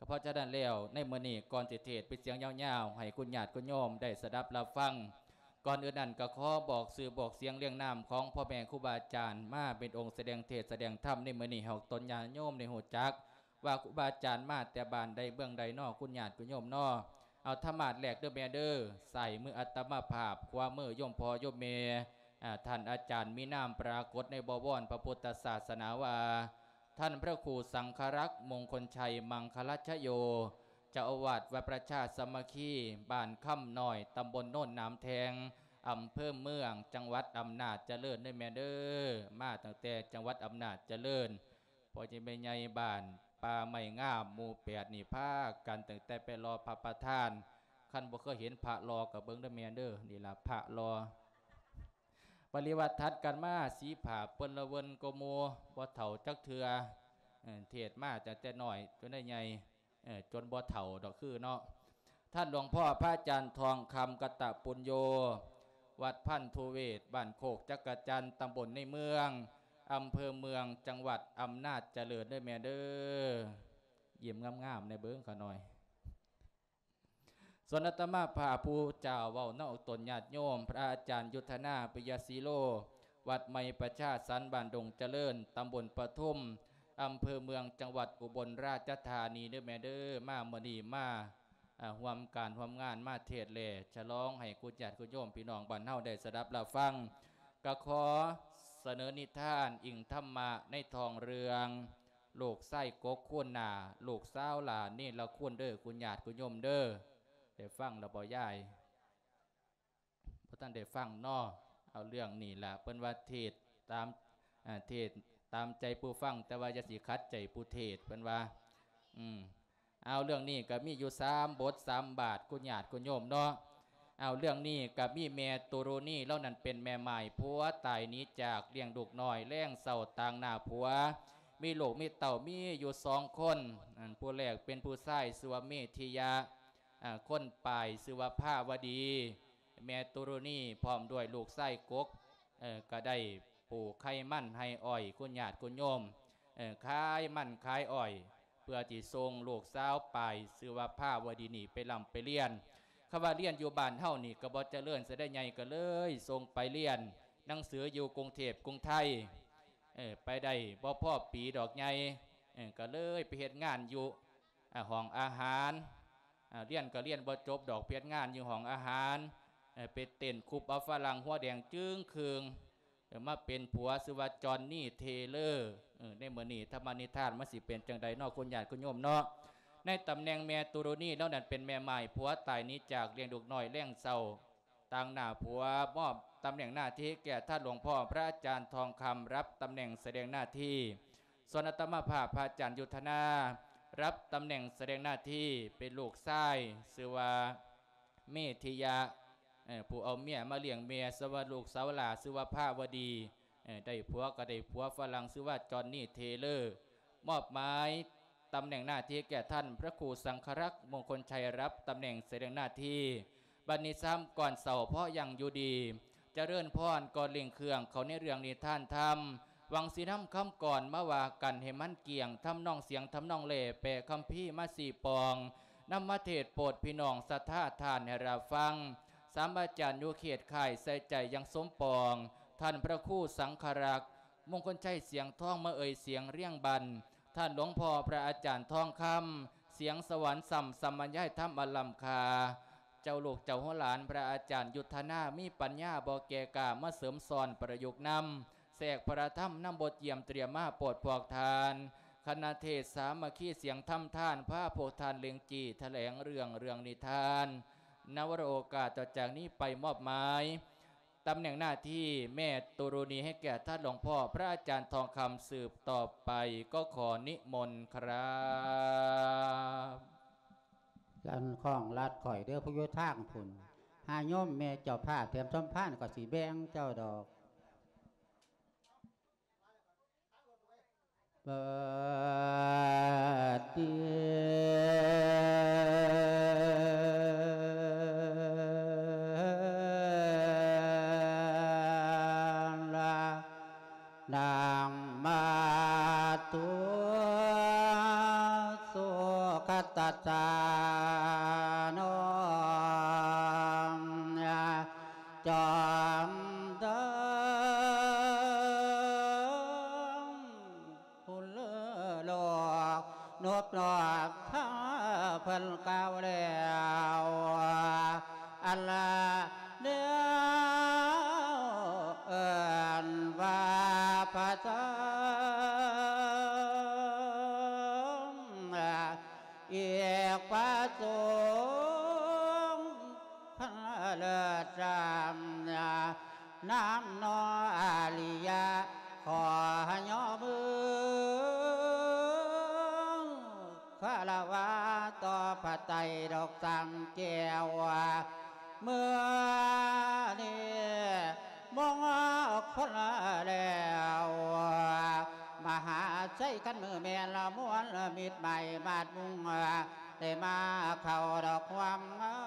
ເພາະສະນັ້ນແລ້ວ ໃນມື້ນີ້ກ່ອນຊິເທດເປັນສຽງຍາວໆ ໃຫ້ຄຸນຍາດຄຸນໂຍມໄດ້ສະດັບຮັບຟັງ, ກ່ອນອື່ນນັ້ນກໍຂໍບອກຊື່ບອກສຽງລຽງນາມຂອງພໍ່ແມ່ຄູບາອາຈານມາເປັນອົງສະແດງເທດສະແດງທຳໃນມື້ນີ້ ໃຫ້ອອກຕົນຍາດໂຍມໄດ້ຮູ້ຈັກວ່າຄູບາອາຈານມາແຕ່ບ້ານໃດເມືອງໃດນໍ ຄຸນຍາດຄຸນໂຍມນໍ. ເອົາທຳມາດແລກເດີແມ່ເດີ, ຊ້າຍມືອາດຕະມາພາບ ຂວາມືໂຍມພໍ່ໂຍມແມ່, ອາ, ທ່ານອາຈານມີນາມປາກົດໃນບໍວອນພະພຸດທະສາສະໜາວ່າ ທ່ານພະຄູສັງຄະລັກ ມົງຄົນໄຊ ມັງຄະລະຊະໂຍ, ເຈົ້າອາວາດວັດປະຊາສາມັກຄີ ບ້ານຄຳນ້ອຍ ຕຳບົນໂນນໜາມແທງ ອຳເພີເມືອງ ຈັງຫວັດອຳນາດຈະເລີນເດີແມ່ເດີ. ມາຕັ້ງແຕ່ຈັງຫວັດອຳນາດຈະເລີນ, ພໍ່ໃຫຍ່ແມ່ໃຫຍ່ບ້ານປ່າໄມ້ງາມ ໝູ່ແປດນີ້ພາກັນຕັ້ງແຕ່ໄປລໍພະປະທານ. ຄັນບໍ່ເຄີຍເຫັນພະລໍກໍເບິ່ງເດີແມ່ເດີ, ນີ້ລະພະລໍ. ປະລິວາດຖັດກັນມາ ສີຜາເປີ້ນລະເວີນກວ່າໝູ່, ບໍ່ເຖົ້າຈັກເທື່ອ, ເອີ ເທດມາຕັ້ງແຕ່ນ້ອຍຈົນໄດ້ໃຫຍ່, ເອີ ຈົນບໍ່ເຖົ້າດອກຄືເນາະ. ທ່ານຫຼວງພໍ່ພະອາຈານທອງຄຳ ກັດຕະປຸນໂຍ, ວັດພັນທຸເວດ, ບ້ານໂຄກຈັກກະຈັນ, ຕຳບົນໃນເມືອງ, ອຳເພີເມືອງ, ຈັງຫວັດອຳນາດຈະເລີນເດີແມ່ເດີ. ຍິ້ມງາມໆແດ່ເບິ່ງຂ້ານ້ອຍ. ສ່ວນອາດຕະມາພາບຜູ້ເຈົ້າເວົ້ານຳອອກຕົນຍາດໂຍມ ພະອາຈານຍຸດທະນາ ປິຍະສີໂລ, ວັດໃໝ່ປະຊາສັນ ບ້ານດົງຈະເລີນ, ຕຳບົນປະທຸມ, ອຳເພີເມືອງ, ຈັງຫວັດອຸບົນລາຊະທານີເດີແມ່ເດີ. ມາມື້ນີ້ມາ ອາ ຮ່ວມການຮ່ວມງານ ມາເທດແລະສະຫຼອງໃຫ້ຄຸນຍາດຄຸນໂຍມພີ່ນ້ອງບ້ານເຮົາໄດ້ສະດັບຮັບຟັງ. ກະຂໍສະເໜີນິທານອີງທຳມະໃນທ້ອງເລື່ອງ ລູກຊາຍກົກຄູນໜ້າ ລູກສາວຫຼ້າເນລະຄຸນເດີ ຄຸນຍາດຄຸນໂຍມເດີ. ໄດ້ຟັງແລ້ວບໍ່ຍາຍ? ບໍ່ທັນໄດ້ຟັງເນາະ. ເອົາເລື່ອງນີ້ລະ ເພິ່ນວ່າເທດຕາມ ອາ ເທດຕາມໃຈຜູ້ຟັງ ແຕ່ວ່າຢ່າຊິຂັດໃຈຜູ້ເທດ ເພິ່ນວ່າ. ອືມ ເອົາ ເລື່ອງນີ້ກໍມີຢູ່ສາມບົດສາມບາດ ຄຸນຍາດຄຸນໂຍມເນາະ. ເອົາ ເລື່ອງນີ້ກໍມີແມ່ຕຸລຸນີ ລາວນັ້ນເປັນແມ່ໝ້າຍຜົວຕາຍໜີຈາກ ລ້ຽງລູກນ້ອຍແລງເຊົ້າຕາງໜ້າຜົວ ມີລູກມີເຕົ້າມີຢູ່ສອງຄົນ. ອັນ ຜູ້ແລກເປັນຜູ້ຊາຍຊື່ວ່າເມທິຍະ, ອາ ຄົນປາຍຊື່ວ່າພາວະດີ. ແມ່ຕຸລຸນີພ້ອມດ້ວຍລູກຊາຍກົກ ເອີ ກໍໄດ້ປູກໄຮ່ມັນໄຮ່ອ້ອຍ ຄຸນຍາດຄຸນໂຍມ ເອີ ຂາຍມັນຂາຍອ້ອຍ ເພື່ອທີ່ສົ່ງລູກສາວປາຍຊື່ວ່າພາວະດີນີ້ໄປລ່ຳໄປລຽນ. ຄຳວ່າລຽນຢູ່ບ້ານເຮົານີ້ກໍບໍ່ຈະເລີນຊະໄດ໋ໃຫຍ່ ກໍເລີຍສົ່ງໄປລຽນໜັງສືຢູ່ກຸງເທບກຸງໄທ ເອີ ໄປໄດ້ບໍ່ພໍປີດອກໃຫຍ່ ເອີ ກໍເລີຍໄປເຮັດງານຢູ່ ອາ ຫ້ອງອາຫານ ອາ ລຽນກໍລຽນບໍ່ຈົບດອກ ເຮັດງານຢູ່ຫ້ອງອາຫານ ເອີ ໄປເຕັ້ນຄຸບເອົາຝຣັ່ງຫົວແດງຈຶ່ງຄຶ່ງ ເອີ ມາເປັນຜົວຊື່ວ່າຈອນນີ ເທເລີ. ເອີ ໃນມື້ນີ້ທຳມະນິທານມັນຊິເປັນຈັ່ງໃດເນາະ ຄຸນຍາດຄຸນໂຍມເນາະ. ໃນຕຳແໜ່ງແມ່ຕຸລຸນີ ລາວນັ້ນເປັນແມ່ໝ້າຍຜົວຕາຍໜີຈາກ ລ້ຽງລູກນ້ອຍແລງເຊົ້າ ຕາງໜ້າຜົວ ມອບຕຳແໜ່ງໜ້າທີ່ແກ່ທ່ານຫຼວງພໍ່ພະອາຈານທອງຄຳ ຮັບຕຳແໜ່ງສະແດງໜ້າທີ່. ສ່ວນອາດຕະມາພາບພະອາຈານຍຸດທະນາ ຮັບຕຳແໜ່ງສະແດງໜ້າທີ່ເປັນລູກຊາຍ ຊື່ວ່າເມທິຍະ ເອີ ຜູ້ເອົາເມຍມາລ້ຽງແມ່. ສ່ວນວ່າລູກສາວຫຼ້າຊື່ວ່າພາວະດີ ເອີ ໄດ້ຜົວກໍໄດ້ຜົວຝຣັ່ງ ຊື່ວ່າຈອນນີ ເທເລີ. ມອບໝາຍ ຕຳແໜ່ງໜ້າທີ່ແກ່ທ່ານພະຄູສັງຄະລັກ ມົງຄົນໄຊ ຮັບຕຳແໜ່ງສະແດງໜ້າທີ່. ບັດນີ້ຊາມກ່ອນເຊົ້າເພາະຍັງຢູ່ດີ ຈະເລີນພອນກ່ອນເລັ່ງເຄື່ອງເຂົ້າໃນເລື່ອງນິທານທຳ ຫວັງຊິນຳຄຳກ່ອນມາວ່າກັນໃຫ້ມັນກ້ຽງ ທຳນອງສຽງທຳນອງແລ ແປຄຳພີມາຊີ້ປອງ ນຳມາເທດໂປດພີ່ນ້ອງສັດທາທ່ານໃຫ້ຮັບຟັງ. ສາມອາຈານຢູ່ເຂດຄ້າຍໃສ່ໃຈຢ່າງສົມປອງ ທ່ານພະຄູສັງຄະລັກ ມົງຄົນໄຊ ສຽງທອງ ມາເອີ່ຍສຽງລຽງບັນ ທ່ານຫຼວງພໍ່ພະອາຈານທອງຄຳ ສຽງສະຫວັນຊ່ຳ ສຳບັນຍາຍທຳອັນລ້ຳຄ່າ ເຈົ້າລູກເຈົ້າຫົວຫຼານ ພະອາຈານຍຸດທະນາ ມີປັນຍາບໍ່ແກ່ກ້າ ມາເສີມສ້ອນປະຍຸກນຳ ແຊກພະທຳນຳບົດຢ້ຽມຕຽມມາໂປດພວກທ່ານ ຄະນະເທດສາມັກຄີ ສຽງທຳທານ ພາພວກທ່ານເລັ່ງຈີ້ ຖະແຫຼງເລື່ອງ ເລື່ອງນິທານ. ນະວະໂອກາດຕໍ່ຈາກນີ້ໄປ ມອບໝາຍ ຕຳແໜ່ງໜ້າທີ່ແມ່ຕຸລຸນີໃຫ້ແກ່ທ່ານຫຼວງພໍ່ພະອາຈານທອງຄຳສືບຕໍ່ໄປ ກໍຂໍນິມົນຄຣັບ. ລັນຂ້ອງລັດຂ້ອຍເດີ ຜູ້ຢູ່ທາງພຸ້ນ ຫາໂຍມແມ່ເຈົ້າພາບແຖມສົມພານກໍຊິແບ່ງເຈົ້າດອກ. ປະຕິລະນັງມາຕຸ ສຸ ຄັດຕະສານອງ ຈອມເດີງ ຜູ້ເລີໂລກ ນົບນອບທາງເພິ່ນກ່າວແລ້ວ ອັນລະແລ້ວເອີ້ນວ່າພະສົງ ອີກພະສົງຄັນເລີດຈຳ ນຳໜໍອາລິຍະ ຂໍຍໍມືຄາລະວະຕໍ່ພະໄຕດອກສາມແກ້ວ ເມື່ອນີ້ມົງຄົນແລ້ວ ມະຫາໄຊຄັນມືແມ່ນລະມວນມິດໄມ້ມາດມຸງ ໄດ້ມາເຂົ້າດອກຮ່ວມງາ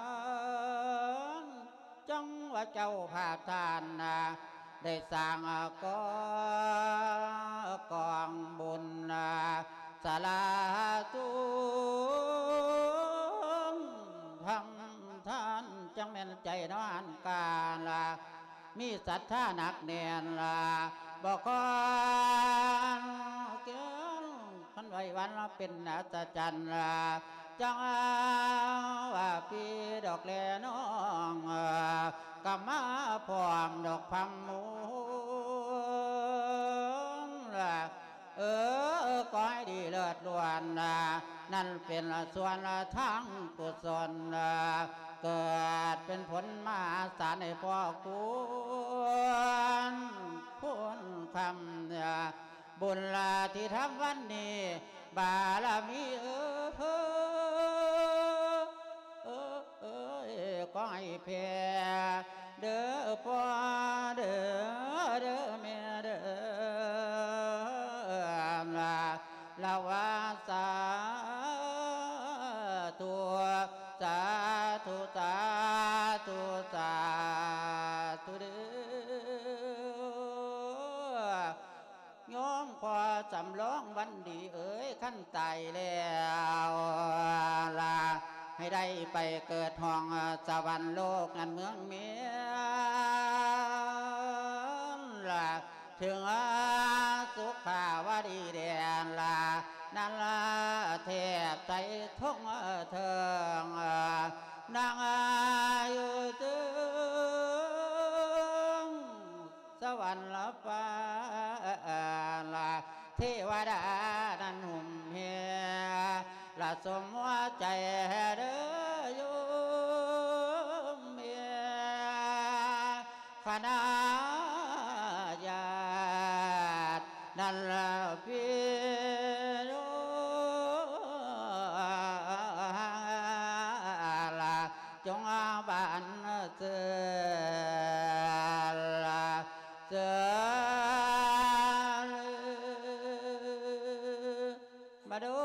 ນ ຈັ່ງວ່າເຈົ້າພາບທ່ານນະ ໄດ້ສ້າງກອງ ກອງບຸນນະ ສາລາສູງທຳທານ ຈັ່ງແມ່ນໃຈນອນກາລະ ມີສັດທາໜັກແໜ້ນລະ ບໍ່ຄອນແຄ້ນ ຄັນໄຫວວັນລະເປັນອັດສະຈັນລະ ຈັ່ງວ່າພີ່ດອກແລນ້ອງ ກະມາພ້ອມດອກພຳມູນລະ ເອີ ຂໍໃຫ້ດີເລີດລ້ວນນະ ນັ້ນເປັນສ່ວນທາງກຸສົນນະ ເກີດເປັນຜົນມະຫາສານໃຫ້ພໍ່ຄູນຄູນຄຳນະ ບຸນລາທີ່ທຳວັນນີ້ ບາລະມີເອີ ເອີ ເອີຍ ຂໍໃຫ້ແຜ່ເດີພໍ່ເດີ ເດີແມ່ເດີ ລາລາວາ ສາທຸ ສາທຸ ສາທຸ ສາທຸເດີ. ໂຍມພໍ່ສຳລອງວັນດີເອີຍ ຄັນຕາຍແລ້ວລະ ໃຫ້ໄດ້ໄປເກີດຫ້ອງສະຫວັນໂລກນັ້ນເມືອງເມນລະ ເຖິງສຸຂາວະດີແດນລະ ນັ້ນລະແທບໃສ່ທົ່ງເທິງ ນາງຢູ່ເທິງ ສະຫວັນລະຟ້າລະ ເທວະດານັ້ນຫຸ້ມແຮລະ ສົມຫົວໃຈເດີໂຍມແມ່ ຄະນະຍາດນັ້ນລະພີ່ໂຍມລະ ຈົ່ງບານເຊີນລະ ເຊີນມາດູ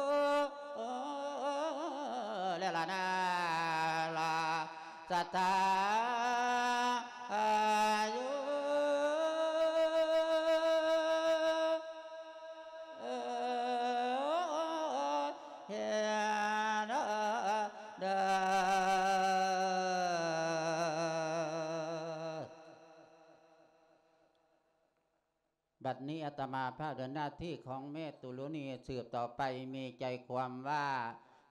ແລລະນາລະ ສະຖາອາຍຸເຮນະ ເດີ ບັດນີ້ອາດຕະມາພາບເດີນໜ້າທີ່ຂອງແມ່ຕຸລຸນີສືບຕໍ່ໄປ ມີໃຈຄວາມວ່າ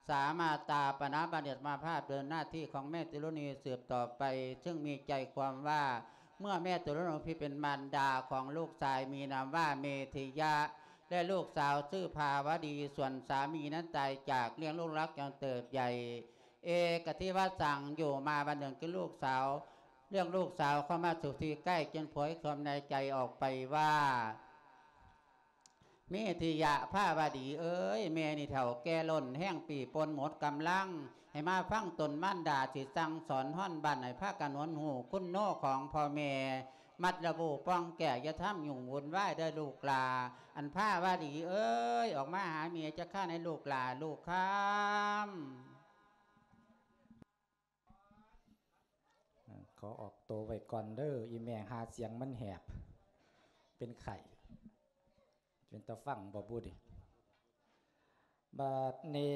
ສາມາດຕາປະນາບັນອາດຕະມາພາບເດີນໜ້າທີ່ຂອງແມ່ຕຸລຸນີສືບຕໍ່ໄປ ເຊິ່ງມີໃຈຄວາມວ່າ ເມື່ອແມ່ຕຸລຸນີຜູ້ເປັນມານດາຂອງລູກຊາຍມີນາມວ່າເມທິຍະ ແລະ ລູກສາວຊື່ພາວະດີ ສ່ວນສາມີນັ້ນຕາຍຈາກ ລ້ຽງລູກລັກຈົນເຕີບໃຫຍ່ ເອກະທິວະສັງ ຢູ່ມາວັນໜຶ່ງຄືລູກສາວ ເລື່ອງລູກສາວເຂົ້າມາສູ່ທີ່ໃກ້ ຈຶ່ງຜວຍຄວາມໃນໃຈອອກໄປວ່າ ເມທິຍະພາວະດີເອີຍ ແມ່ນີ້ເຖົ້າແກ່ລົ້ນແຮງປີປົນໝົດກຳລັງ ໃຫ້ມາຟັງຕົນມານດາຊິສັ່ງສອນ ຮ້ອນບັນໃຫ້ພາກັນຫວນຮູ້ຄຸນໂນຂອງພໍ່ແມ່ ມັດລະວູປ່ອງແກ້ວ ຢ່າທຳຫຍຸ້ງວຸ່ນວາຍເດີລູກຫຼ້າ ອັນພາວະດີເອີຍ ອອກມາຫາແມ່ຈັກຄາໃນລູກຫຼ້າລູກຄຳ. ຂໍອອກໂຕໄວ້ກ່ອນເດີ ອີແມ່ ຫາສຽງມັນແຫບ ເປັນໄຂ້ ເປັນຕາຟັງບໍ່ບຸນີ້ ບາດນີ້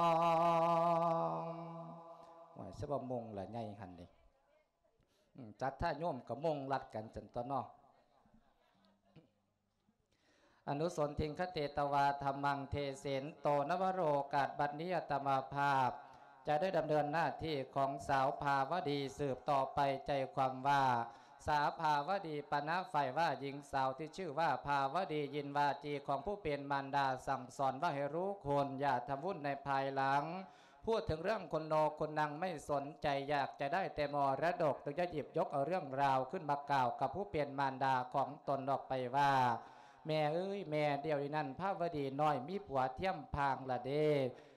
ງ ໂອ້ຍ ສະບໍ່ມຸງລະໃຫຍ່ຫັ້ນນີ້ ອືມ ຈັດທ່າໂຍມກໍມຸງລັດກັນຊັ້ນຕົວເນາະ. ອະນຸສົນທິງຄະເຕຕະວາທຳມັງເທເສນໂຕ ນະວະໂລກາດ ບັດນີ້ອາຕະມາພາບ ຈະໄດ້ດຳເນີນໜ້າທີ່ຂອງສາວພາວະດີສືບຕໍ່ໄປ ໃຈຄວາມວ່າ ສາວພາວະດີປະນະຝ່າຍວ່າ ຍິງສາວທີ່ຊື່ວ່າພາວະດີ ຍິນວາຈີຂອງຜູ້ເປັນມານດາສັ່ງສອນວ່າໃຫ້ຮູ້ຄຸນ ຢ່າທຳບຸນໃນພາຍຫຼັງ. พูดถึงเรื่องคนโนคนนังไม่สนใจ อยากจะได้แต่มรดก จึงจะหยิบยกเอาเรื่องราวขึ้นมากล่าวกับผู้เป็นมารดาของตนออกไปว่า แม่เอ้ย แม่ เดี๋ยวนี้นั้นภาวดีน้อยมีผัวเทียมพางละเด้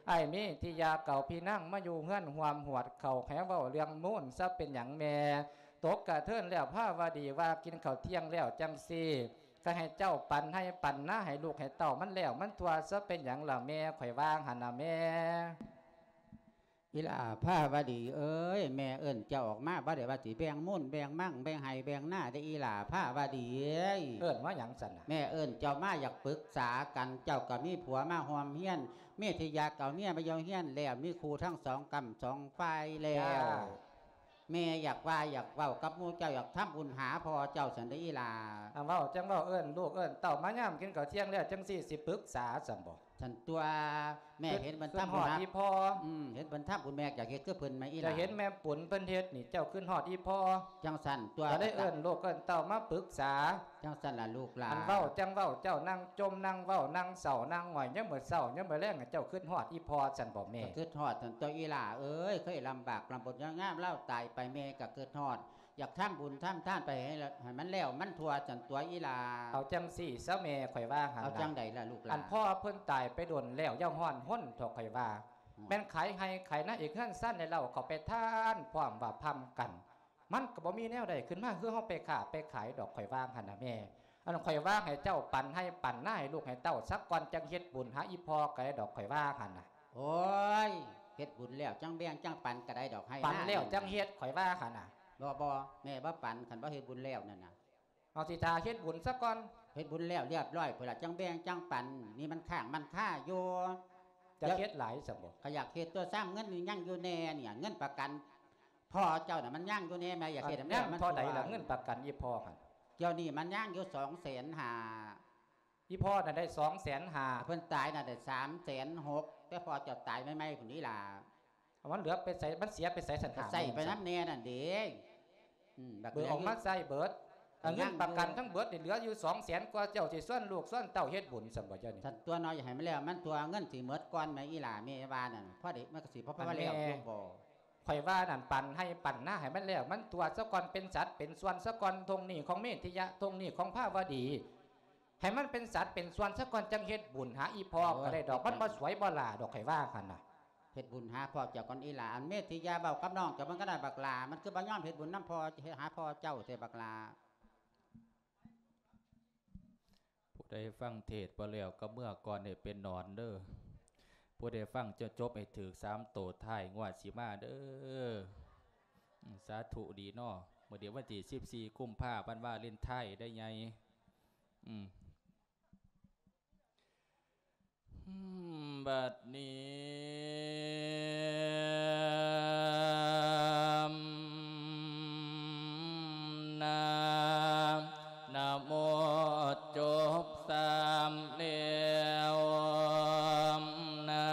อ้ายมีทิยาเก่าพี่นางมาอยู่เฮือนห่วมหวดเขา ให้เว้าเรื่องมูนซะเป็นหยังแม่ ตกกะเทินแล้วภาวดีว่ากินข้าวเที่ยงแล้วจังซี่ ก็ให้เจ้าปันไฮ่ปันนาให้ลูกให้เต้ามันแล้วมันทั่วซะเป็นหยังล่ะแม่ ข่อยว่าหั่นน่ะแม่ เ ອີ່ຫຼ້າພາວະດີເອີຍ ແມ່ເອີ້ນເຈົ້າອອກມາ ບໍ່ໄດ້ວ່າຊິແບ່ງມູນແບ່ງມັງ ແບ່ງໄຮ່ແບ່ງນາເດ້ ອີ່ຫຼ້າພາວະດີເອີຍ. ເອີ້ນມາຫຍັງຊັ້ນນະ? ແມ່ເອີ້ນເຈົ້າມາຢາກປຶກສາກັນ ເຈົ້າກໍມີຜົວມາຮ່ວມຮຽນ ເມທິຍາກໍເອົາເມຍມາຢູ່ຮຽນແລ້ວ ມີຄູ່ທັງສອງກ້ຳສອງຝ່າຍແລ້ວ. ແມ່ຢາກວ່າຢາກເວົ້າກັບໝູ່ເຈົ້າ ຢາກທຳບຸນຫາພໍ່ເຈົ້າຊັ້ນເດ້ອີ່ຫຼ້າ. ອາ ເວົ້າຈັ່ງເວົ້າ ເອີ້ນລູກເອີ້ນເຕົ້າມາຍາມກິນເຂົ້າທ່ຽງແລ້ວ ຈັ່ງຊີ້ຊິປຶກສາຊັ້ນບໍ? ຊັ້ນຕົວະ ແມ່ເຫັນເພິ່ນທຳບຸນຫາ ອືມ ເຫັນເພິ່ນທຳບຸນ ແມ່ຢາກເຮັດຄືເພິ່ນແມ່ອີ່ຫຼ້າ. ຈະເຫັນແມ່ປຸນເພິ່ນເຮັດນີ້ ເຈົ້າຄຶດຮອດອີ່ພໍ່ ຈັ່ງຊັ້ນຕົວະ ກໍໄດ້ເອີ້ນລູກເອີ້ນເຕົ້າມາປຶກສາ. ຈັ່ງຊັ້ນລະລູກຫຼານ. ອັນເວົ້າຈັ່ງເວົ້າ ເຈົ້ານັ່ງຈົ່ມນັ່ງເວົ້າ ນັ່ງເສົ້ານັ່ງຫງອຍ ຍາມມື້ເຊົ້າຍາມມື້ແລງ ເຈົ້າຄຶດຮອດອີ່ພໍ່ຊັ້ນບໍແມ່? ກໍຄຶດຮອດຊັ້ນຕົວະອີ່ຫຼ້າເອີຍ ເຄີຍລຳບາກລຳບົນຍາກງາມ ລາວຕາຍໄປ ແມ່ກໍຄຶດຮອດ ຢາກທຳບຸນທຳທານໄປໃຫ້ ໃຫ້ມັນແລ້ວມັນທົ່ວຊັ້ນຕົວະອີ່ຫຼ້າ. ເອົາຈັ່ງຊີ້ຊະແມ່ ຂ້ອຍວ່າຫັ້ນ. ເອົາຈັ່ງໃດລະລູກຫຼານ? ອັນພໍ່ເພິ່ນຕາຍໄປດົນແລ້ວ ຢ່າຮ້ອນຮົນເຖາະ ຂ້ອຍວ່າ. ອືມ ແມ່ນຂາຍໄຮ່ຂາຍນາ ເຮັດເຮືອນຊານໃຫ້ລາວເຂົ້າໄປທານ ພ້ອມວ່າພ້ຳກັນ ມັນກໍບໍ່ມີແນວໃດຂຶ້ນມາ ຄືເຮົາໄປຄ້າໄປຂາຍດອກ ຂ້ອຍວ່າຫັ້ນນະແມ່. ອັນຂ້ອຍວ່າໃຫ້ເຈົ້າປັນໄຮ່ປັນນາໃຫ້ລູກໃຫ້ເຕົ້າສາກ່ອນ ຈັ່ງເຮັດບຸນຫາອີ່ພໍ່ກໍໄດ້ດອກ ຂ້ອຍວ່າຫັ້ນນະ. ໂອ້ຍ ເຮັດບຸນແລ້ວຈັ່ງແບ່ງຈັ່ງປັນກໍໄດ້ດອກ ໄຮ່ນາ ປັນແລ້ວຈັ່ງເຮັດ ຂ້ອຍວ່າຫັ້ນນະ. ບໍ່ ບໍ່ ແມ່ບໍ່ປັນ ຄັນບໍ່ເຮັດບຸນແລ້ວນັ້ນນະ. ເອົາ ຊິຖ້າເຮັດບຸນສາກ່ອນ. ເຮັດບຸນແລ້ວລຽບລ້ອຍພຸ້ນລະ ຈັ່ງແບ່ງຈັ່ງປັນ ນີ້ມັນຄ້າງມັນຄາຢູ່. ຢາກເຮັດຫຼາຍຊັ້ນບໍ? ກໍຢາກເຮັດຕົວະ ຊ້ຳເງິນນີ້ຍັງຢູ່ແດ່ນີ້ ເງິນປະກັນພໍ່ເຈົ້ານະ ມັນຍັງຢູ່ແດ່ ແມ່ຢາກເຮັດໃຫ້ມັນ ເທົ່າໃດລະ ເງິນປະກັນອີ່ພໍ່ຫັ້ນ? ດຽວນີ້ມັນຍັງຢູ່ສອງແສນຫ້າ. ອີ່ພໍ່ນັ້ນໄດ້ສອງແສນຫ້າ ເພິ່ນຕາຍນັ້ນໄດ້ສາມແສນຫົກ ແຕ່ພໍ່ເຈົ້າຕາຍໃໝ່ໆພຸ້ນນີ້ລະ. ເອົາ ມັນເຫຼືອໄປໃສ ມັນເສຍໄປໃສຊັ້ນ ກໍໃຊ້ໄປນຳແດ່ນັ້ນເດ້. ອືມ ບັກເຫຼືອ ເບີອອກມາໃຊ້ເບີດ. ເອົາ ເງິນປະກັນທັງເບີດນີ້ເຫຼືອຢູ່ສອງແສນກວ່າ ເຈົ້າຊິຊວນລູກຊວນເຕົ້າເຮັດບຸນຊັ້ນບໍເຈົ້ານີ້? ຊັ້ນຕົວະເນາະ ຢ່າໃຫ້ມັນແລ້ວມັນທົ່ວ ເງິນຊິໝົດກ່ອນແມ່ອີ່ຫຼ້າ ແມ່ວ່ານັ້ນ ພໍໄດ້ມັນກໍຊິພໍ ພໍວ່າແລ້ວຢູ່ບໍ? ຂ້ອຍວ່ານັ້ນ ປັນໄຮ່ປັນນາໃຫ້ມັນແລ້ວມັນທົ່ວສາກ່ອນ ເປັນສັດເປັນສ່ວນສາກ່ອນ ທົ່ງນີ້ຂອງເມທິຍະ ທົ່ງນີ້ຂອງພາວະດີ ໃຫ້ມັນເປັນສັດເປັນສ່ວນສາກ່ອນ ຈັ່ງເຮັດບຸນຫາອີ່ພໍ່ກໍໄດ້ດອກ. ໂອ້ຍ ມັນບໍ່ສວຍບໍ່ຫຼ້າດອກ ຂ້ອຍວ່າຫັ້ນນະ. ເຮັດບຸນຫາພໍ່ເຈົ້າກ່ອນອີ່ຫຼ້າ. ອັນເມທິຍາ ເວົ້າກັບນ້ອງເຈົ້າເບິ່ງກໍໄດ້ບັກຫຼ້າ ມັນຄືບໍ່ຍອມເຮັດບຸນນຳພໍ່ ຫາພໍ່ເຈົ້າແທ້ບັກຫຼ້າ. ຜູ້ໃດຟັງເທດບໍ່ແລ້ວກໍເມືອກ່ອນໃຫ້ເປັນໜອນເດີ້. ຜູ້ໃດຟັງຈົນຈົບໃຫ້ຖືກສາມໂຕທ້າຍງວດຊິມາເດີ້. ອືມ ສາທຸດີເນາະ. ມື້ນີ້ວັນທີສິບສີ່ ກຸມພາ ວັນວາເລນໄທນ໌ໃດ໋ໃຫຍ່. ອືມ ບັດນີ້ ນະ ນະໂມຈົບສາມແລ້ວ ນະ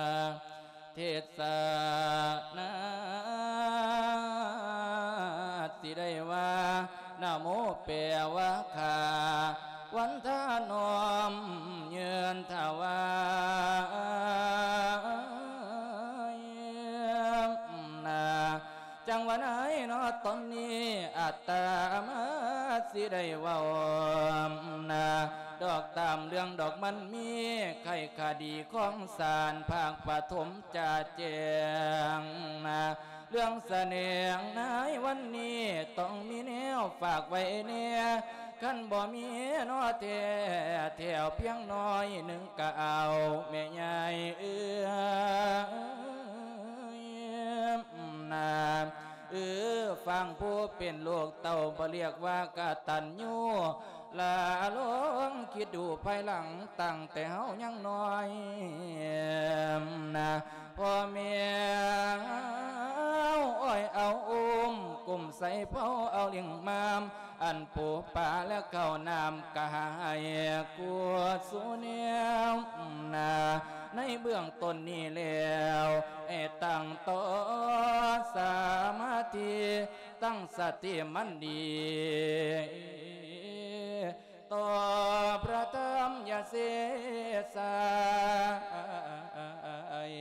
ເທດສະນາ ຊິໄດ້ວ່າ ນະໂມແປວ່າຂ້າ ວັນທະນ້ອມຍື່ນຖວາຍນາ. ຈັ່ງວ່າໃນເນາະຕອນນີ້ ອາດຕະມາຊິໄດ້ເວົ້ານາ ດອກຕາມເລື່ອງດອກມັນມີ ໄຂຄະດີຂອງສານພາກປະຖົມຈະແຈ້ງນາ. ເລື່ອງສະແດງໃນວັນນີ້ ຕ້ອງມີແນວຝາກໄວ້ແດ່ ຄັນບໍ່ມີເນາະແທ້ ແຖວພຽງໜ້ອຍໜຶ່ງກະເອົາ ແມ່ໃຫຍ່ເອີຍນາ. ເອີ ຟັງຜູ້ເປັນລູກເຕົ້າ ບໍ່ລຽກວ່າກະຕັນຍູ ລະລອງຄິດດູພາຍຫຼັງ ຕັ້ງແຕ່ເຮົາຍັງນ້ອຍນາ ພໍ່ແມ່ເຮົາອ້ອຍເອົາອຸ້ມ ກຸ້ມໃສ່ເພົາເອົາລ້ຽງມາມ ອັນປູປາແລະເຂົ້ານ້ຳກະໃຫ້ກວດສູ່ແນວນາ. ໃນເບື້ອງຕົ້ນນີ້ແລ້ວ ໃຫ້ຕັ້ງຕໍ່ສະມາທິ ຕັ້ງສະຕິໝັ້ນດີ ຕໍ່ພະທຳຢ່າເສສາຍ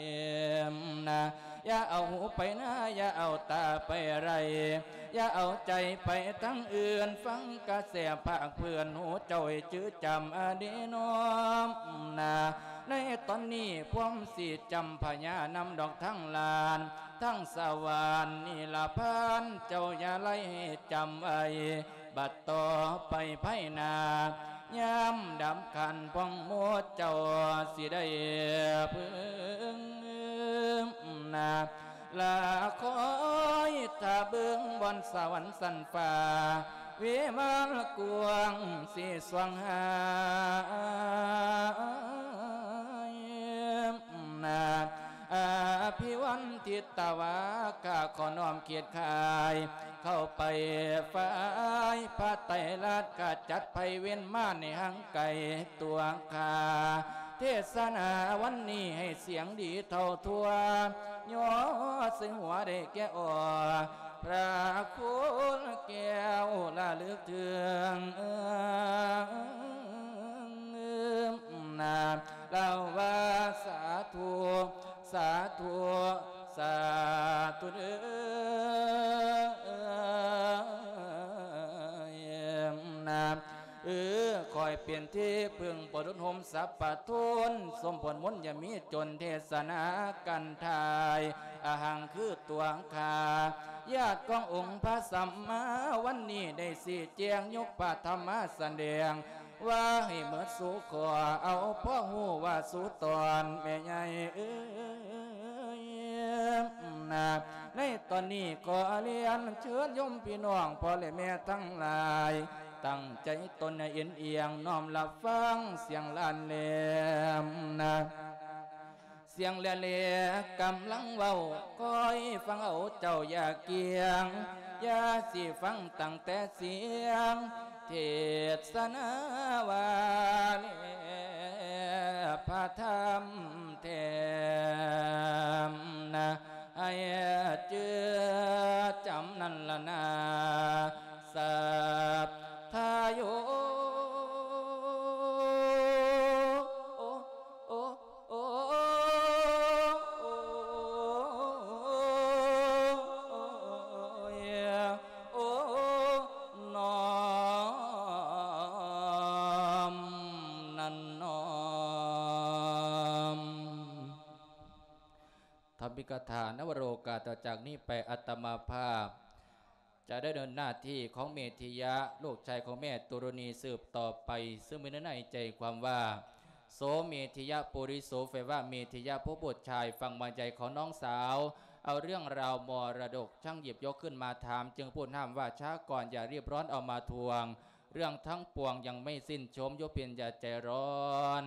ນາ. ຢ່າເອົາຫູໄປນາ ຢ່າເອົາຕາໄປໄລ່ ຢ່າເອົາໃຈໄປທາງອື່ນ ຟັງກະແສພາກເພື່ອນ ຫູເຈົ້າໃຫ້ຈື່ຈຳອະດີນ້ອມນາ. ໃນຕອນນີ້ພວມຊິຈຳພະຍານຳດອກທັງຫຼານ ທັງສະຫວານນິລະພານ ເຈົ້າຢ່າໄລ່ໃຫ້ຈຳໄວ້ ບັດຕໍ່ໄປພາຍໜ້າ ຍາມດຳຄັນພວງໝົດ ເຈົ້າຊິໄດ້ເພິ່ງນາ. ລະຄອຍຖ້າເບິ່ງບ່ອນສະຫວັນຊັ້ນຟ້າ ວິມານກວ້າງສີສວ່າງຫາຍນາ ອາພິວັນທິດຕະວາກາ ຂໍນ້ອມຄຽດຄາຍ ເຂົ້າໄປຝ່າຍພະໄຕລະລັດ ຂະຈັດໄພເວນມານໃຫ້ຫ່າງໄກຕົວຂ້າ ເທດສະນາວັນນີ້ໃຫ້ສຽງດີເທົ່າທົ່ວ ຍໍໃສ່ຫົວໄດ້ແກ່ອໍ ພະຄຸນແກ້ວລະລຶກເຖິງ ນາ ລາວວ່າ ສາທຸ ສາທຸ ສາທຸເດີ ນາ ເອີ ຂ້ອຍເປັນທີ່ເພິ່ງປະດຸນໂຮມສັບປະທົນ ສົມຜົນມົນຢ່າມີຈົນ ເທດສະນາກັນທາຍ ອະຫັງຄືຕົວຂ້າ ຍາດຂອງອົງພະສຳມາ ວັນນີ້ໄດ້ຊີ້ແຈງ ຍົກພະທຳມາສະແດງ ວ່າໃຫ້ເໝິດສູ່ຂໍ ເອົາພໍຮູ້ວ່າສູ່ຕອນ ແມ່ໃຫຍ່ເອີຍ ນາ ໃນຕອນນີ້ຂໍລຽນເຊີນໂຍມພີ່ນ້ອງ ພໍ່ແລະແມ່ທັງຫຼາຍ ຕັ້ງໃຈຕົນໃຫ້ເອັນອຽງ ນ້ອມຮັບຟັງສຽງລານແຫຼມນາ ສຽງແຫຼະແຫຼກຳລັງເວົ້າ ຄອຍຟັງເອົາເຈົ້າຢ່າກຽງ ຢ່າຊິຟັງຕັ້ງແຕ່ສຽງ ເທດສະນາວ່າແລະພະທຳແຖມນາ ໃຫ້ຈື່ຈຳນັ້ນລະນາ ສັດທາໂຍ ໂອ ໂອ ໂອ ໂອ ນ້ອມນັ້ນນ້ອມ ທຳອິກຂະຖາ ນະວະໂລກາ ຕໍ່ຈາກນີ້ໄປອາດຕະມາພາບ ຈະໄດ້ດຳເນີນໜ້າທີ່ຂອງເມທິຍະ ລູກຊາຍຂອງແມ່ຕຸຣະນີສືບຕໍ່ໄປ ຊຶ່ງມີເນື້ອໃນໃຈຄວາມວ່າ ໂສເມທິຍະ ປຸລິໂສ ແປວ່າເມທິຍະຜູ້ບຸດຊາຍ ຝັ່ງມາໃຫຍ່ຂອງນ້ອງສາວ ເອົາເລື່ອງລາວມໍລະດົກ ຊ່າງຫຍິບຍົກຂຶ້ນມາຖາມ ຈຶ່ງພູດຫ້າມວ່າ ຊ້າກ່ອນ ຢ່າຣີບຮ້ອນເອົາມາທວງ ເລື່ອງທັງປວງຍັງໄມ່ສິ້ນຊົມ ຢູ່ເປັນຢ່າໃຈຮ້ອນ.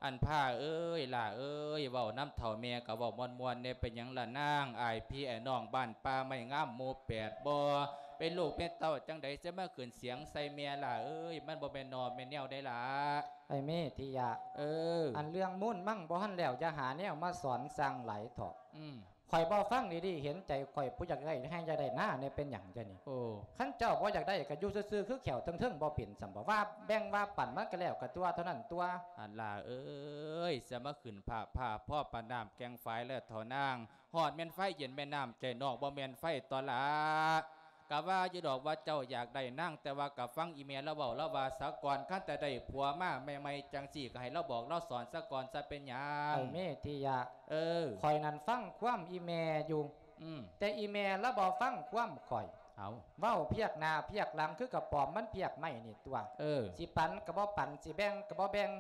ອັນພ້າເອີຍ ຫຼ້າເອີຍ ເວົ້ານຳເຖົ້າແມ່ກໍເວົ້າມ່ວນໆແດ່ ເປັນຫຍັງລະນາງ ອ້າຍພີ່ອ້າຍນ້ອງບ້ານປ່າໄມ້ງາມໝູ່ແປດບໍ່ ເປັນລູກເປັນເຕົ້າຈັ່ງໃດ ຊິມາຂຶ້ນສຽງໃສ່ແມ່ຫຼ້າເອີຍ ມັນບໍ່ແມ່ນໜໍ່ແມ່ນແນວໃດຫຼ້າ. ອ້າຍເມທິຍະ ເອີ ອັນເລື່ອງມູນມັງບໍ່ທັນແລ້ວ ຢ່າຫາແນວມາສອນ ຊ່າງຫຼາຍເຖາະ. ອືມ ຂ້ອຍບໍ່ຟັງດີໆ ເຫັນໃຈຂ້ອຍ ຜູ້ຢາກໄດ້ໃຫ້ຢາກໄດ້ນາແດ່ ເປັນຫຍັງຈະນີ້? ໂອ້ ຄັນເຈົ້າບໍ່ຢາກໄດ້ກໍຢູ່ຊື່ໆ ຄືແຂ້ວເທິງໆ ບໍ່ເປັນສ່ຳບໍ່? ວ່າແບ່ງວ່າປັນມັນກໍແລ້ວກັນຕົວະ ເທົ່ານັ້ນຕົວະ. ອັນຫຼ້າເອີຍ ສະມາຂຶ້ນພາບພາບ ພໍປານນ້ຳແກ່ງຝາຍແລ້ວເຖົ້ານາງ ຮອດແມ່ນໄຟເຢັນແມ່ນ້ຳໃຈນ້ອງ ບໍ່ແມ່ນໄຟຕົວະຫຼ້າ. ກະວ່າຢູ່ດອກວ່າເຈົ້າຢາກໄດ້ນາງ ແຕ່ວ່າກະຟັງອີ່ແມ່ລາວເວົ້າລາວວ່າສາກ່ອນ ຄັນແຕ່ໄດ້ຜົວມາໃໝ່ໆ ຈັ່ງຊີ້ກະໃຫ້ລາວບອກລາວສອນສາກ່ອນຊະ ເປັນຫຍັງ? ອ້າຍເມທິຍະ ເອີ ຂ້ອຍນັ້ນຟັງຄວາມອີ່ແມ່ຢູ່ ອືມ ແຕ່ອີ່ແມ່ລາວບໍ່ຟັງຄວາມຂ້ອຍ. ເອົາ ເວົ້າພຽກໜ້າພຽກຫຼັງ ຄືກະປອມມັນພຽກໄມ້ນີ້ຕົວະ. ເອີ ຊິປັນກະບໍ່ປັນ ຊິແບ່ງກະບໍ່ແບ່ງ.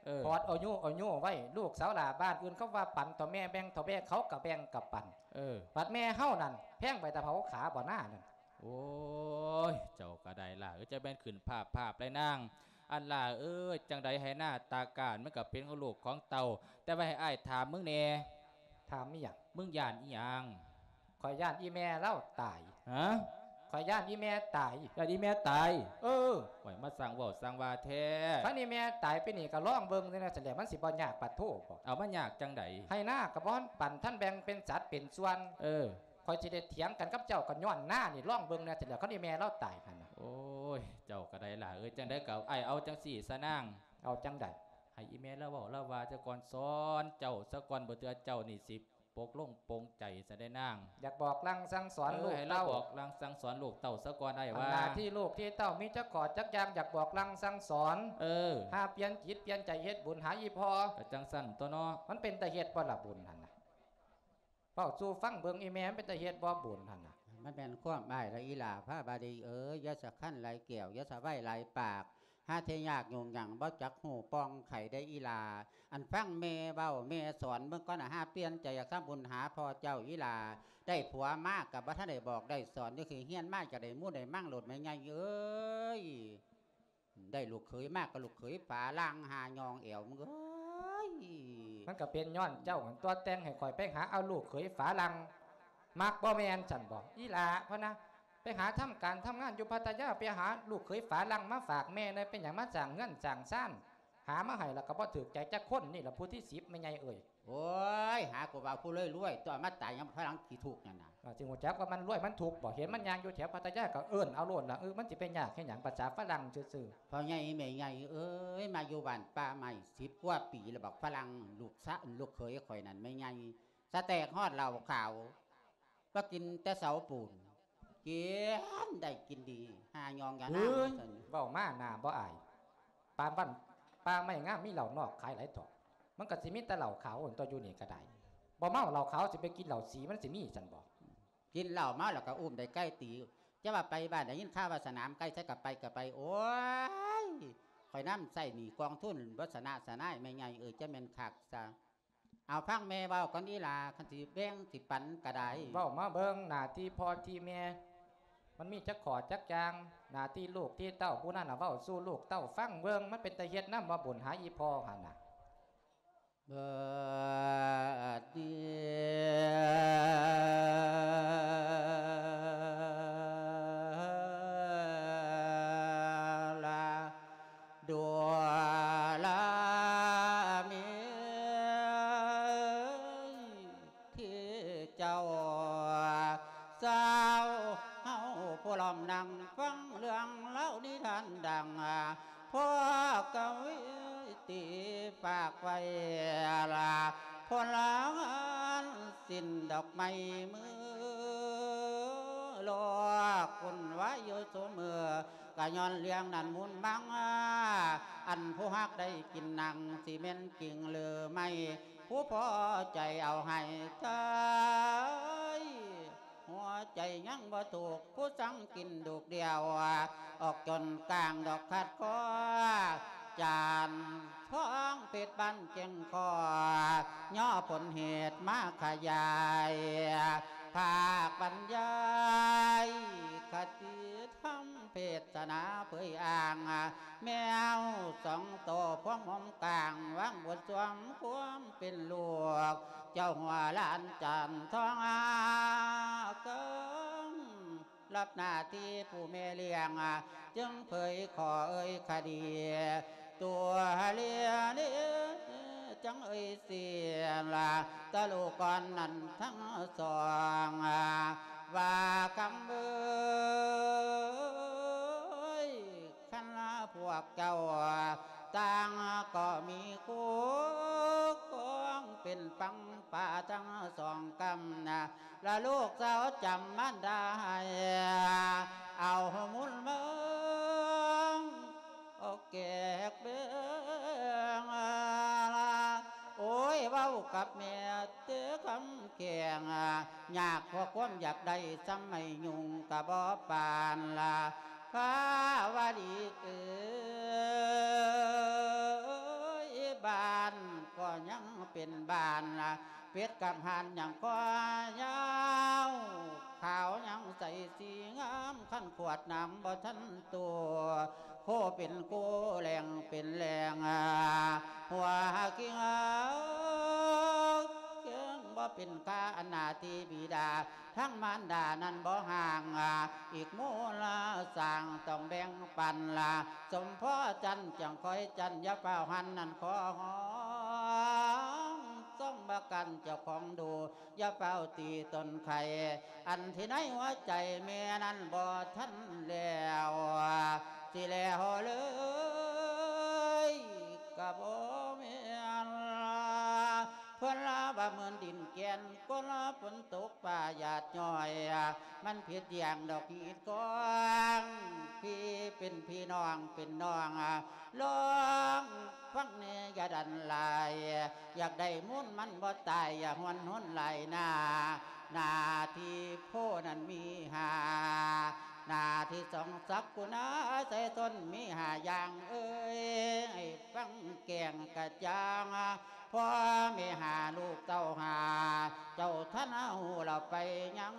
ເອີ ຂອດເອົາໂຍເອົາໂຍໄວ້ ລູກສາວຫຼ້າບ້ານອື່ນເຂົາວ່າປັນ ເຖົ້າແມ່ແບ່ງ ເຖົ້າແມ່ເຂົາກະແບ່ງກະປັນ. ເອີ ບັດແມ່ເຮົານັ້ນແພງໄປຕາເຜົາຂາບໍ່ນານັ້ນ. ໂອ້ຍ ເຈົ້າກະໄດ້ຫຼ້າເອີຍ ຈະແມ່ນຂຶ້ນພາບພາບໄລນາງ. ອັນຫຼ້າເອີຍ ຈັ່ງໃດໃຫ້ນາຕາການມັນກະເປັນຂອງລູກຂອງເຕົ້າ ແຕ່ວ່າໃຫ້ອ້າຍຖາມມຶງແດ່. ຖາມອີ່ຫຍັງ? ມຶງຢ້ານອີ່ຫຍັງ? ຂ້ອຍຢ້ານອີ່ແມ່ລາວຕາຍ. ຮະ? ຂ້ອຍຢ້ານອີ່ແມ່ຕາຍ. ຢ້ານອີ່ແມ່ຕາຍ? ເອີ ໂອ້ຍ ມາສ້າງເວົ້າສ້າງວ່າແທ້. ຄັນອີ່ແມ່ຕາຍໄປນີ້ກະລອງເບິ່ງແດ່ຊັ້ນແຫຼະ ມັນຊິບໍ່ຍາກປາດໂທບໍ? ເອົາ ມັນຍາກຈັ່ງໃດ? ໄຮ່ນາກະບໍ່ທັນປັນ ທັນແບ່ງເປັນສັດເປັນສ່ວນ. ເອີ ຂ້ອຍຊິໄດ້ຖຽງກັນກັບເຈົ້າກໍຍ້ອນນານີ້ ລອງເບິ່ງແດ່ຊັ້ນແຫຼະ ຄັນອີ່ແມ່ລາວຕາຍຫັ້ນນະ. ໂອ້ຍ ເຈົ້າກໍໄດ້ຫຼ້າເອີຍ ຈັ່ງໃດກໍອ້າຍເອົາຈັ່ງຊີ້ຊະນາງ. ເອົາຈັ່ງໃດ? ໃຫ້ອີ່ແມ່ລາວເວົ້າລາວວ່າຊະກ່ອນ ສອນເຈົ້າຊະກ່ອນ ບໍ່ເທື່ອເຈົ້ານີ້ຊິປົກລົງປົງໃຈຊະເດ້ນາງ. ຢາກບອກລາງສັ່ງສອນ ເອີ ລູກເຕົ້າ ໃຫ້ລາວບອກລາງສັ່ງສອນລູກເຕົ້າຊະກ່ອນ ອ້າຍວ່າ. ໜ້າທີ່ລູກທີ່ເຕົ້າມີຈັກຂໍ້ຈັກຢ່າງ ຢາກບອກລາງສັ່ງສອນ. ເອີ ຫາປ່ຽນຈິດປ່ຽນໃຈເຮັດບຸນ ຫາອີ່ພໍ່. ກະຈັ່ງຊັ້ນຕົວະເນາະ. ມັນເປັນຕາເຮັດບໍ່ລະບຸນຫັ້ນນະ? ເວົ້າສູ່ຟັງເບິ່ງ ອີ່ແມ່ ມັນເປັນຕາເຮັດບໍ່ບຸນຫັ້ນນະ? ມັນແມ່ນຄວາມອ້າຍລະອີ່ຫຼ້າພາບາດີເອີຍ ຢ່າສະຄັນຫຼາຍແກ້ວ ຢ່າສະໄຫວ້ຫຼາຍປາກ. ຫາແທ້ຍາກຫຍຸ້ງຫຍັງ ບໍ່ຈັກຮູ້ປ່ອງໄຂໄດ໋ອີ່ຫຼ້າ. ອັນຟັງແມ່ເວົ້າແມ່ສອນເບິ່ງກ່ອນນະ ຫາປ່ຽນໃຈຢາກທຳບຸນຫາພໍ່ເຈົ້າອີ່ຫຼ້າ. ໄດ້ຜົວມາກໍບໍ່ທັນໄດ້ບອກໄດ້ສອນ ຢູ່ຄືຮຽນມາຈະໄດ້ມູນໄດ້ມັງໂລດແມ່ໃຫຍ່ເອີຍ. ໄດ້ລູກເຂີຍມາກໍລູກເຂີຍຝຣັ່ງ ຫາຍອງແອວ ມຶງເອີຍ. ມັນກໍເປັນຍ້ອນເຈົ້າຫັ້ນຕົວະ ແຕ່ງໃຫ້ຂ້ອຍໄປຫາເອົາລູກເຂີຍຝຣັ່ງ. ມັກບໍ່ແມ່ນຊັ້ນບໍ່ ອີ່ຫຼ້າ ພະນະ? ໄປຫາທຳການທຳງານຢູ່ພັດທະຍາ ໄປຫາລູກເຂີຍຝຣັ່ງມາຝາກແມ່ແດ່. ເປັນຫຍັງມາສ້າງເຮືອນສ້າງຊານ ຫາມາໃຫ້ແລ້ວກໍບໍ່ຖືກໃຈຈັກຄົນ. ນີ້ລະຜູ້ທີສິບ ແມ່ໃຫຍ່ເອີຍ. ໂອ້ຍ ຫາກໍວ່າຜູ້ລວຍໆ ຕົວະ ມາຕາຍຍາມຝຣັ່ງຂີ້ທຸກນັ້ນນະ. ເອີ ຈຶ່ງຮູ້ຈັກວ່າມັນລວຍມັນທຸກບໍ? ເຫັນມັນຍ່າງຢູ່ແຖວພັດທະຍາກໍເອີ້ນເອົາໂລດລະ. ເອີ ມັນຊິໄປຍາກເຮັດຫຍັງ ປະສາຝຣັ່ງຊື່ໆ. ພໍ່ໃຫຍ່ແມ່ໃຫຍ່ເອີຍ ມາຢູ່ບ້ານປ່າໄມ້ສິບກວ່າປີແລ້ວ ບັກຝຣັ່ງລູກຊະ ລູກເຂີຍຂ້ອຍນັ້ນແມ່ໃຫຍ່ ສະແຕກຮອດເຫຼົ້າຂາວ ບໍ່ກິນແຕ່ເສົາປູນ ກິນໄດ້ກິນດີ ຫາຍອງຢານາງ. ເອີຍ ເວົ້າມາໜ້າບໍ່ອາຍ. ປ່າບ້ານປ່າໄມ້ງາມ ມີເຫຼົ້ານອກຂາຍຫຼາຍເຖາະ. ມັນກໍຊິມີແຕ່ເຫຼົ້າຂາວຫັ້ນຕົວະ ຢູ່ນີ້ກໍໄດ້. ບໍ່ເມົາເຫຼົ້າຂາວ ຊິໄປກິນເຫຼົ້າສີ ມັນຊິມີຊັ້ນບໍ? ກິນເຫຼົ້າເມົາແລ້ວກໍອຸ້ມໄດ້ໄກ່ຕີ. ຈະວ່າໄປບ້ານ ໄດ້ຍິນຂ່າວວ່າສະໜາມໄກ່ ໃສກໍໄປກໍໄປ. ໂອ້ຍ ຂ້ອຍນຳໃຊ້ໜີ້ກອງທຶນ ບໍ່ຊະນະຊະນາຍ ແມ່ໃຫຍ່ເອີຍ ຈະແມ່ນຄັກຊະ. ເອົາ ຟັງແມ່ເວົ້າກ່ອນອີ່ຫຼ້າ ຄັນຊິແບ່ງຊິປັນກໍໄດ້. ເວົ້າມາເບິ່ງ ໜ້າທີ່ພໍ່ທີ່ແມ່ ມັນມີຈັກຂໍ້ຈັກຢ່າງ? ໜ້າທີ່ລູກທີ່ເຕົ້າ ຜູ້ນັ້ນນະເວົ້າສູ່ລູກເຕົ້າຟັງເບິ່ງ ມັນເປັນຕາເຮັດນຳບໍ່ ບຸນຫາອີ່ພໍ່ຫັ້ນນະ. ເບີດດີລາ ດູລາມີທີ່ເຈົ້າສາວເຮົາ ຜູ້ລ້ອມນັ່ງຟັງເລື່ອງເລົ່ານິທານດັງ ພວກກະວີຕີຝາກໄວ້ລະ ພົນລະງານສິ້ນດອກໄມ້ມືລອກ ວຸ່ນວາຍຢູ່ຊຸມື້ ກະຍ້ອນເລື່ອງນັ້ນມຸນມັງ ອັນຜູ້ຮັກໄດ້ກິນໜັງ ຊິແມ່ນຈິງຫຼືໄມ່ ຜູ້ພໍໃຈເອົາໃຫ້ເທີຍ ຫົວໃຈຍັງບໍ່ທຸກ ຜູ້ສັງກິນດູກດຽວ ອອກຈົນກາງດອກຂາດຄໍ ຈານທອງເພັດບ້ານແກ່ງຄໍ ຍໍຜົນເຫດມາຂະຫຍາຍ ພາກບັນຍາຍຄະຕິທຳ ເທດສະໜາເຜີຍອ້າງ ແມວສອງໂຕພວມຫົວມກາງ ວາງບົດສວມຄວາມເປັນລູກ ເຈົ້າຫົວຫຼານຈານທອງອາເກີງ ຮັບໜ້າທີ່ຜູ້ແມ່ລ້ຽງ ຈຶ່ງເຜີຍຂໍເອີຍຄະດີ ຕົວເລເລ ຈັ່ງເອີຍເສຍລະ ຕະລູກກ່ອນນັ້ນທັງສອງ ວ່າຄຳເອີຍ ຄັນລະພວກເຈົ້າຕ່າງກໍມີຄູ່ຄອງ ເປັນຝັ່ງປ່າທັງສອງກຳນະ ລະລູກສາວຈຳມານດາໃຫ້ ເອົາມຸນເມືອງ ອອກແກກເບິ່ງ ໂອ້ຍ ເວົ້າກັບແມ່ເຕີຄຳແຂງ ຍາກເພາະຄວາມຢາກໄດ້ ສ່ຳໄມ້ຍຸງກະບໍ່ປານລະ ພາວະດີເອີຍ ບ້ານກໍຍັງເປັນບ້ານລະ ເປັດກັບຫ່ານຍັງຄອຍາວ ຂາວຍັງໃສສີງາມ ຄັນຂວດນ້ຳບໍ່ທັນໂຕ ໂຄເປັນໂຄແຫຼງເປັນແຫຼງ ຫົວກິງເອີຍ ເກີງບໍ່ເປັນຄ່າ ອັນໜ້າທີ່ບິດາ ທັງມານດານັ້ນບໍ່ຫ່າງ ອີກມູນລະສ້າງຕ້ອງແບ່ງປັນລະ ສົມພໍຈັນຈັ່ງຄອຍຈັນ ຢ່າຟ້າວຫັນນັ້ນຂໍຮ້ອງ ຊ່ອງບາກັນເຈົ້າຂອງດູ ຢ່າຟ້າວຕີຕົ້ນໄຂ່ ອັນທີ່ໃນຫົວໃຈແມ່ນັ້ນບໍ່ທັນແລ້ວ ຊິແລ້ວເລີຍກະບໍ່ແມ່ນ ເພິ່ນລາວ່າເໝືອນດິນແກ່ນ ຄົນລາຝົນຕົກຟ້າຫຍາດຍ້ອຍ ມັນຜິດຢ່າງດອກຮີດຄອງ ພີ່ເປັນພີ່ ນ້ອງເປັນນ້ອງ ລອງຟັງແດ່ຢ່າດັນຫຼາຍ ຢາກໄດ້ມູນມັນບໍ່ຕາຍ ຢ່າຫວນຫົນຫຼາຍໜ້າ ໜ້າທີ່ໂພນັ້ນມີຫາ ໜ້າທີ່ສອງສັກຄຸນນາໄຊຊົນມີຫ້າຢ່າງເອີຍ ໃຫ້ຟັງແຈ້ງກະຈ່າງ ພໍ່ແມ່ຫ້າລູກເຕົ້າຫ້າ ເຈົ້າທັນຮູ້ລະໄປຍັງ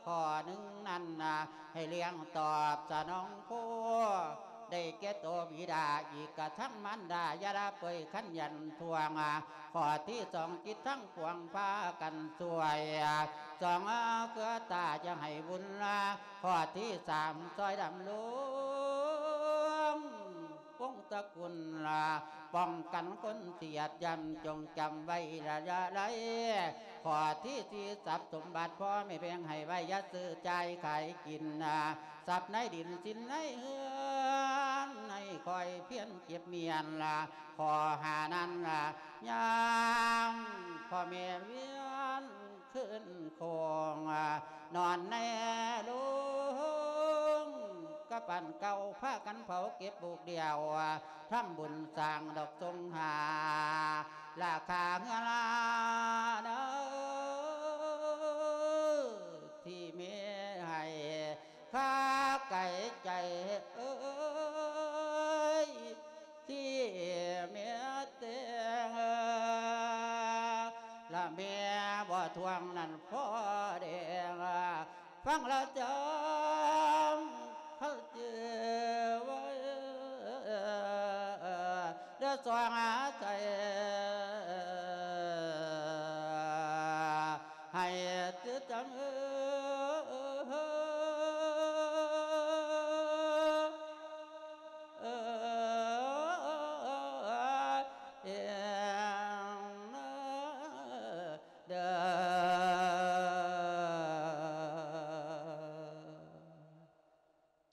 ຂໍ້ໜຶ່ງນັ້ນນະ ໃຫ້ລ້ຽງຕອບສະໜອງໂພ ໄດ້ແກ່ໂຕບິດາ ອີກກະທັງມານດາ ຢ່າລະເປີຍຂັນຍັນທວງ. ຂໍ້ທີສອງ ຈິດທັງປວງພາກັນຊ່ວຍ ສອງເຄືອຕາຢ່າໃຫ້ວຸ່ນລາ. ຂໍ້ທີສາມ ຊ່ອຍດຳລົງວົງຕະກຸນລາ ປ້ອງກັນຄົນທີ່ຢາດຢຳ ຈົ່ງຈຳໄວ້ລະຢ່າໄລ. ຂໍ້ທີສີ່ ຊັບສົມບັດພໍ່ແມ່ແບ່ງໃຫ້ໄວ້ ຢ່າຊື້ຈ່າຍຂາຍກິນນາ ຊັບໃນດິນສິນໃນເຮືອນ ໃຫ້ຄອຍພຽນເກັບມ້ຽນລະ. ຂໍ້ຫ້ານັ້ນລະ ຍາມພໍ່ແມ່ວຽນຄືນໂຄງ ນອນໃນໂລງກະປານເກົ່າ ພາກັນເຜົາເກັບປູກດຽວ ທຳບຸນສ້າງດອກສົງຫາ ລາຄາເຮືອລາເດີ ທີ່ແມ່ໃຫ້ ຄາໄກໃຈເອີຍ ທີ່ແມ່ແຕ່ງ ລະແມ່ບໍ່ທວງນັ້ນພໍ່ແດງ ຟັງລະຈຳເຂົາຈື່ໄວ້ ເດີສອງອາໄສ ໃຫ້ຕື່ນຈຳເອີ ເອີ ເອີ ເອີ ເດີ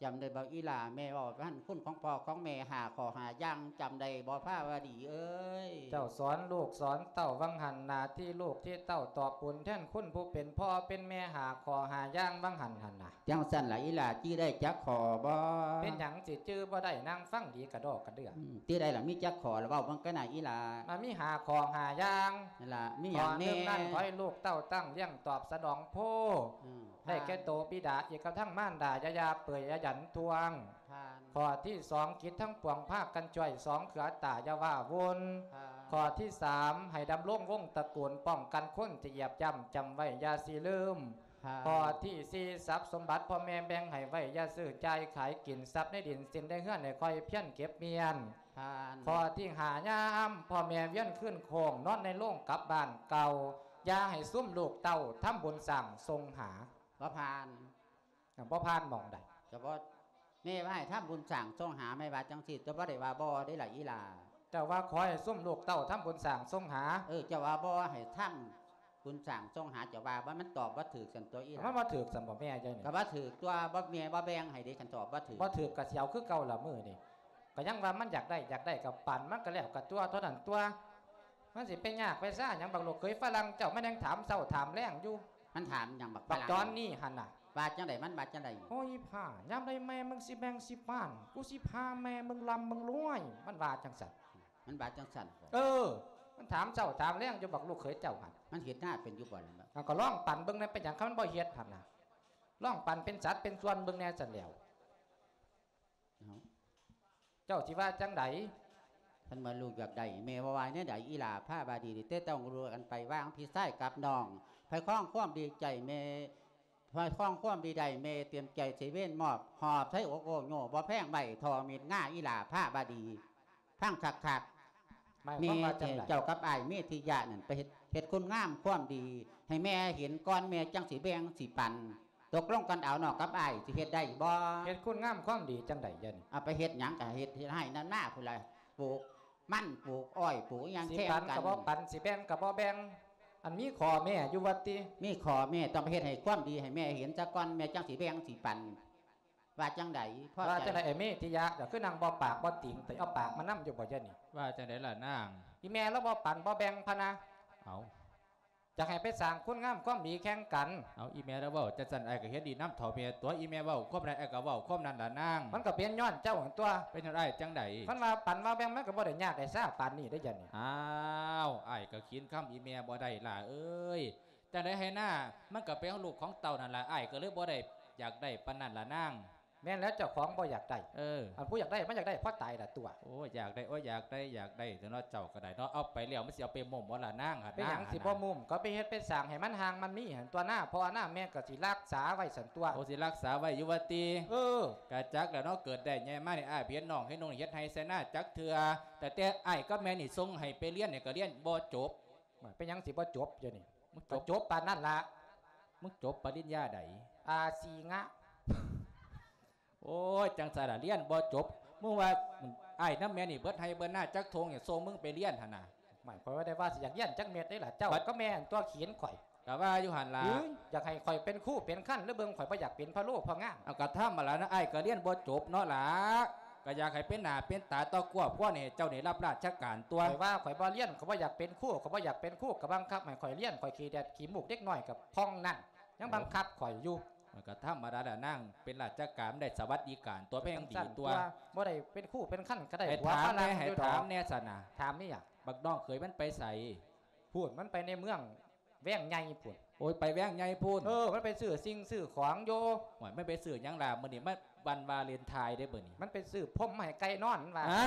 ຈຳໄດ້ບໍ່ອີ່ຫຼ້າ ແມ່ເວົ້າພັນຄຸນຂອງພໍ່ຂອງແມ່ຫ້າຂໍ້ຫ້າຢ່າງ ຈຳໄດ້ບໍ່ພາວະດີເອີຍ? ເຈົ້າສອນລູກສອນເຕົ້າວັງຫັ້ນ ໜ້າທີ່ລູກທີ່ເຕົ້າຕອບບຸນແທນຄຸນຜູ້ເປັນພໍ່ເປັນແມ່ຫ້າຂໍ້ຫ້າຢ່າງວັງຫັ້ນຫັ້ນນະ. ຈັ່ງຊັ້ນລະອີ່ຫຼ້າ ຈື່ໄດ້ຈັກຂໍ້ບໍ່? ເປັນຫຍັງຊິຈື່ບໍ່ໄດ້ ນັ່ງຟັງດີກະດໍກະເດືອ. ອືມ ຈື່ໄດ້ລະ ມີຈັກຂໍ້ລະ ເວົ້າເບິ່ງກະນະອີ່ຫຼ້າ. ມັນມີຫ້າຂໍ້ຫ້າຢ່າງ. ນັ້ນລະ ມີຫຍັງແດ່? ຂໍ້ໜຶ່ງນັ້ນ ຂໍໃຫ້ລູກເຕົ້າຕັ້ງລ້ຽງຕອບສະໜອງໂພ ອືມ ໄດ້ແກ່ໂຕບິດາ ອີກກະທັງມານດາ ຢ່າ ຢ່າເປີຍຢ່າຢັນທວງ. ຜ່ານ. ຂໍ້ທີສອງ ຈິດທັງປວງພາກັນຊ່ວຍ ສອງເຄືອຕາຢ່າວ່າວຸ່ນ. ຜ່ານ. ຂໍ້ທີສາມ ໃຫ້ດຳລົງວົງຕະກຸນ ປ້ອງກັນຄົນຈະຢຽບຢ່ຳ ຈຳໄວ້ຢ່າຊິລືມ. ຜ່ານ. ຂໍ້ທີສີ່ ຊັບສົມບັດພໍ່ແມ່ແບ່ງໃຫ້ໄວ້ ຢ່າຊື້ຈ່າຍຂາຍກິນ ຊັບໃນດິນສິນໃນເຮືອນ ໃຫ້ຄອຍພຽນເກັບມ້ຽນ. ຜ່ານ. ຂໍ້ທີຫ້າ ຍາມພໍ່ແມ່ວຽນຄືນໂຄ້ງ ນອນໃນໂລງກັບບ້ານເກົ່າ ຢ່າໃຫ້ຊຸມລູກເຕົ້າ ທຳບຸນສ້າງສົ່ງຫາ. ບໍ່ຜ່ານ. ອ່າ ບໍ່ຜ່ານໝ່ອງໃດ? ກະບໍ່ ແມ່ວ່າໃຫ້ທຳບຸນສ້າງສົ່ງຫາ ແມ່ວ່າຈັ່ງຊີ້ ແຕ່ບໍ່ໄດ້ວ່າບໍ່ເດ້ລະອີ່ຫຼ້າ. ເຈົ້າວ່າຂໍໃຫ້ຊຸມລູກເຕົ້າທຳບຸນສ້າງສົ່ງຫາ. ເອີ ເຈົ້າວ່າບໍ່ໃຫ້ທຳບຸນສ້າງສົ່ງຫາ ເຈົ້າວ່າ ມັນຕອບບໍ່ຖືກຊັ້ນຕົວະອີ່ຫຼ້າ. ມັນບໍ່ຖືກຊັ້ນບໍ່ແມ່ເຈົ້ານີ້? ກະບໍ່ຖືກຕົວະ ບໍ່ ແມ່ບໍ່ແບ່ງໃຫ້ເດ້ ຄັນຕອບບໍ່ຖືກ. ບໍ່ຖືກກະຊິເອົາຄືເກົ່າລະມື້ນີ້ ກະຍັງວ່າມັນຢາກໄດ້ ຢາກໄດ້ກະປັນມັນກະແລ້ວກະຕົວະ ເທົ່ານັ້ນຕົວະ. ມັນຊິໄປຍາກໄປຊາຫຍັງ ບັກລູກເຂີຍຝຣັ່ງເຈົ້າ ມັນຍັງຖາມເຊົ້າຖາມແລງຢູ່. ມັນຖາມຫຍັງບັກຝຣັ່ງ? ບັກຈອນນີ້ຫັ້ນນະ. ວ່າຈັ່ງໃດ? ມັນວ່າຈັ່ງໃດ? ໂອ້ຍ ອີ່ພ້າ ຍາມໃດແມ່ມຶງຊິແບ່ງຊິປານ ກູຊິພາແມ່ມຶງລ່ຳມຶງລວຍ ມັນວ່າຈັ່ງຊັ້ນ. ມັນວ່າຈັ່ງຊັ້ນບໍ? ເອີ ມັນຖາມເຊົ້າຖາມແລງຢູ່ ບັກລູກເຂີຍເຈົ້າຫັ້ນ. ມັນເຮັດນາເປັນຢູ່ບໍ່ລະ? ເອົາ ກະລອງປັນເບິ່ງແດ່ ເປັນຫຍັງ ຄັນມັນບໍ່ເຮັດຫັ້ນນະ ລອງປັນເປັນສັດເປັນສ່ວນເບິ່ງແດ່ຊັ້ນແລ້ວ. ເອົາ ເຈົ້າຊິວ່າຈັ່ງໃດ? ຄັນວ່າລູກຢາກໄດ້ ແມ່ບໍ່ວ່າແນວໃດ ອີ່ຫຼ້າພາບາດີ ແຕ່ຕ້ອງຮູ້ກັນໄປ ວ່າພີ່ຊາຍກັບນ້ອງ ໃຜຄອງຄວາມດີໃຈແມ່ ໃຜຄອງຄວາມດີໃດ ແມ່ຕຽມໃຈຊິເວນມອບ ຫອບໃສ່ອົກໂອ້ໂຍ ບໍ່ແພງໄວ້ທໍ່ມີດງາ ອີ່ຫຼ້າພາບາດີ. ຟັງຄັກໆ ໝາຍຄວາມວ່າຈັ່ງໃດ? ແມ່ເຈົ້າກັບອ້າຍເມທິຍະນັ້ນ ໄປເຮັດ ເຮັດຄຸນງາມຄວາມດີໃຫ້ແມ່ເຫັນກ່ອນ ແມ່ຈັ່ງຊິແບ່ງຊິປັນ. ຕົກລົງກັນເອົາ ນ້ອງກັບອ້າຍຊິເຮັດໄດ້ບໍ່? ເຮັດຄຸນງາມຄວາມດີຈັ່ງໃດດຽວນີ້? ເອົາ ໄປເຮັດຫຍັງກະເຮັດ ເຮັດໄຮ່ນຳນາພຸ້ນລະ ປູກມັນ ປູກອ້ອຍ ປູກອີ່ຫຍັງແຂ່ງກັນ. ຊິປັນກະບໍ່ປັນ ຊິແບ່ງກະບໍ່ແບ່ງ ອັນມີຂໍ້ແມ້ຢູ່ວ່າຕິ? ມີຂໍ້ແມ້ ຕ້ອງໄປເຮັດໃຫ້ຄວາມດີໃຫ້ແມ່ເຫັນຊະກ່ອນ ແມ່ຈັ່ງຊິແບ່ງຊິປັນ. ວ່າຈັ່ງໃດ? ພໍໃຈ ວ່າຈັ່ງໃດ ໄອ້ເມທິຍະ? ກະຄືນັ່ງບໍ່ປາກບໍ່ຕິງ ແຕ່ເອົາປາກມານຳຢູ່ບໍ່ດຽວນີ້? ວ່າຈັ່ງໃດລະນາງ? ອີ່ແມ່ລາວບໍ່ປັນບໍ່ແບ່ງພະນະ. ເອົາ ຢາກໃຫ້ໄປສ້າງຄຸນງາມຄວາມດີແຂ່ງກັນ. ເອົາ ອີ່ແມ່ລາວເວົ້າຈັ່ງຊັ້ນ ອ້າຍກະເຫັນດີນຳເຖົ້າແມ່ຕົວະ ອີ່ແມ່ເວົ້າຄວາມໃດ ອ້າຍກະເວົ້າຄວາມນັ້ນລະນາງ. ມັນກະເປັນຍ້ອນເຈົ້າຫັ້ນຕົວະ. ເປັນຍ້ອນອ້າຍຈັ່ງໃດ? ຄັນວ່າປັນວ່າແບ່ງ ມັນກະບໍ່ໄດ້ຍາກໄດ້ຊາປານນີ້ເດ້ດຽວນີ້. ອ້າວ ອ້າຍກະຂິນຄຳອີ່ແມ່ບໍ່ໄດ້ຫຼ້າເອີຍ. ຈັ່ງໃດໃຫ້ນາ ມັນກໍເປັນຂອງລູກຂອງເຕົ້ານັ້ນລະ ອ້າຍກໍເລີຍບໍ່ໄດ້ຢາກໄດ້ປານນັ້ນລະນາງ. ແມ່ນແລ້ວ ເຈົ້າຂອງບໍ່ຢາກໄດ້ ເອີ ອັນຜູ້ຢາກໄດ້ມັນຢາກໄດ້ພໍຕາຍລະຕົວະ. ໂອ້ ຢາກໄດ້ ໂອ້ ຢາກໄດ້ ຢາກໄດ້ຕົວະເນາະ ເຈົ້າກໍໄດ້ເນາະ. ເອົາໄປແລ້ວມັນຊິເອົາໄປໝຸ້ມບໍ່ລະນາງຫັ້ນນາງ ເປັນຫຍັງຊິບໍ່ໝຸ້ມ ກໍໄປເຮັດໄປສ້າງໃຫ້ມັນຮ່າງມັນມີຫັ້ນຕົວະນາ ພໍ່ນາແມ່ກໍຊິຮັກສາໄວ້ຊັ້ນຕົວະ. ໂອ້ ຊິຮັກສາໄວ້ຢູ່ວ່າຕິ. ເອີ ກະຈັກແລ້ວເນາະ ເກີດໄດ້ໃຫຍ່ມານີ້ ອ້າຍເຫັນນ້ອງເຫັນນຸ່ງເຮັດໄຮ່ໃສ່ນາຈັກເທື່ອ ແຕ່ ແຕ່ອ້າຍກັບແມ່ນີ້ສົ່ງໃຫ້ໄປຮຽນນີ້ກໍຮຽນບໍ່ຈົບ. ເປັນຫຍັງຊິບໍ່ຈົບຢູ່ນີ້ ມັນຈົບ ກໍຈົບປານນັ້ນລະ. ມຶງຈົບປະລິນຍາໃດ? ອາຊີງະ. ໂອ້ຍ ຈັ່ງຊັ້ນລະ ຮຽນບໍ່ຈົບ. ມຶງວ່າອ້າຍນຳແມ່ນີ້ເບິດໄຮ່ເບິດນາຈັກທົ່ງ ຍັງສົ່ງມຶງໄປຮຽນຫັ້ນນະ. ໝາຍຄວາມວ່າໄດ້ວ່າຊິຢາກຮຽນຈັກເມັດເດ້ລະ ເຈົ້າກັບແມ່ອັນຕົວະຂີນຂ້ອຍ ກໍວ່າຢູ່ຫັ້ນລະ. ຢາກໃຫ້ຂ້ອຍເປັນຄູເປັນຄັນ ຫຼືເບິ່ງຂ້ອຍບໍ່ຢາກເປັນພະໂລ້ພໍ່ງາມ. ເອົາ ກໍທຳມະດານະ ອ້າຍກໍຮຽນບໍ່ຈົບເນາະລະ ກໍຢາກໃຫ້ເປັນໜ້າເປັນຕາຕໍ່ຄອບຄົວນີ້ ໃຫ້ເຈົ້ານີ້ຮັບລາຊະການຕົວະ. ຂ້ອຍວ່າຂ້ອຍບໍ່ຮຽນ ຂ້ອຍບໍ່ຢາກເປັນຄູ ຂ້ອຍບໍ່ຢາກເປັນຄູ ກໍບັງຄັບໃຫ້ຂ້ອຍຮຽນ ຂ້ອຍຂີ້ແດດຂີ້ມູກເດັກນ້ອຍກໍຜ່ອງນັ້ນ ຍັງບັງຄັບຂ້ອຍຢູ່. ມັນກໍທຳມະດາແຫຼະນາງ ເປັນລາຊະການໄດ້ສະຫວັດດີການຕົວະ ແພງດີຕົວະ. ບໍ່ໄດ້ເປັນຄູເປັນຄັນກໍໄດ້ ໃຫ້ຖາມແດ່ ໃຫ້ຖາມແດ່ຊັ້ນນະ. ຖາມອີ່ຫຍັງ? ບັກນ້ອງເຂີຍມັນໄປໃສ? ພຸ້ນ ມັນໄປໃນເມືອງ ແວງໃຫຍ່ພຸ້ນ. ໂອ້ຍ ໄປແວງໃຫຍ່ພຸ້ນ. ເອີ ມັນໄປຊື້ສິ່ງຊື້ຂອງຢູ່. ໂອ້ຍ ມັນໄປຊື້ຫຍັງລະ? ມື້ນີ້ມັນວັນວາເລນທາຍເດ້ມື້ນີ້. ມັນໄປຊື້ພົມມາໃຫ້ໄກ່ນອນ ມັນວ່າ. ຮະ?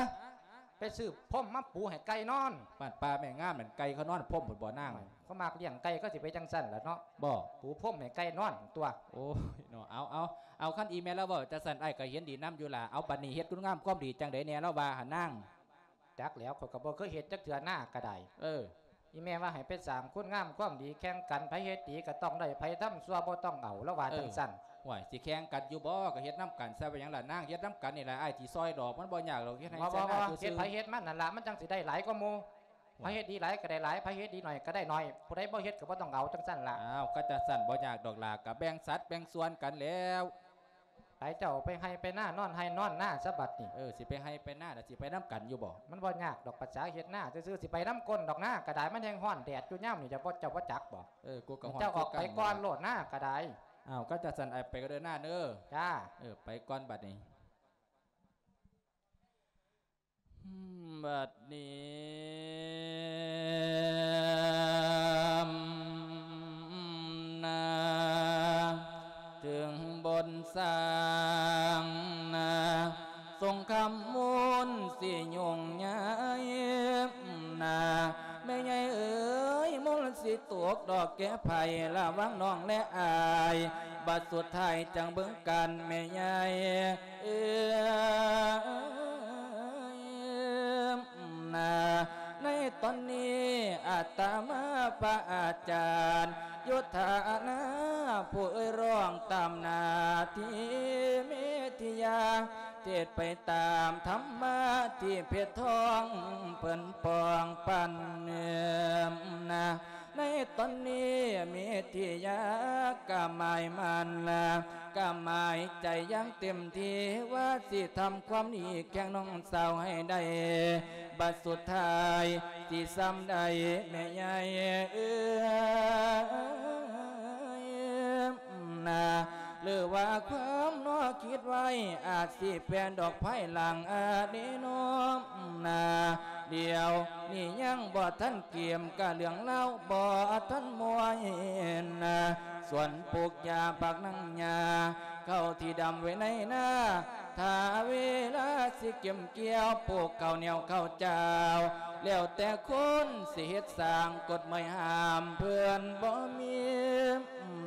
ໄປຊື້ພົມມາປູໃຫ້ໄກ່ນອນ. ບ້ານປ່າແມ່ງາມນັ້ນ ໄກ່ເຂົານອນພົມພຸ້ນບໍ່ນາງ? ເຂົາມັກລ້ຽງໄກ່ ເຂົາຊິໄປຈັ່ງຊັ້ນລະເນາະ. ບໍ່ ປູພົມໃຫ້ໄກ່ນອນຕົວະ. ໂອ້ຍເນາະ ເອົາ ເອົາ ເອົາ ຄັນອີ່ແມ່ລາວເວົ້າຈັ່ງຊັ້ນ ອ້າຍກໍເຫັນດີນຳຢູ່ລະ. ເອົາ ບັດນີ້ເຮັດຄຸນງາມຄວາມດີຈັ່ງໃດແດ່ລາວວ່າຫັ້ນນາງ? ຈັກແຫຼ້ວ ຂ້ອຍກໍບໍ່ເຄີຍເຮັດຈັກເທື່ອ ນາກໍໄດ້. ເອີ ອີ່ແມ່ວ່າໃຫ້ໄປສ້າງຄຸນງາມຄວາມດີແຂ່ງກັນ ໃຜເຮັດດີກໍຕ້ອງໄດ້ ໃຜທຳຊົ່ວບໍ່ຕ້ອງເອົາ ລາວວ່າ ເອີ ຈັ່ງຊັ້ນ. ຫ້ວຍ ຊິແຂ່ງກັນຢູ່ບໍ່? ກໍເຮັດນຳກັນຊະ ເປັນຫຍັງລະນາງ? ເຮັດນຳກັນນີ້ລະ ອ້າຍຊິຊ່ອຍດອກ ມັນບໍ່ຍາກດອກ ເຮັດໃຫ້ຊະນາຊື່ໆ. ເຮັດໃຜເຮັດມັນນັ້ນລະ ມັນຈັ່ງຊິໄດ້ຫຼາຍກວ່າໝູ່. ໃຜເຮັດດີຫຼາຍກໍໄດ້ຫຼາຍ ໃຜເຮັດດີໜ້ອຍກໍໄດ້ໜ້ອຍ ຜູ້ໃດບໍ່ເຮັດກໍບໍ່ຕ້ອງເອົາ ຈັ່ງຊັ້ນລະ. ອ້າວ ກໍຈັ່ງຊັ້ນບໍ່ຍາກດອກຫຼ້າ ກໍແບ່ງສັດແບ່ງສ່ວນກັນແລ້ວ. ໄປ ເຈົ້າໄປໄຮ່ໄປນາ ນອນໄຮ່ນອນນາຊະບັດນີ້. ເອີ ຊິໄປໄຮ່ໄປນາລະ ຊິໄປນຳກັນຢູ່ບໍ່? ມັນບໍ່ຍາກດອກ ພາສາເຮັດນາຊື່ໆ ຊິໄປນຳກົ້ນດອກ ນາກໍໄດ້ ມັນແຮ່ງຮ້ອນແດດຢູ່ຍາມນີ້ ເຈົ້າບໍ່ ເຈົ້າບໍ່ຈັກບໍ່? ເອີ ກູກໍຮ້ອນ ເຈົ້າອອກໄປກ່ອນໂລດ ນາກໍໄດ້. ອ້າວ ກໍຈັ່ງຊັ້ນ ອ້າຍໄປກໍເດີນາເດີ. ຈ້າ. ເອີ ໄປກ່ອນບັດນີ້. ບັດນີ້ນາ ເຖິງບົນສ້າງນາ ສົງຄາມມູນຊິຫຍຸ້ງໃຫຍ່ນາ ແມ່ໃຫຍ່ເອີຍ ມູນຊິຕົກດອກແກ່ໃຜ ລະວັງນ້ອງແລອ້າຍ ບັດສຸດທ້າຍຈັ່ງເບິ່ງກັນແມ່ໃຫຍ່ເອີຍ. ນາ ໃນຕອນນີ້ອາດຕະມາພະອາຈານ ໂຍທານາ ຜູ້ເອີ່ຍຮ້ອງຕາມໜ້າທີ່ເມທິຍາ ເທດໄປຕາມທຳມະທີ່ເພັດທອງເພິ່ນປອງປັນນາ. ໃນຕອນນີ້ເມທິຍາກະໝາຍໝັ້ນລະ ກະໝາຍໃຈຢ່າງເຕັມທີ່ ວ່າຊິທຳຄວາມດີແຂ່ງນ້ອງສາວໃຫ້ໄດ້ ບັດສຸດທ້າຍຊິຊ່ຳໄດ້ແມ່ໃຫຍ່ເອີຍນາ. ຫຼືວ່າຄວາມນອກຄິດໄວ້ ອາດຊິແປດອກພາຍຫຼັງອະດີໂນນາ. ດຽວນີ້ຍັງບໍ່ທັນກຽມ ກະເລື່ອງລາວບໍ່ທັນມ່ວນນາ. ສວນປູກຢາບັກນາງຫຍ້າ ເຂົ້າທີ່ດຳໄວ້ໃນນາ ຖ້າເວລາຊິເກັບກ່ຽວ ປູກເຂົ້າໜຽວເຂົ້າເຈົ້າ ແລ້ວແຕ່ຄົນຊິເຮັດສ້າງ ກົດໝາຍຫ້າມເພິ່ນບໍ່ມີ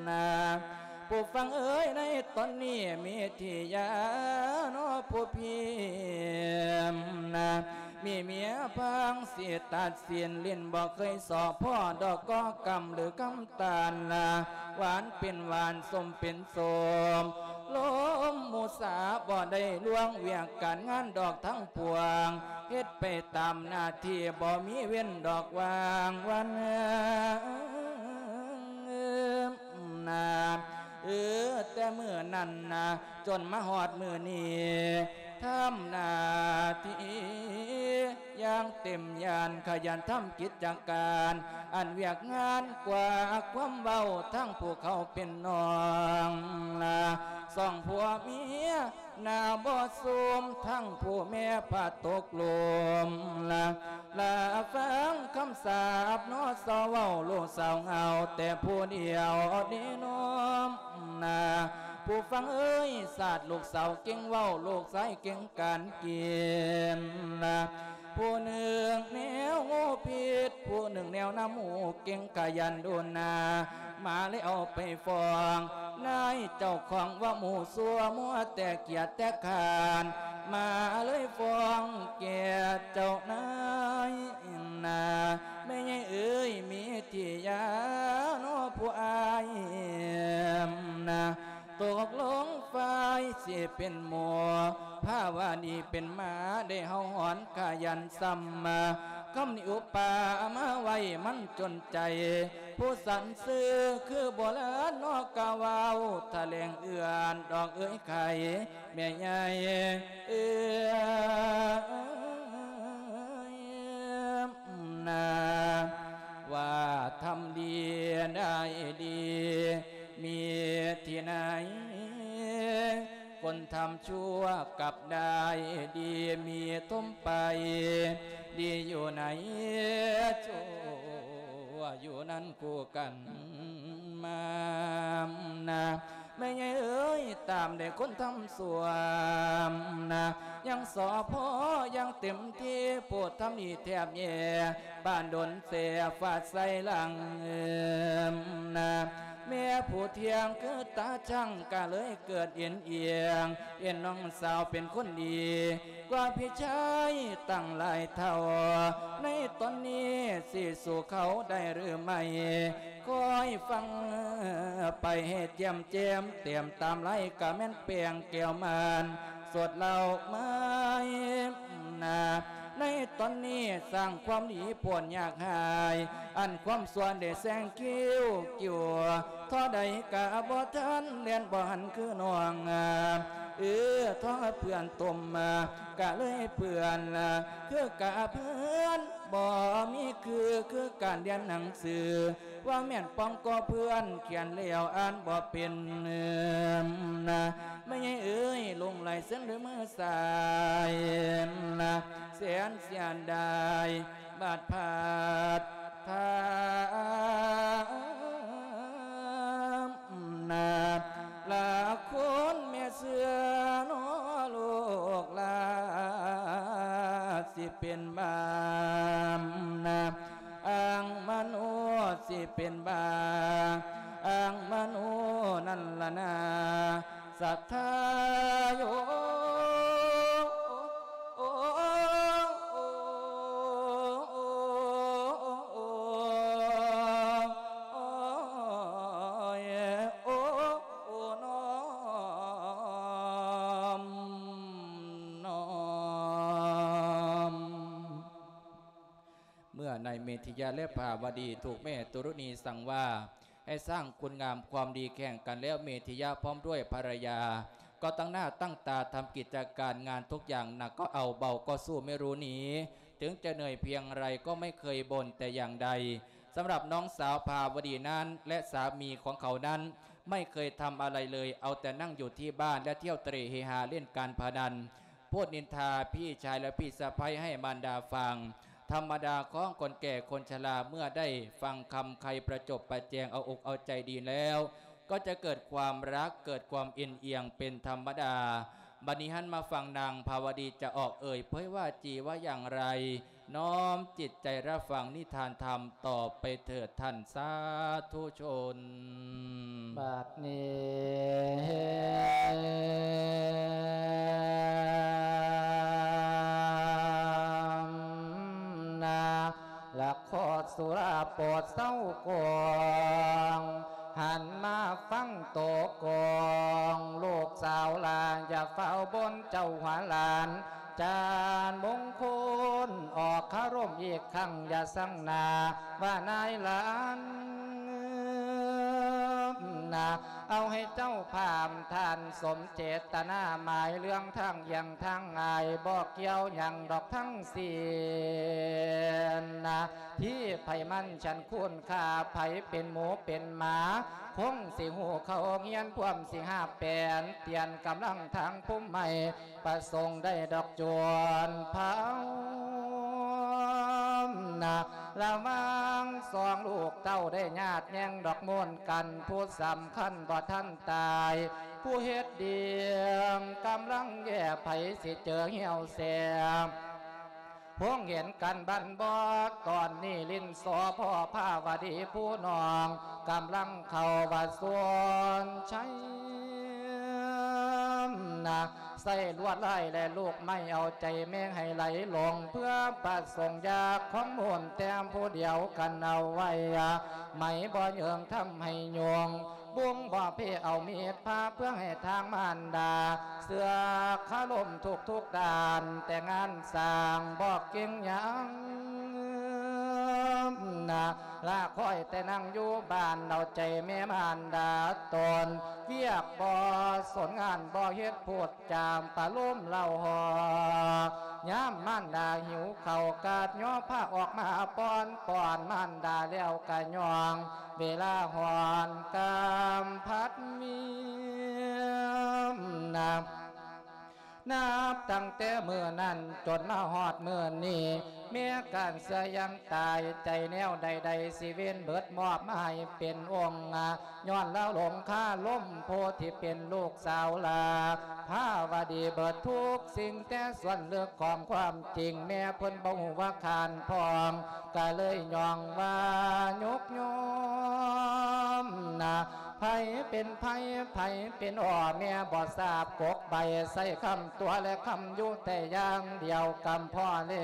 ນາ. ຜູ້ຟັງເອີຍ ໃນຕອນນີ້ເມທິຍາເນາະ ຜູ້ພິມນາ ມີເມຍພັງສິຕັດສິນ ຫຼິ້ນບໍ່ເຄີຍສໍ້ພໍ້ດອກກໍກຳ ຫຼືກຳຕານລະ ຫວານເປັນຫວານ ສົ້ມເປັນສົ້ມ ລົມມຸສາບໍ່ໄດ້ລ່ວງ ວຽກການງານດອກທັງປວງ ເຮັດໄປຕາມໜ້າທີ່ ບໍ່ມີເວັ້ນດອກວ່າງວັນນາ. ເອີ ແຕ່ມື້ນັ້ນນາ ຈົນມາຮອດມື້ນີ້ ທຳໜ້າທີ່ຢ່າງເຕັມຍານ ຂະຫຍັນທຳກິດຈະການ ອັນວຽກງານກວ່າຄວາມເວົ້າ ທັງຜູ້ເຂົາເປັນນ້ອງລາ ສອງຜົວເມຍ ນາບໍ່ຊຸມທັງຜູ້ແມ່ພະຕົກລົມລະ ລະຟັງຄຳສາບນໍ ສາວເວົ້າລູກສາວເຫງົາແຕ່ຜູ້ດຽວເດນໍ ນາ ຜູ້ຟັງເອີຍ ຊາດລູກສາວເກັ່ງເວົ້າ ລູກຊາຍເກັ່ງການກິນນະ ຜູ້ໜຶ່ງແນວງູພິດ ຜູ້ໜຶ່ງແນວນ້ຳໝູ ເກັ່ງຂະຫຍັນດຸນນາ ມາແລ້ວໄປຟ້ອງນາຍເຈົ້າຂອງວ່າໝູຊົ່ວ ມົວແຕ່ກຽດແຕ່ຄ້ານ ມາເລີຍຟ້ອງແກ່ເຈົ້ານາຍນາ ແມ່ໃຫຍ່ເອີຍ ມີທີ່ຢານໍຜູ້ອ້າຍນາ ຕົກລົງຝ່າຍຊິເປັນໝູ່ ພາວະດີເປັນໝາ ໄດ້ເຫົ່າຫອນຂະຫຍັນຊ້ຳມາ ຄຳນິອຸປາມາໄວ້ມັນຈົນໃຈ ຜູ້ສັນຊື່ຄືໂບລານນໍ ກະເວົ້າຖະແຫຼງເອື້ອນດອກເອີຍໄຂ່ ແມ່ໃຫຍ່ເອີຍ ນາ ວ່າທຳດີໄດ້ດີ ມີທີ່ໃນ ຄົນທຳຊົ່ວກັບໄດ້ດີ ມີທົມໄປ ດີຢູ່ໃນຊົ່ວ ຢູ່ນັ້ນຄູ່ກັນມານາ ແມ່ໃຫຍ່ເອີຍ ຕາມໃດຄົນທຳຊົ່ວນາ ຍັງສອພໍຍັງເຕັມທີ່ ຜູ້ທຳດີແທບແຍ່ ປານດົນແສຟາດໃສ່ຫຼັງນາ ແມ່ຜູ້ທ່ຽງຄືຕາຊ່າງ ກະເລີຍເກີດເອັນອຽງ ເຫັນນ້ອງສາວເປັນຄົນດີ ກວ່າພີ່ຊາຍຕັ້ງຫຼາຍເທົ່າ ໃນຕອນນີ້ຊິສູ້ເຂົາໄດ້ຫຼືໄມ່ ຄອຍຟັງໄປໃຫ້ແຈ່ມແຈ້ມ ແຕ້ມຕາມລາຍກະແມ່ນແປ້ງແກ້ວມານ ສົດເລົ່າໄມ້ນາ ໃນຕອນນີ້ສ້າງຄວາມດີໂພດຍາກຫາຍ ອັນຄວາມຊົ່ວໄດ້ແຊງຄິ້ວກິ້ວ ທໍ່ໃດກະບໍ່ທັນ ແລ່ນບໍ່ຫັນຄືນ້ອງ ເອີ ທໍ່ເພື່ອນຕົມ ກະເລີຍເພື່ອນ ຄືກະເພື່ອນ ບໍ່ມີຄື ຄືການຮຽນໜັງສື ວ່າແມ່ນປ່ອງກໍເພື່ອນ ຂຽນແລ້ວອ່ານບໍ່ເປັນນາ ແມ່ໃຫຍ່ເອີຍ ຫຼົງໄຫຼເຊັ່ນດ້ວຍມືຊ້າຍນາ ແສນເສຍດາຍ ບາດພາດທາມນາ ລະຄົນແມ່ເຊື່ອນໍ ລູກຫຼານຊິເປັນບ້ານາ ອ້າງມະໂນຊິເປັນບ້າ ອ້າງມະໂນນັ້ນລະນາ ສັດທາໂຍ ໂອ້ ໂອ້ ໂອ້ ໂອ້ ໂອ້ ໂອ້ ນ້ອມ ນ້ອມ. ເມື່ອນາຍເມທິຍະ ແລະ ພາວະດີ ຖືກແມ່ຕຸລຸນີສັ່ງວ່າ ໃຫ້ສ້າງຄຸນງາມຄວາມດີແຂ່ງກັນແລ້ວ ເມທິຍະພ້ອມດ້ວຍພັນລະຍາ ກໍຕັ້ງໜ້າຕັ້ງຕາທຳກິດຈະການງານທຸກຢ່າງ ໜັກກໍເອົາ ເບົາກໍສູ້ເມລຸນີ ເຖິງຈະເໜື່ອຍພຽງໃດກໍໄມ່ເຄີຍບົ່ນແຕ່ຢ່າງໃດ. ສຳລັບນ້ອງສາວພາວະດີນັ້ນ ແລະ ສາມີຂອງເຂົານັ້ນ ໄມ່ເຄີຍທຳອະໄລເລີຍ ເອົາແຕ່ນັ່ງຢູ່ທີ່ບ້ານ ແລະ ທ່ຽວເຕຣເຮຮາຫຼິ້ນການພະນັນ ພູດນິນທາພີ່ຊາຍ ແລະ ພີ່ສະໃພ້ໃຫ້ມານດາຟັງ. ທຳມະດາຂອງຄົນແກ່ຄົນຊະລາ ເມື່ອໄດ້ຟັງຄຳໄຄປະຈົບປະແຈງເອົາອົກເອົາໃຈດີແລ້ວ ກໍຈະເກີດຄວາມຮັກ ເກີດຄວາມເອັນອຽງເປັນທຳມະດາ. ບັດນີ້ຫັນມາຝັ່ງນາງພາວະດີຈະອອກເອີ່ຍເຜີຍວ່າຈີວ່າຢ່າງໃດ ນ້ອມຈິດໃຈຮັບຟັງນິທານທຳຕໍ່ໄປເຖີດທ່ານສາທຸຊົນ. ບັດນີ້ນາ ລະຂໍສຸລາໂປດເຊົາກອງ ຫັນມາຟັງໂຕກອງ ລູກສາວຫຼານຢ່າຟ້າວບົນເຈົ້າຫົວຫຼານ ຈານມົງຄຸນອອກຄາລົມອີກຄັ້ງ ຢ່າຊັງໜ້າວ່ານາຍຫຼານ ນະ ເອົາໃຫ້ເຈົ້າພາມທ່ານສົມເຈດຕະນາ ໝາຍເລື່ອງທາງຢ່ຽງທາງງ່າຍ ບໍ່ກ່ຽວຫຍັງດອກທັງສິ້ນນະ ທີ່ໃຜມັນຊັ້ນຄຸນຄ່າ ໃຜເປັນໝູເປັນໝາ ຄົງຊິຮູ້ເຂົ້າຮຽນ ພວມຊິຫາແປນ ຕຽນກຳລັງທາງພູມໃໝ່ ປະສົງໄດ້ດອກຈວນພາວນາ ລະຫວ່າງສອງລູກເຕົ້າໄດ້ຍາດແຍ່ງດອກໂມນກັນ ຜູ້ສຳຄັນບໍ່ທັນຕາຍ ຜູ້ເຮັດດີກຳລັງແຍ່ ໃຜຊິເຈີຫ່ຽວແສ ພົງເຫັນກັນບັນບໍ່ ຕອນນີ້ຫຼິ້ນສໍພໍ່ພາວະດີຜູ້ນ້ອງ ກຳລັງເຂົ້າວ່າສວນໄຊນະ ໃສ່ລວດລາຍແລະລູກໄມ້ ເອົາໃຈແມ່ໃຫ້ໄຫຼຫຼົງ ເພື່ອປະສົງຢາກຂອງມູນແຕ້ມຜູ້ດຽວກັນເອົາໄວ້ ໄໝບໍ່ເຍີງທຳໃຫ້ຍົງ ບຸງບໍ່ເພເອົາມີດພາ ເພື່ອໃຫ້ທາງມານດາ ເຊື່ອຄາລົມທຸກໆດ້ານ ແຕ່ງານສ້າງບໍ່ເກັ່ງຫຍັງນະ ລາຄອຍແຕ່ນັ່ງຢູ່ບ້ານ ເອົາໃຈແມ່ມານດາຕົນ ວຽກບໍ່ສົນງານບໍ່ເຮັດ ພູດຈາມປະໂລມເລົ່າຫໍ ຍາມມານດາຫິວເຂົ້າ ກາດຍໍພາອອກມາປ້ອນ ປ້ອນມານດາແລ້ວກະຍ່ອງ ເວລາຮ້ອນກາມພັດມີນະ ນັບຕັ້ງແຕ່ມື້ນັ້ນຈົນມາຮອດມື້ນີ້ ແມ່ການເສຍຢ່າງຕາຍ ໃຈແນວໃດໆຊິເວນເບີດ ມອບໃຫ້ເປັນອົງ ຍ້ອນລາວຫຼົງຄາລົມໂພ ທີ່ເປັນລູກສາວລາພາວະດີເບີດທຸກສິ່ງ ແຕ່ສ່ວນເລິກຂອງຄວາມຈິງ ແມ່ເພິ່ນບໍ່ຮູ້ວ່າຄານພ້ອງ ກະເລີຍຍ້ອງວ່າຍົກຍອມນະ ໃຜເປັນໃຜ ໃຜເປັນພໍ່ແມ່ບໍ່ຊາບກົກໃບ ໃຊ້ຄຳຕົວະແລະຄຳຢູ່ແຕ່ຢ່າງດຽວ ກຳພໍແລ້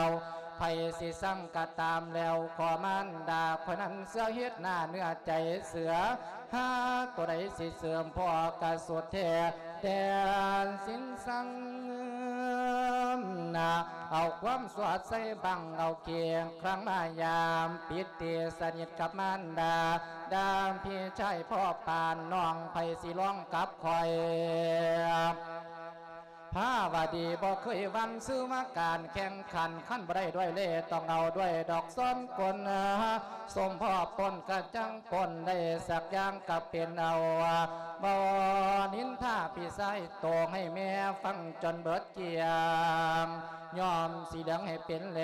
ວ ໃຜຊິຊັງກະຕາມແລ້ວ ຂໍມານດາຂ້ອຍນັ້ນເຊື່ອເຮັດໜ້າເນື້ອໃຈເສືອ ຫາຕົວໃດຊິເສີມພໍ່ກະສຸດແທ້ແດນສິນສັງນະ ເອົາຄວາມສວດໃສ່ບັງ ເອົາກຽງຄລັງມາຍາມ ປິດຕິສະໜິດກັບມານດາ ດາມພີ່ຊາຍພໍ່ປານ ນ້ອງໃຜຊິລອງກັບຂ້ອຍ ພາວະດີບໍ່ເຄີຍຫວັ່ນຊື່ວ່າການແຂ່ງຂັນ ຄັນບໍ່ໄດ້ດ້ວຍເລ່ ຕ້ອງເອົາດ້ວຍດອກຊ້ອນກົນ ສົມພໍ້ປົນກະຈັງປົນ ໄດ້ສັກຢ່າງກະເປັນເອົາ ບໍ່ນິນທາພີ່ຊາຍໂຕ ໃຫ້ແມ່ຟັງຈົນເບີດກຽງ ຍ້ອມສີເຫຼືອງໃຫ້ເປັນແລ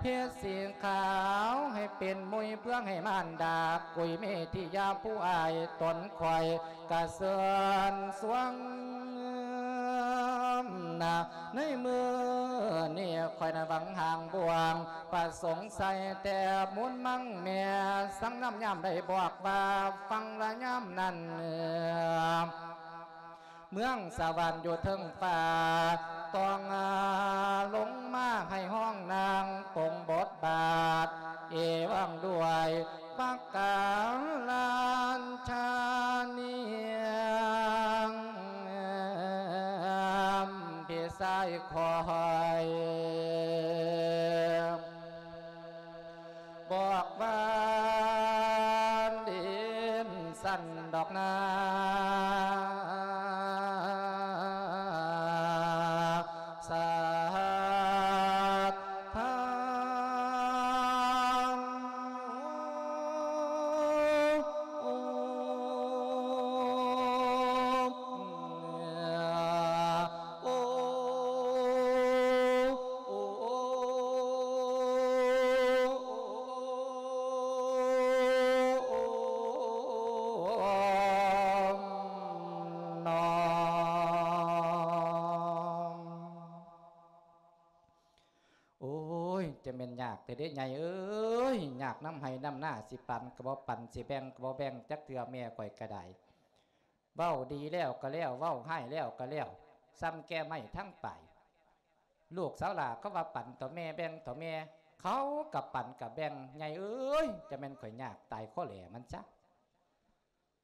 ເພັດສີຂາວໃຫ້ເປັນມຸຍ ເພື່ອໃຫ້ມານດາກຸຍເມທິຍາຜູ້ອາຍຕົນຂ້ອຍ ກະເຊີນສວງນະ ໃນມື້ນີ້ຂ້ອຍນະຫວັງຫາງບ່ວງ ປະສົງໃສ່ແຕ່ມູນມັງແມ່ ສັງນຳຍາມໄດ້ບອກວ່າ ຟັງລະຍາມນັ້ນ ເມືອງສະຫວັນຢູ່ເທິງຟ້າ ຕ້ອງລົງມາໃຫ້ຮ້ອງນາງປົງບົດບາດ ເອວັງດ້ວຍ ປະກາລານຊານິງ ພີ່ຊາຍຂ້ອຍ ບອກວ່າດິນສັ່ນດອກນາ ສາທາງ ໂອ້ຍ ຈະແມ່ນຍາກແທ້ເດ້ໃຫຍ່ເອີຍ ຍາກນຳໄຮ່ນຳນາ ຊິປັນກໍບໍ່ປັນ ຊິແບ່ງກໍບໍ່ແບ່ງຈັກເທື່ອ ແມ່ຂ້ອຍກໍໄດ້ ເວົ້າດີແລ້ວກໍແລ້ວ ເວົ້າຮ້າຍແລ້ວກໍແລ້ວ ສ່ຳແກ່ໄມ້ທັງປາຍ ລູກສາວຫຼ້າເຂົາວ່າປັນເຖາະແມ່ ແບ່ງເຖາະແມ່ ເຂົາກໍປັນກໍແບ່ງ ໃຫຍ່ເອີຍ ຈະແມ່ນຂ້ອຍຍາກຕາຍຄໍແຫຼມັນຊະ.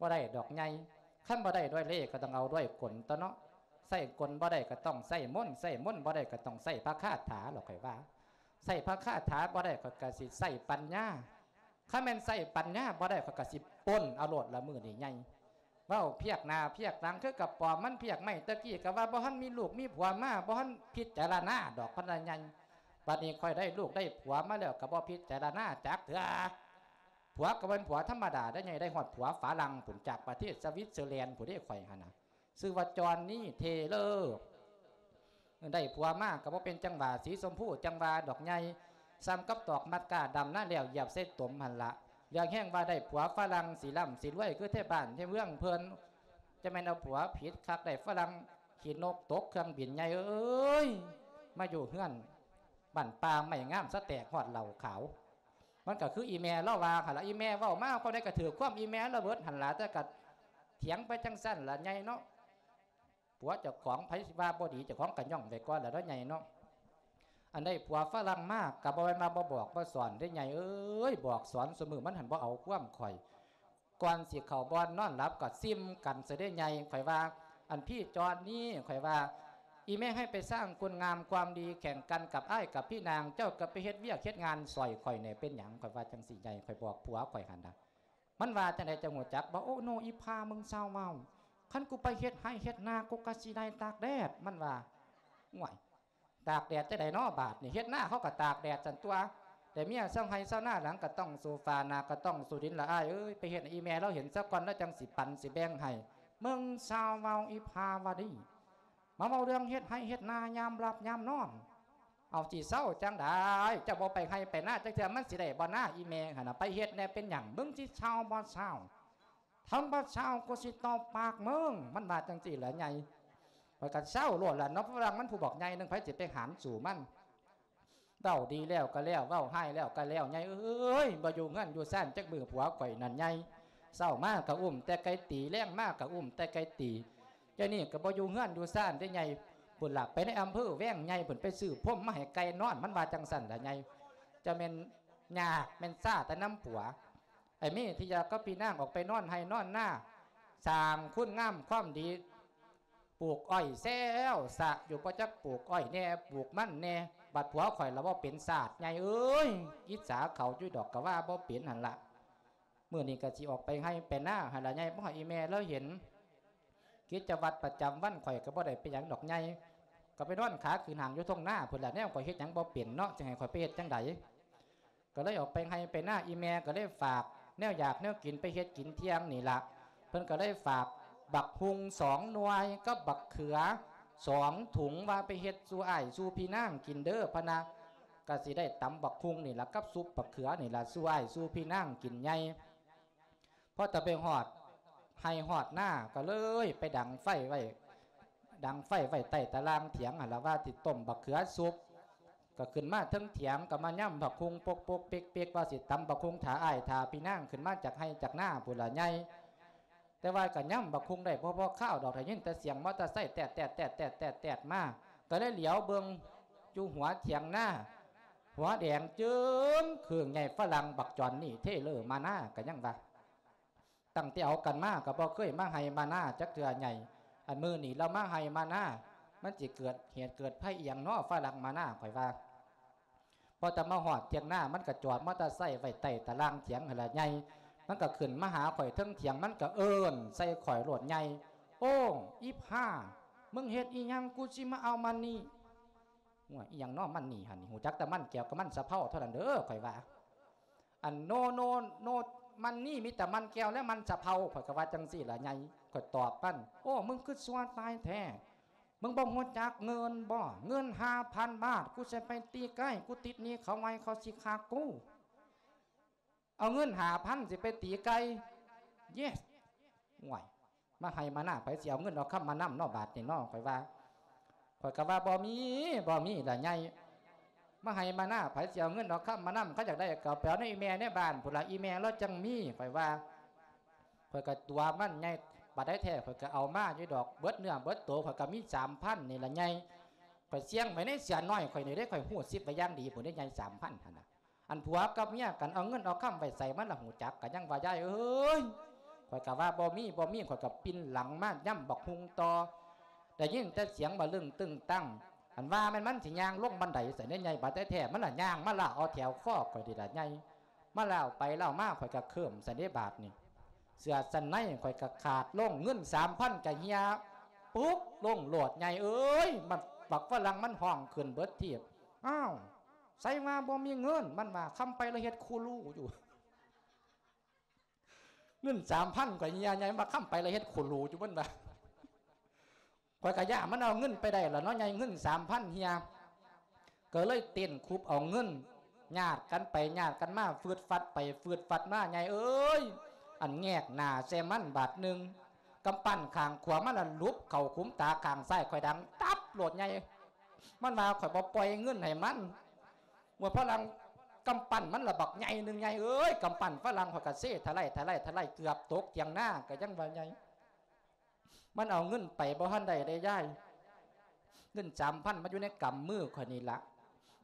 ບໍ່ໄດ້ດອກໃຫຍ່ ຄັນບໍ່ໄດ້ດ້ວຍເລ່ກໍຕ້ອງເອົາດ້ວຍກົນຕົວະເນາະ ໃຊ້ກົນບໍ່ໄດ້ກໍຕ້ອງໃຊ້ມົນ ໃຊ້ມົນບໍ່ໄດ້ກໍຕ້ອງໃຊ້ພະຄາຖາ ລະຂ້ອຍວ່າ ໃຊ້ພະຄາຖາບໍ່ໄດ້ຂ້ອຍກໍຊິໃຊ້ປັນຍາ ຄັນແມ່ນໃຊ້ປັນຍາບໍ່ໄດ້ ຂ້ອຍກໍຊິປົນເອົາໂລດລະມື້ນີ້ໃຫຍ່. ເວົ້າພຽກໜ້າພຽກຫຼັງຄືກະປອມ ມັນພຽກໄມ້. ແຕ່ກີ້ກໍວ່າບໍ່ທັນມີລູກມີຜົວມາ ບໍ່ທັນພິຈາລະນາດອກ ພັນລະໃຫຍ່. ບັດນີ້ຂ້ອຍໄດ້ລູກໄດ້ຜົວມາແລ້ວ ກໍບໍ່ພິຈາລະນາຈັກເທື່ອ. ຜົວກໍເປັນຜົວທຳມະດາໄດ້ໃຫຍ່ ໄດ້ຮອດຜົວຝຣັ່ງພຸ້ນ ຈາກປະເທດສະວິດເຊີແລນພຸ້ນເດ້ ຂ້ອຍຫັ້ນນະ. ຊື່ວ່າຈອນນີເທເລີ. ໄດ້ຜົວມາກໍບໍ່ເປັນຈັງຫວາ ສີຊົມພູຈັ່ງຫວາດອກໃຫຍ່ ສ່ຳກັບຕອກມັດກ້າດຳນາແລ້ວຢຽບໃສ່ຕົມຫັ້ນລະ. ເລື່ອງແຮງວ່າໄດ້ຜົວຝຣັ່ງ ຊິລ່ຳຊິລວຍຄືແທ້ບ້ານແທ້ເມືອງເພິ່ນ. ຈະແມ່ນເອົາຜົວຜິດຄັກ ໄດ້ຝຣັ່ງຂີ້ນົກຕົກເຄື່ອງບິນໃຫຍ່ເອີຍ. ມາຢູ່ເຮືອນບ້ານປ່າໄມ້ງາມ ສະແຕກຮອດເຫຼົ້າຂາວ. ມັນກໍຄືອີແມ່ລາວວ່າຫັ້ນລະ ອີແມ່ເວົ້າມາຄວາມໃດກໍຖືກຄວາມອີແມ່ລາວເບິດຫັ້ນລະ. ແຕ່ກໍຖຽງໄປຈັ່ງຊັ້ນລະໃຫຍ່ເນາະ. ຜົວເຈົ້າຂອງ ໃຜຊິວ່າບໍ່ດີ ເຈົ້າຂອງກໍຍ້ອງໄວ້ກ່ອນລະເນາະໃຫຍ່ເນາະ. ອັນໃດຜົວຝຣັ່ງມາກໍບໍ່ແມ່ນວ່າບໍ່ບອກບໍ່ສອນເດ້ໃຫຍ່ເອີຍ. ບອກສອນຊຸມື້ ມັນຫັ້ນບໍ່ເອົາຄວາມຂ້ອຍ. ກ່ອນຊິເຂົ້າບ່ອນນອນຫຼັບກໍຊິມກັນຊະເດ້ໃຫຍ່. ຂ້ອຍວ່າ ອັນພີ່ຈອນນີ ຂ້ອຍວ່າ ອີແມ່ໃຫ້ໄປສ້າງຄຸນງາມຄວາມດີແຂ່ງກັນກັບອ້າຍກັບພີ່ນາງ ເຈົ້າກໍໄປເຮັດວຽກເຮັດງານຊ່ອຍຂ້ອຍແດ່ ເປັນຫຍັງ? ຂ້ອຍວ່າຈັ່ງຊີ້ໃຫຍ່ ຂ້ອຍບອກຜົວຂ້ອຍຫັ້ນນະ. ມັນວ່າຈັ່ງໃດ ເຈົ້າຮູ້ຈັກບໍ່? ໂອ້ ໂນ ອີພາ ມຶງຊາວເວົ້າ ຄັນກູໄປເຮັດໄຮ່ເຮັດນາ ກູກໍຊິໄດ້ຕາກແດດ ມັນວ່າ. ໂອ້ຍ ຕາກແດດຈັ່ງໃດເນາະບາດນີ້ ເຮັດນາເຂົາກໍຕາກແດດຊັ້ນຕົວະ. ແຕ່ເມຍຊາວໄຮ່ຊາວນາ ຫຼັງກໍຕ້ອງສູ້ຟ້າ ໜ້າກໍຕ້ອງສູ້ດິນລະອ້າຍເອີຍ. ໄປເຮັດໃຫ້ອີແມ່ລາວເຫັນຊະກ່ອນ ລາວຈັ່ງຊິປັນຊິແບ່ງໃຫ້. ມຶງຊາວເວົ້າ ອີພາວະດີ ມາເວົ້າເລື່ອງເຮັດໄຮ່ເຮັດນາຍາມຫຼັບຍາມນອນ. ເອົາ ຊິເຊົາຈັ່ງໃດ? ເຈົ້າບໍ່ໄປໄຮ່ໄປນາຈັກເທື່ອ ມັນຊິໄດ້ບໍ່ນາ? ອີແມ່ຫັ້ນນະ ໄປເຮັດແດ່ ເປັນຫຍັງ? ມຶງຊິເຊົາບໍ່ເຊົາ? ຄັນບໍ່ເຊົາ ກູຊິຕົບປາກມຶງ ມັນວ່າຈັ່ງຊີ້ລະໃຫຍ່. ຂ້ອຍກໍເຊົາໂລດລະເນາະ ຝຣັ່ງມັນຜູ້ບັກໃຫຍ່ໜຶ່ງ ໃຜຊິໄປຫານສູ້ມັນ. ເວົ້າດີແລ້ວກໍແລ້ວ ເວົ້າຮ້າຍແລ້ວກໍແລ້ວ ໃຫຍ່ເອີຍ. ບໍ່ຢູ່ເຮືອນຢູ່ຊານຈັກມື້ ຜົວຂ້ອຍນັ້ນໃຫຍ່. ເຊົ້າມາກໍອຸ້ມແຕ່ໄກ່ຕີ ແລງມາກໍອຸ້ມແຕ່ໄກ່ຕີ. ດຽວນີ້ກໍບໍ່ຢູ່ເຮືອນຢູ່ຊານເດ້ໃຫຍ່ ພຸ້ນລະ ໄປໃນອຳເພີແວງໃຫຍ່ ພຸ້ນ ໄປຊື້ພົມມາໃຫ້ໄກ່ນອນ ມັນວ່າຈັ່ງຊັ້ນລະໃຫຍ່. ຈະແມ່ນຍາກແມ່ນຊາແຕ່ນຳຜົວ. ໄອ້ເມທິຍາກັບພີ່ນາງອອກໄປນອນໄຮ່ນອນນາ ສ້າງຄຸນງາມຄວາມດີ ປູກອ້ອຍແຊວສະຢູ່ ບໍ່ຈັກປູກອ້ອຍແດ່ ປູກມັນແດ່. ບັດຜົວຂ້ອຍລະບໍ່ເປັນຊາດໃຫຍ່ເອີຍ. ອິດສາເຂົາຢູ່ດອກ ກະວ່າບໍ່ເປັນຫັ້ນລະ. ມື້ນີ້ກະຊິອອກໄປໄຮ່ໄປນາຫັ້ນລະໃຫຍ່ ບໍ່ໃຫ້ອີແມ່ລາວເຫັນ. ກິດຈະວັດປະຈຳວັນຂ້ອຍກະບໍ່ໄດ້ໄປຫຍັງດອກໃຫຍ່ ກະໄປນອນຂາຂຶ້ນຫ້າງຢູ່ທົ່ງນາພຸ້ນລະ. ແນວຂ້ອຍເຮັດຫຍັງບໍ່ເປັນເນາະ ຊິໃຫ້ຂ້ອຍໄປເຮັດຈັ່ງໃດ? ກະເລີຍອອກໄປໄຮ່ໄປນາ ອີແມ່ກະເລີຍຝາກແນວຢາກແນວກິນໄປເຮັດກິນທ່ຽງນີ້ລະ. ເພິ່ນກະເລີຍຝາກບັກຮຸ່ງສອງໜ່ວຍກັບບັກເຂືອສອງຖົງ ວ່າໄປເຮັດສູ່ອ້າຍສູ່ພີ່ນາງກິນເດີ ພະນະ. ກະຊິໄດ້ຕຳບັກຮຸ່ງນີ້ລະ ກັບຊຸບບັກເຂືອນີ້ລະ ສູ່ອ້າຍສູ່ພີ່ນາງກິນໃຫຍ່. ພໍແຕ່ໄປຮອດໄຮ່ຮອດນາ ກໍເລີຍໄປດັງໄຟໄວ້ ດັງໄຟໄວ້ໃຕ້ຕາລ່າງຖຽງຫັ້ນລະ ວ່າຊິຕົ້ມບັກເຂືອສຸບ. ກໍຂຶ້ນມາເທິງຖຽງ ກໍມາຍຳບັກຮຸ່ງປົກໆເປັກໆ ວ່າຊິຕຳບັກຮຸ່ງຖ້າອ້າຍຖ້າພີ່ນາງຂຶ້ນມາຈາກໄຮ່ຈາກນາພຸ້ນລະໃຫຍ່. ແຕ່ວ່າກໍຍຳບັກຮຸ່ງໄດ້ບໍ່ພໍຄາວດອກ ໄດ້ຍິນແຕ່ສຽງມໍເຕີໄຊແຕດໆໆໆມາ ກໍເລີຍຫຼຽວເບິ່ງຢູ່ຫົວຖຽງນາ ຫົວແດງເຈິງເຄືອງໃຫຍ່ ຝຣັ່ງບັກຈອນນີເທເລີມານາ ກໍຍັງວ່າ ຕັ້ງແຕ່ເອົາກັນມາກໍບໍ່ເຄີຍມາໄຮ່ມານາຈັກເທື່ອໃຫຍ່ ອັນມື້ນີ້ລາວມາໄຮ່ມານາ ມັນຊິເກີດເຫດເກີດໄພອີ່ຫຍັງນໍ ຝຣັ່ງມານາ ຂ້ອຍວ່າ. ພໍແຕ່ມາຮອດຖຽງນາ ມັນກໍຈອດມໍເຕີໄຊໄວ້ໃຕ້ຕາລ່າງຖຽງຫັ້ນລະໃຫຍ່ ມັນກໍຂຶ້ນມາຫາຂ້ອຍເທິງຖຽງ ມັນກໍເອີ້ນໃສ່ຂ້ອຍໂລດໃຫຍ່ ໂອ້ ອີພາ ມຶງເຮັດອີ່ຫຍັງ ກູຊິມາເອົາມັນນີ້. ໂອ້ຍ ອີ່ຫຍັງນໍມັນນີ້ຫັ້ນ ຮູ້ຈັກແຕ່ມັນແກ້ວກັບມັນສະເພົາເທົ່ານັ້ນເດີ ຂ້ອຍວ່າ. ອັນໂນ ໂນ ໂນ ມັນນີ້ມີແຕ່ມັນແກ້ວ ແລະ ມັນສະເພົາ ຂ້ອຍກໍວ່າຈັ່ງຊີ້ລະໃຫຍ່ ຂ້ອຍຕອບມັນ. ໂອ້ ມຶງຄືຊົ່ວຕາຍແທ້ ມຶງບໍ່ຮູ້ຈັກເງິນບໍ? ເງິນຫ້າພັນບາດ ກູຊິໄປຕີໄກ່ ກູຕິດໜີ້ເຂົາໄວ້ ເຂົາຊິຂ້າກູ. ເອົາເງິນຫ້າພັນຊິໄປຕີໄກ່ ເຢສ. ໂອ້ຍ ມາໄຮ່ມານາ ໃຜຊິເອົາເງິນເອົາຄຳມານຳນໍ ບາດນີ້ນໍ ຂ້ອຍວ່າ. ຂ້ອຍກໍວ່າ ບໍ່ມີ ບໍ່ມີລະໃຫຍ່ ມາໄຮ່ມານາ ໃຜຊິເອົາເງິນເອົາຄຳມານຳ ຄັນຢາກໄດ້ກໍໄປເອົາໃນອີ່ແມ່ໃນບ້ານພຸ້ນລະ ອີ່ແມ່ລາວຈັ່ງມີ ຂ້ອຍວ່າ. ຂ້ອຍກໍຕົວະມັນໃຫຍ່ ບາດໃດແທ້ ຂ້ອຍກໍເອົາມາຢູ່ດອກ ເບິດເນື້ອເບິດໂຕ ຂ້ອຍກໍມີສາມພັນນີ້ລະໃຫຍ່ ຂ້ອຍສ່ຽງໄວ້ໃນເສືອນ້ອຍຂ້ອຍນີ້ເດ້ ຂ້ອຍຮູ້ສິບໄວ້ຢ່າງດີພຸ້ນເດ້ ໃຫຍ່ ສາມພັນຫັ້ນນະ. ອັນຜົວກັບເມຍກັນ ເອົາເງິນເອົາຄຳໄວ້ໃສ ມັນລະຮູ້ຈັກ ກໍຍັງວ່າ ຍາຍເອີຍ. ຂ້ອຍກໍວ່າ ບໍ່ມີ ບໍ່ມີ ຂ້ອຍກໍປິ່ນຫຼັງມາ ຍຳບັກຮຸ່ງຕໍ່ ໄດ້ຍິນແຕ່ສຽງບະລຶ້ງຕຶ້ງຕັ້ງ ອັນວ່າແມ່ນມັນຊິຍ່າງລົງບັນໄດໃສ່ໃນໃຫຍ່ ບາດແທ້ໆ ມັນລະຍ່າງມາລາກເອົາແຖວຄໍຂ້ອຍນີ້ລະໃຫຍ່. ມາແລ້ວໄປແລ້ວມາ ຂ້ອຍກໍເຄີມຊັ້ນເດ້ບາດນີ້ ເສື້ອຊັ້ນໃນຂ້ອຍກໍຂາດລົງ ເງິນສາມພັນກໍເຫ່ຍປຸກລົງໂລດ ໃຫຍ່ເອີຍ ມັນ ບັກຝຣັ່ງມັນຮ້ອງຂຶ້ນເບິດທີບ. ອ້າວ ໃສວ່າບໍ່ມີເງິນ? ມັນວ່າ ຄຳໄປລະເຮັດຄູລູຢູ່. ເງິນສາມພັນຂ້ອຍເຫ່ຍ ໃຫຍ່ວ່າ ຄຳໄປລະເຮັດຄູລູຢູ່ ມັນວ່າ. ຂ້ອຍກະຢ້ານມັນເອົາເງິນໄປໄດ້ລະເນາະໃຫຍ່ ເງິນສາມພັນເຫ່ຍ ກໍເລີຍເຕັ້ນຄຸບເອົາເງິນ ຍາດກັນໄປຍາດກັນມາ ຟືດຟັດໄປຟືດຟັດມາ ໃຫຍ່ເອີຍ ອັນແງກໜ້າໃສ່ມັນບາດໜຶ່ງ ກຳປັ້ນຂ້າງຂວາມັນລະຫຼຸບເຂົ້າຂຸມຕາ ຂ້າງຊ້າຍຂ້ອຍດັງຕັບໂລດໃຫຍ່ ມັນວ່າຂ້ອຍບໍ່ປ່ອຍເງິນໃຫ້ມັນ ວ່າຝຣັ່ງ ກຳປັ້ນມັນລະບັກໃຫຍ່ໜຶ່ງໃຫຍ່ເອີຍ ກຳປັ້ນຝຣັ່ງ ຂ້ອຍກະເຊຖະໄຫຼຖະໄຫຼຖະໄຫຼ ເກືອບຕົກຖຽງນາ ກະຍັງວ່າໃຫຍ່ ມັນເອົາເງິນໄປບໍ່ທັນໄດ້ເດ້ຍາຍ ເງິນສາມພັນມັນຢູ່ໃນກຳມືຂ້ອຍນີ້ລະ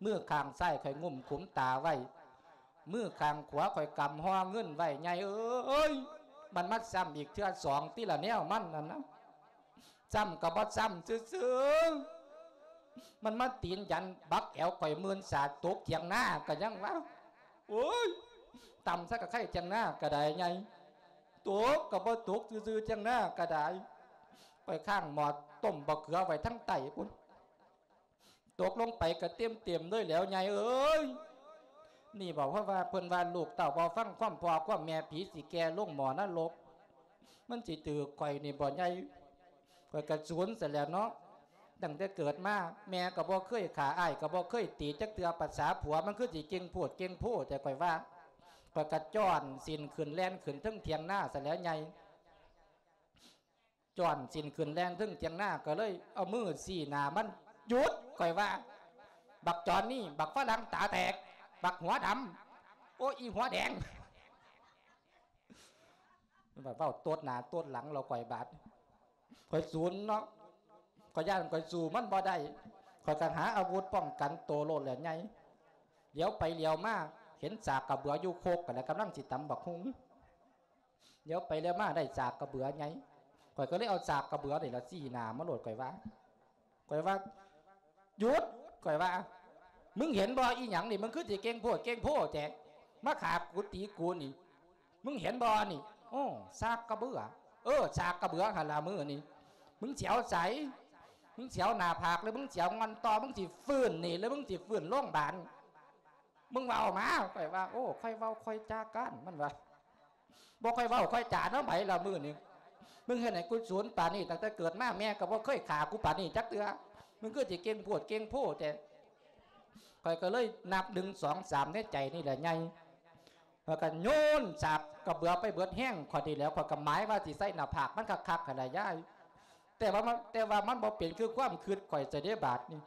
ມືຂ້າງຊ້າຍຂ້ອຍງຸ້ມຂຸມຕາໄວ້ ມືຂ້າງຂວາຂ້ອຍກຳຫໍ່ເງິນໄວ້ ໃຫຍ່ເອີຍ ມັນມາຊ້ຳອີກເທື່ອສອງຕິລະແນວມັນນັ້ນນະ ຊ້ຳກໍບໍ່ຊ້ຳຊື່ໆ ມັນມາຕີນຢັນບັກແອວຂ້ອຍມື່ນສາຕົກຖຽງນາ ກະຍັງວ່າ ໂອ້ຍ ຕ່ຳຊະກະໄຄຖຽງນາກະໄດ້ໃຫຍ່ ຕົກກໍບໍ່ຕົກຊື່ໆ ຖຽງນາກໍໄດ້ ຂ້ອຍຄ້າງໝໍ້ຕົ້ມບັກເຂືອໄວ້ທາງໃຕ້ພຸ້ນ ຕົກລົງໄປກໍເຕັມໆເລີຍແຫຼວໃຫຍ່ເອີຍ ນີ້ບອກເພາະວ່າເພິ່ນວ່າລູກເຕົ້າບໍ່ຟັງຄວາມພໍ່ຄວາມແມ່ ຜີຊິແກ່ລົງໝໍ້ນະລົກ ມັນຊິຖືກຂ້ອຍນີ້ບໍ່ໃຫຍ່ ຂ້ອຍກະສູນຊະແຫຼ້ວເນາະ ຕັ້ງແຕ່ເກີດມາ ແມ່ກໍບໍ່ເຄີຍຂ້າ ອ້າຍກໍບໍ່ເຄີຍຕີຈັກເທື່ອ ປະສາຜົວມັນຄືຊິເກັ່ງໂພດເກັ່ງໂພແທ້ ຂ້ອຍວ່າ ຂ້ອຍກະຈ້ອນສິ້ນຂຶ້ນແລ່ນຂຶ້ນເທິງຖຽງນາຊະແຫຼ້ວໃຫຍ່ ຈ້ອນສິ້ນຂຶ້ນແລ່ນເທິງຖຽງນາ ກໍເລີຍເອົາມືຊີ້ໜ້າມັນ ຢຸດ ຂ້ອຍວ່າ ບັກຈອນນີ້ ບັກຝຣັ່ງຕາແຕກ ບັກຫົວດຳ ໂອ້ ອີຫົວແດງ ມັນວ່າເວົ້າໂຕດໜ້າໂຕດຫຼັງລາວຂ້ອຍບາດ ຂ້ອຍສູນເນາະ ຂ້ອຍຢ້ານຂ້ອຍສູ້ມັນບໍ່ໄດ້ ຂ້ອຍກໍຫາອາວຸດປ້ອງກັນໂຕໂລດແຫຼະໃຫຍ່ ຫຼຽວໄປຫຼຽວມາ ເຫັນສາກກະເບືອຢູ່ຄົກ ກໍແລ້ວກຳລັງຊິຕຳບັກຫຸ່ງ ຫຼຽວໄປຫຼຽວມາໄດ້ສາກກະເບືອໃຫຍ່ ຂ້ອຍກໍເລີຍເອົາສາກກະເບືອນີ້ລະຊີ້ໜ້າມັນໂລດ ຂ້ອຍວ່າ ຂ້ອຍວ່າ ຢຸດ ຂ້ອຍວ່າ ມຶງເຫັນບໍ່ ອີຫຍັງນີ້ ມຶງຄືຊິເກັ່ງໂພດເກັ່ງໂພແທ້ ມາຂ້າກູຕີກູນີ້ ມຶງເຫັນບໍ່ນີ້ ໂອ້ ສາກກະເບືອ ເອີ ສາກກະເບືອຫັ້ນລະມື້ນີ້ ມຶງຊິເອົາໃສ ມຶງຊິເອົາໜ້າຜາກ ຫຼື ມຶງຊິເອົາງ່ອນຕໍ່ ມຶງຊິຟື້ນນີ້ ຫຼື ມຶງຊິຟື້ນໂລງບານ ມຶງເວົ້າມາ ຂ້ອຍວ່າ ໂອ້ ຂ້ອຍເວົ້າຂ້ອຍຈາກ້ານ ມັນວ່າ ບໍ່ຄ່ອຍເວົ້າຄ່ອຍຈານຳໃຜລະມື້ນີ້ ມຶງເຮັດໃຫ້ກູສູນປານນີ້ ຕັ້ງແຕ່ເກີດມາແມ່ກໍບໍ່ເຄີຍຂ້າກູປານນີ້ຈັກເທື່ອ ມຶງຄືຊິເກັ່ງໂພດເກັ່ງໂພແທ້ ຂ້ອຍກໍເລີຍນັບໜຶ່ງ ສອງ ສາມ ໃນໃຈນີ້ແຫຼະໃຫຍ່ ຂ້ອຍກໍໂຍນສາກກະເບືອໄປເບິດແຮງຂ້ອຍນີ້ແຫຼະ ຂ້ອຍກໍໝາຍວ່າຊິໃສ່ໜ້າຜາກມັນຄັກໆຫັ້ນລະຍາຍ ແຕ່ວ່າມັນ ແຕ່ວ່າມັນບໍ່ເປັນຄືຄວາມຄິດຂ້ອຍຊະເດ້ບາດນີ້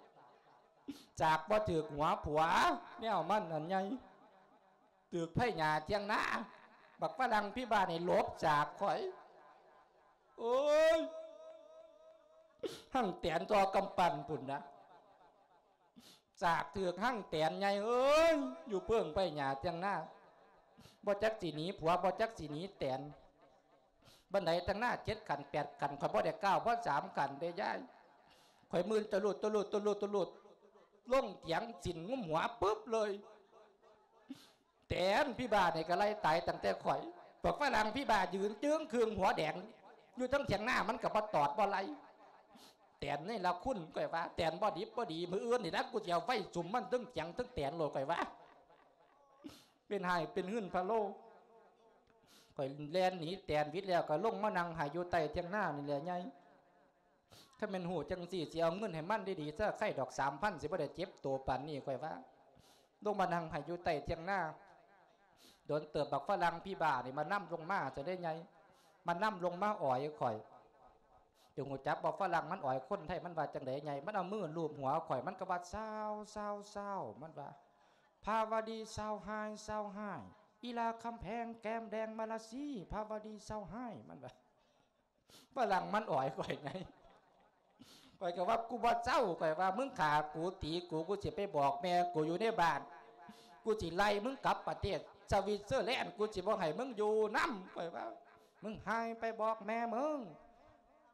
ສາກບໍ່ຖືກຫົວຜົວ ແນວມັນນັ້ນໃຫຍ່ ຖືກໄພຫຍ້າຖຽງນາ ບັກຝຣັ່ງພິບາດນີ້ຫຼົບສາກຂ້ອຍ ໂອ້ຍ ຮັ່ງແຕນຕໍ່ກຳປັ້ນພຸ້ນນະ ສາກຖືກຮັ່ງແຕນໃຫຍ່ເອີຍ ຢູ່ເພິ່ງໄພຫຍ້າຖຽງນາ ບໍ່ຈັກຊິໜີຜົວ ບໍ່ຈັກຊິໜີແຕນ ບັນໄດທາງໜ້າເຈັດຂັ້ນແປດຂັ້ນ ຂ້ອຍບໍ່ໄດ້ກ້າວພໍສາມຂັ້ນເດ້ຍາຍ ຂ້ອຍມື່ນຕະລຸດຕະລຸດຕະລຸດຕະລຸດ ລົງຖຽງສິ້ນງຸ້ມຫົວປຶບເລີຍ ແຕນພິບາດນີ້ກໍໄລ່ຕາຍຕັ້ງແຕ່ຂ້ອຍ ພວກຝຣັ່ງພິບາດຢືນຈຶ່ງຄຶ່ງຫົວແດງ ຢູ່ເທິງຖຽງນາມັນກໍບໍ່ຕອດບໍ່ໄລ່ ແຕນນີ້ລະຄຸນ ຂ້ອຍວ່າ ແຕນບໍ່ດິບບໍ່ດີ ມື້ອື່ນນີ້ນະ ກູຊິເອົາໄຟສຸມມັນເທິງຖຽງເທິງແຕນໂລດ ຂ້ອຍວ່າ ເປັນຮ້າຍເປັນຫື່ນພະໂລ ຂ້ອຍແລ່ນໜີແຕນຫວິດແລ້ວ ກໍລົງມານັ່ງໄຫ້ຢູ່ໃຕ້ຖຽງນານີ້ແຫຼະໃຫຍ່ ຄັນແມ່ນຮູ້ຈັ່ງຊີ້ ຊິເອົາເງິນໃຫ້ມັນດີໆຊະ ໃຄດອກສາມພັນ ຊິບໍ່ໄດ້ເຈັບໂຕປານນີ້ ຂ້ອຍວ່າ ລົງມານັ່ງໄຫ້ຢູ່ໃຕ້ຖຽງນາ ດົນເຕີບບັກຝຣັ່ງພິບາດນີ້ມານຳລົງມາຊະເດ້ໃຫຍ່ ມານຳລົງມາອອຍຂ້ອຍ ເຈົ້າຮູ້ຈັກບໍ່ຝຣັ່ງມັນອອຍຄົນໄທມັນວ່າຈັ່ງໃດໃຫຍ່ ມັນເອົາມືລູບຫົວຂ້ອຍ ມັນກໍວ່າ ຊາວ ຊາວ ຊາວ ມັນວ່າ ພາວະດີຊາວຮ້າຍ ຊາວຮ້າຍ ອີລາຄຳແພງແກ້ມແດງມາລາຊີ ພາວະດີຊາວຮ້າຍ ມັນວ່າ ຝຣັ່ງມັນອອຍຂ້ອຍໃຫຍ່ ຂ້ອຍກໍວ່າ ກູບໍ່ເຊົາ ຂ້ອຍວ່າ ມຶງຂ້າກູຕີກູ ກູຊິໄປບອກແມ່ກູຢູ່ໃນບ້ານ ກູຊິໄລ່ມຶງກັບປະເທດສະວິດເຊີແລນ ກູຊິບໍ່ໃຫ້ມຶງຢູ່ນຳ ຂ້ອຍວ່າ ມຶງຫາຍໄປບອກແມ່ມຶງ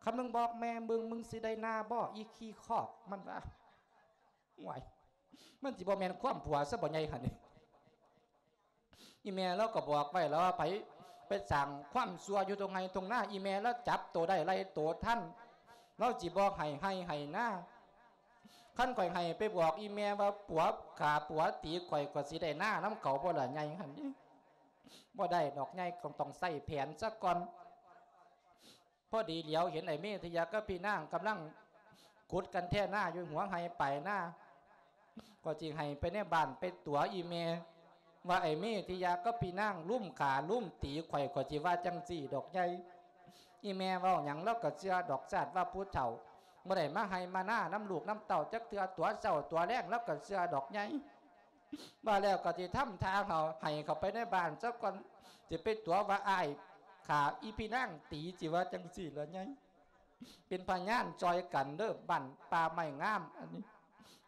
ຄັນມຶງບອກແມ່ມຶງ ມຶງຊິໄດ້ໜ້າບໍ່ ອີຂີ້ຄອກ ມັນວ່າ ໂອ້ຍ ມັນຊິບໍ່ແມ່ນຄວາມຜົວຊະບໍ່ໃຫຍ່ຫັ້ນນີ້ ອີແມ່ລາວກໍບອກໄວ້ແລ້ວວ່າ ໃຜໄປສ້າງຄວາມຊົ່ວຢູ່ທົ່ງໄຮ່ທົ່ງນາ ອີແມ່ລາວຈັບໂຕໄດ້ໄລ່ໂຕທັນ ລາວຊິບໍ່ໃຫ້ໄຮ່ໃຫ້ນາ. ຄັນຂ້ອຍໃຫ້ໄປບອກອີແມ່ວ່າ ຜົວຂ້າຜົວຕີຂ້ອຍ ຂ້ອຍຊິໄດ້ນານຳເຂົາບໍ່ລະໃຫຍ່ຫັ້ນ? ບໍ່ໄດ້ດອກໃຫຍ່ ຕ້ອງ ຕ້ອງໃຊ້ແຜນຊະກ່ອນ. ພໍດີຫຼຽວເຫັນໄອ້ເມດທິຍາກັບພີ່ນາງກຳລັງຂຸດກັນແທນາຢູ່ຫົວໄຮ່ປາຍນາ ກໍຊິໃຫ້ໄປໃນບ້ານໄປຕົວະອີແມ່ວ່າ ໄອ້ເມດທິຍາກັບພີ່ນາງລຸມຂ້າລຸມຕີຂ້ອຍ ຂ້ອຍຊິວ່າຈັ່ງຊີ້ດອກໃຫຍ່. ອີແມ່ເວົ້າຫຍັງລາວກໍເຊື່ອດອກ ຊາດວ່າຜູ້ເຖົ້າ ບໍ່ໄດ້ມາໄຮ່ມານານຳລູກນຳເຕົ້າຈັກເທື່ອ ຕົວະເຊົ້າຕົວະແລງລາວກໍເຊື່ອດອກໃຫຍ່. ວ່າແລ້ວກໍຊິທຳທ່າເຮົາໃຫ້ເຂົ້າໄປໃນບ້ານຊະກ່ອນ ຊິໄປຕົວະວ່າອ້າຍຂ້າອີພີ່ນາງຕີ ຊິວ່າຈັ່ງຊີ້ລະໃຫຍ່. ເປັນພະຍານຊ່ອຍກັນເດີ້ ບ້ານປ່າໄມ້ງາມອັນນີ້.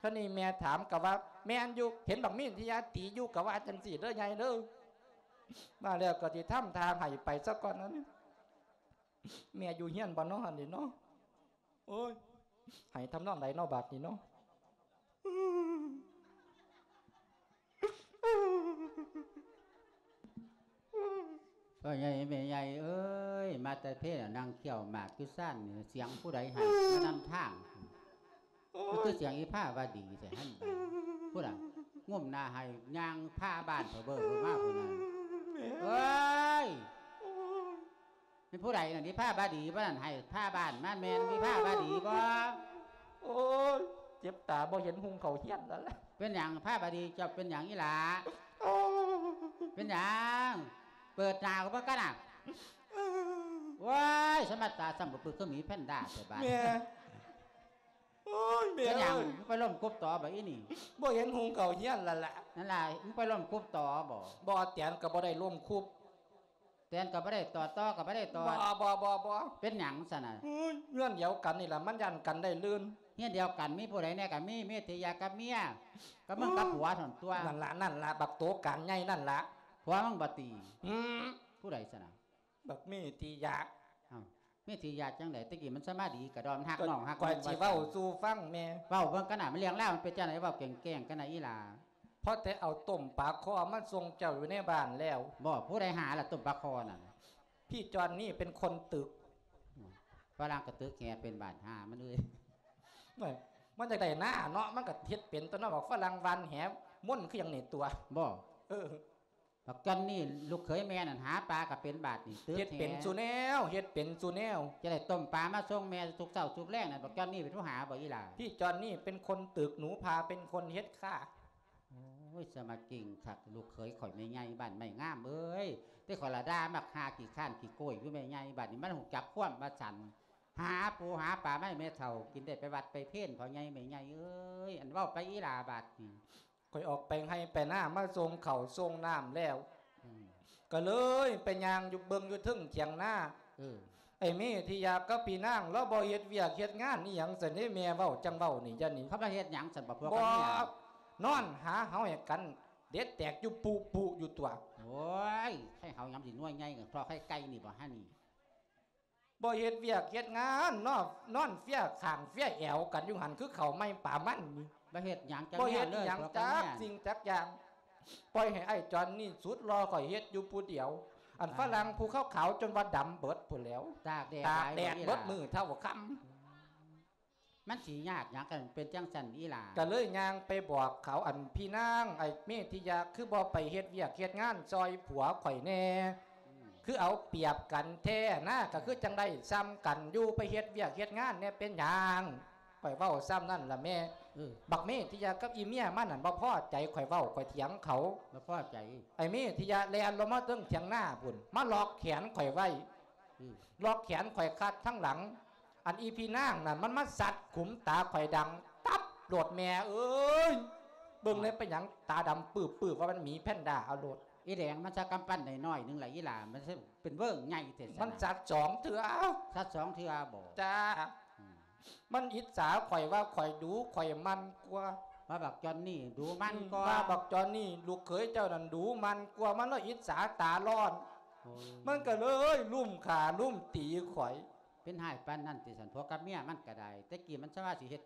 ຄາວນີ້ແມ່ຖາມກໍວ່າ ແມ່ນຢູ່ ເຫັນບັກເມດທິຍາຕີຢູ່ ກໍວ່າຈັ່ງຊີ້ເດີ້ໃຫຍ່ເດີ້. ວ່າແລ້ວກໍຊິທຳທ່າໃຫ້ໄປຊະກ່ອນນັ້ນ. ແມ່ຢູ່ເຮືອນບໍ່ເນາະຫັ້ນນີ້ເນາະ? ໂອ້ຍ ໃຫ້ທຳນອງໃດເນາະບາດນີ້ເນາະ? ພໍ່ໃຫຍ່ແມ່ໃຫຍ່ເອີຍ ມາແຕ່ເພນ ນັ່ງຄ້ຽວໝາກຢູ່ຊານນີ້ ສຽງຜູ້ໃດໃຫ້ມານຳທາງ? ໂອ້ຍ ມັນຄືສຽງອີພາວະດີແທ້ຫັ້ນ. ພຸ້ນນະ ງຸ້ມໜ້າໃຫ້ຍ່າງພາບ້ານເຂົາເບິ່ງມາພຸ້ນນະ. ເອີຍ ໂອ້ຍ ແມ່ນຜູ້ໃດນັ້ນ? ອີພາວະດີບໍ່ນັ້ນ ໃຫ້ພາບ້ານມາ ແມ່ນອີພາວະດີບໍ່? ໂອ້ຍ ເຈັບຕາບໍ່ເຫັນຮຸ່ງເຂົ້າເຮືອນແລ້ວລະ. ເປັນຫຍັງພາວະດີ ເຈົ້າເປັນຫຍັງອີ່ຫຼ້າ? ໂອ້ຍ ເປັນຫຍັງ? ເປີດໜ້າອອກເບິ່ງກັນນະ. ໂອ້ຍ ສະມາດຕາສ່ຳບໍ່ປຶກຄືໝີແພນດ້າແທ້ບາດ. ແມ່ ໂອ້ຍ ແມ່ ເປັນຫຍັງ? ເອີຍ ມຶງໄປລົ້ມກົບຕໍບໍ່ອີ່ນີ້? ບໍ່ເຫັນຮຸ່ງເຂົ້າເຮືອນແລ້ວລະ. ນັ້ນລະ ມຶງໄປລົ້ມກົບຕໍບໍ່? ບໍ່ ແຕນກໍບໍ່ໄດ້ລົ້ມຄຸບ. ແຕນກໍບໍ່ໄດ້ຕອດ ຕໍກໍບໍ່ໄດ້ຕອດ. ບໍ່ ບໍ່ ບໍ່ ບໍ່. ເປັນຫຍັງຊັ້ນນະ? ໂອ້ຍ ເຮືອນດຽວກັນນີ້ລະ ມັນຢ້ານກັນໄດ້ລື່ນ. ເຮືອນດຽວກັນມີຜູ້ໃດແດ່? ກໍມີເມດທິຍາກັບເມຍ ກັບມຶງກັບຜົວຫັ້ນຕົວະ. ນັ້ນລະ ນັ້ນລະ ບັກໂຕການໃຫຍ່ນັ້ນລະ. ຜົວມຶງບໍ່ຕິ? ອືມ ຜູ້ໃດຊັ້ນນະ? ບັກເມດທິຍາ. ອ້າວ ເມດທິຍາຈັ່ງໃດ? ແຕ່ກີ້ມັນສະມາດີກະດອມ ຮັກນ້ອງຮັກ ຂ້ອຍຊິເວົ້າສູ່ຟັງແມ່. ເວົ້າເບິ່ງກັນນະ ມັນເລື່ອງລາວມັນເປັນຈັ່ງໃດ? ເວົ້າແກ້ງໆກັນນະອີ່ຫຼ້າ. ພໍແຕ່ເອົາຕົ້ມປາຄໍມາສົ່ງເຈົ້າຢູ່ໃນບ້ານແລ້ວ. ບໍ່ ຜູ້ໃດຫາລະຕົ້ມປາຄໍນັ້ນ? ພີ່ຈອນນີ້ເປັນຄົນຕຶກ. ຝຣັ່ງກໍຕຶກແຫເປັນບ້ານຫາມັນເອີຍ. ມັນຢາກໄດ້ນາເນາະ ມັນກໍເຮັດເປັນຕົວະເນາະ. ບັກຝຣັ່ງຫວ່ານແຫມົນຄືຫຍັງນີ້ຕົວະ. ບໍ່ ເອີ ບັກຈອນນີ້ລູກເຂີຍແມ່ນັ້ນຫາປາກໍເປັນບາດນີ້ ຕຶກແຫ. ເຮັດເປັນສູ່ແນວ ເຮັດເປັນສູ່ແນວ. ຈະໄດ້ຕົ້ມປາມາສົ່ງແມ່ທຸກເຊົ້າທຸກແລງນັ້ນ ບັກຈອນນີ້ເປັນຜູ້ຫາບໍ່ອີ່ຫຼ້າ? ພີ່ຈອນນີ້ເປັນຄົນຕຶກ ໜູພາເປັນຄົນເຮັດຄ່າ. ໂອ້ຍ ສະມາເກັ່ງຄັກ ລູກເຂີຍຂ້ອຍແມ່ໃຫຍ່ບ້ານໄມ້ງາມເອີຍ. ແຕ່ຂ້ອຍລະດ່າມັກຫາຂີ້ຄ້ານຂີ້ໂກ້ຍຢູ່ແມ່ໃຫຍ່ ບາດນີ້ມັນຮູ້ຈັກຄວາມວ່າຊັ້ນ. ຫາປູຫາປາມາໃຫ້ແມ່ເຖົ້າກິນໄດ້ ໄປວັດໄປເພນພໍ່ໃຫຍ່ແມ່ໃຫຍ່ເອີຍ. ອັນເວົ້າໄປອີ່ຫຼ້າບາດນີ້. ຂ້ອຍອອກໄປໄຮ່ໄປນາ ມາສົ່ງເຂົ້າສົ່ງນ້ຳແລ້ວ ອືມ ກໍເລີຍໄປຍ່າງຢູ່ເບິ່ງຢູ່ເທິງຖຽງນາ. ເອີ ໄອ້ເມດທິຍາກັບພີ່ນາງລາວບໍ່ເຮັດວຽກເຮັດງານອີ່ຫຍັງຊັ້ນເດ້ ແມ່ເວົ້າຈັ່ງເວົ້ານີ້ ຢ່ານີ້. ເຂົາມາເຮັດຫຍັງຊັ້ນ ບໍ່ພວກກັນນີ້? ນອນຫາເຫົ່າໃຫ້ກັນ ເດັດແຕກຢູ່ປຸໆຢູ່ຕົວະ. ໂອ້ຍ ໄຂ່ເຫົ່າຍາມຊິໜ່ວຍໃຫຍ່ ເພາະໄຂ່ໄກ່ນີ້ບໍ່ຫານີ້. ບໍ່ເຮັດວຽກເຮັດງານ ນອນ ນອນເຟຍຂ້າງເຟຍແອວກັນຢູ່ຫັ້ນ ຄືເຂົ້າໄມ້ປາມັນນີ້. ບໍ່ເຮັດຫຍັງຈັກ ບໍ່ເຮັດຫຍັງຈັກສິ່ງຈັກຢ່າງ. ປ່ອຍໃຫ້ໄອ້ຈອນນີ້ສຸດຫຼໍ່ຂ້ອຍເຮັດຢູ່ຜູ້ດຽວ. ອັນຝຣັ່ງຜູ້ຂາວໆຈົນວ່າດຳເບິດພຸ້ນແຫຼ້ວ ຕາກແດດ ຕາກແດດເບິດມື້ເທົ່າຄ່ຳ. ມັນຊິຍາກຫຍັງກັນ ເປັນຈັ່ງຊັ້ນອີ່ຫຼ້າ? ກໍເລີຍຍ່າງໄປບອກເຂົາ ອັນ ພີ່ນາງ ໄອ້ເມດທິຍາ ຄືບໍ່ໄປເຮັດວຽກເຮັດງານຊ່ອຍຜົວຂ້ອຍແດ່? ອືມ ຄືເອົາປຽບກັນແທ້ນາ ກໍຄືຈັ່ງໄດ້ສ່ຳກັນຢູ່ ໄປເຮັດວຽກເຮັດງານແດ່ເປັນຫຍັງ? ຂ້ອຍເວົ້າສ່ຳນັ້ນລະແມ່. ເອີ ບັກເມດທິຍາກັບອີເມຍມັນນັ້ນບໍ່ພໍໃຈ ຂ້ອຍເວົ້າຂ້ອຍຖຽງເຂົາ ບໍ່ພໍໃຈ. ໄອ້ເມດທິຍາແລ່ນລົງມາເທິງຖຽງນາພຸ້ນ ມາລັອກແຂນຂ້ອຍໄວ້. ອືມ ລັອກແຂນຂ້ອຍຄັດທາງຫຼັງ. ອັນອີພີ່ນາງນັ້ນມັນມາສັດຂຸມຕາຂ້ອຍດັງຕັບໂລດ ແມ່ເອີຍ ເບິ່ງແລ້ວເປັນຫຍັງຕາດຳປຶບໆ ວ່າມັນໝີແພນດ້າເອົາໂລດ. ອີແດງມັນສັກກຳປັນໄດ້ໜ້ອຍໜຶ່ງລະອີຫຼ້າ ມັນເປັນເວີ້ງໃຫຍ່ແທ້ຊັ້ນ. ມັນສັດສອງເທື່ອ. ສັດສອງເທື່ອບໍ? ຈ້າ. ອືມ ມັນອິດສາຂ້ອຍວ່າຂ້ອຍດຸ ຂ້ອຍໝັ່ນກວ່າ. ວ່າບັກຈອນນີ້ດຸໝັ່ນກວ່າ. ອືມ ວ່າບັກຈອນນີ້ລູກເຂີຍເຈົ້ານັ້ນດຸໝັ່ນກວ່າ ມັນເລີຍອິດສາຕາຮ້ອນ. ໂອ້ ມັນກໍເລີຍລຸມຂ້າລຸມຕີຂ້ອຍ. ເປັນຮ້າຍປານນັ້ນຕິຊັ້ນ? ຜົວກັບເມຍມັນກໍໄດ້ ແຕ່ກີ້ມັນສາມາດຊິເຮັດ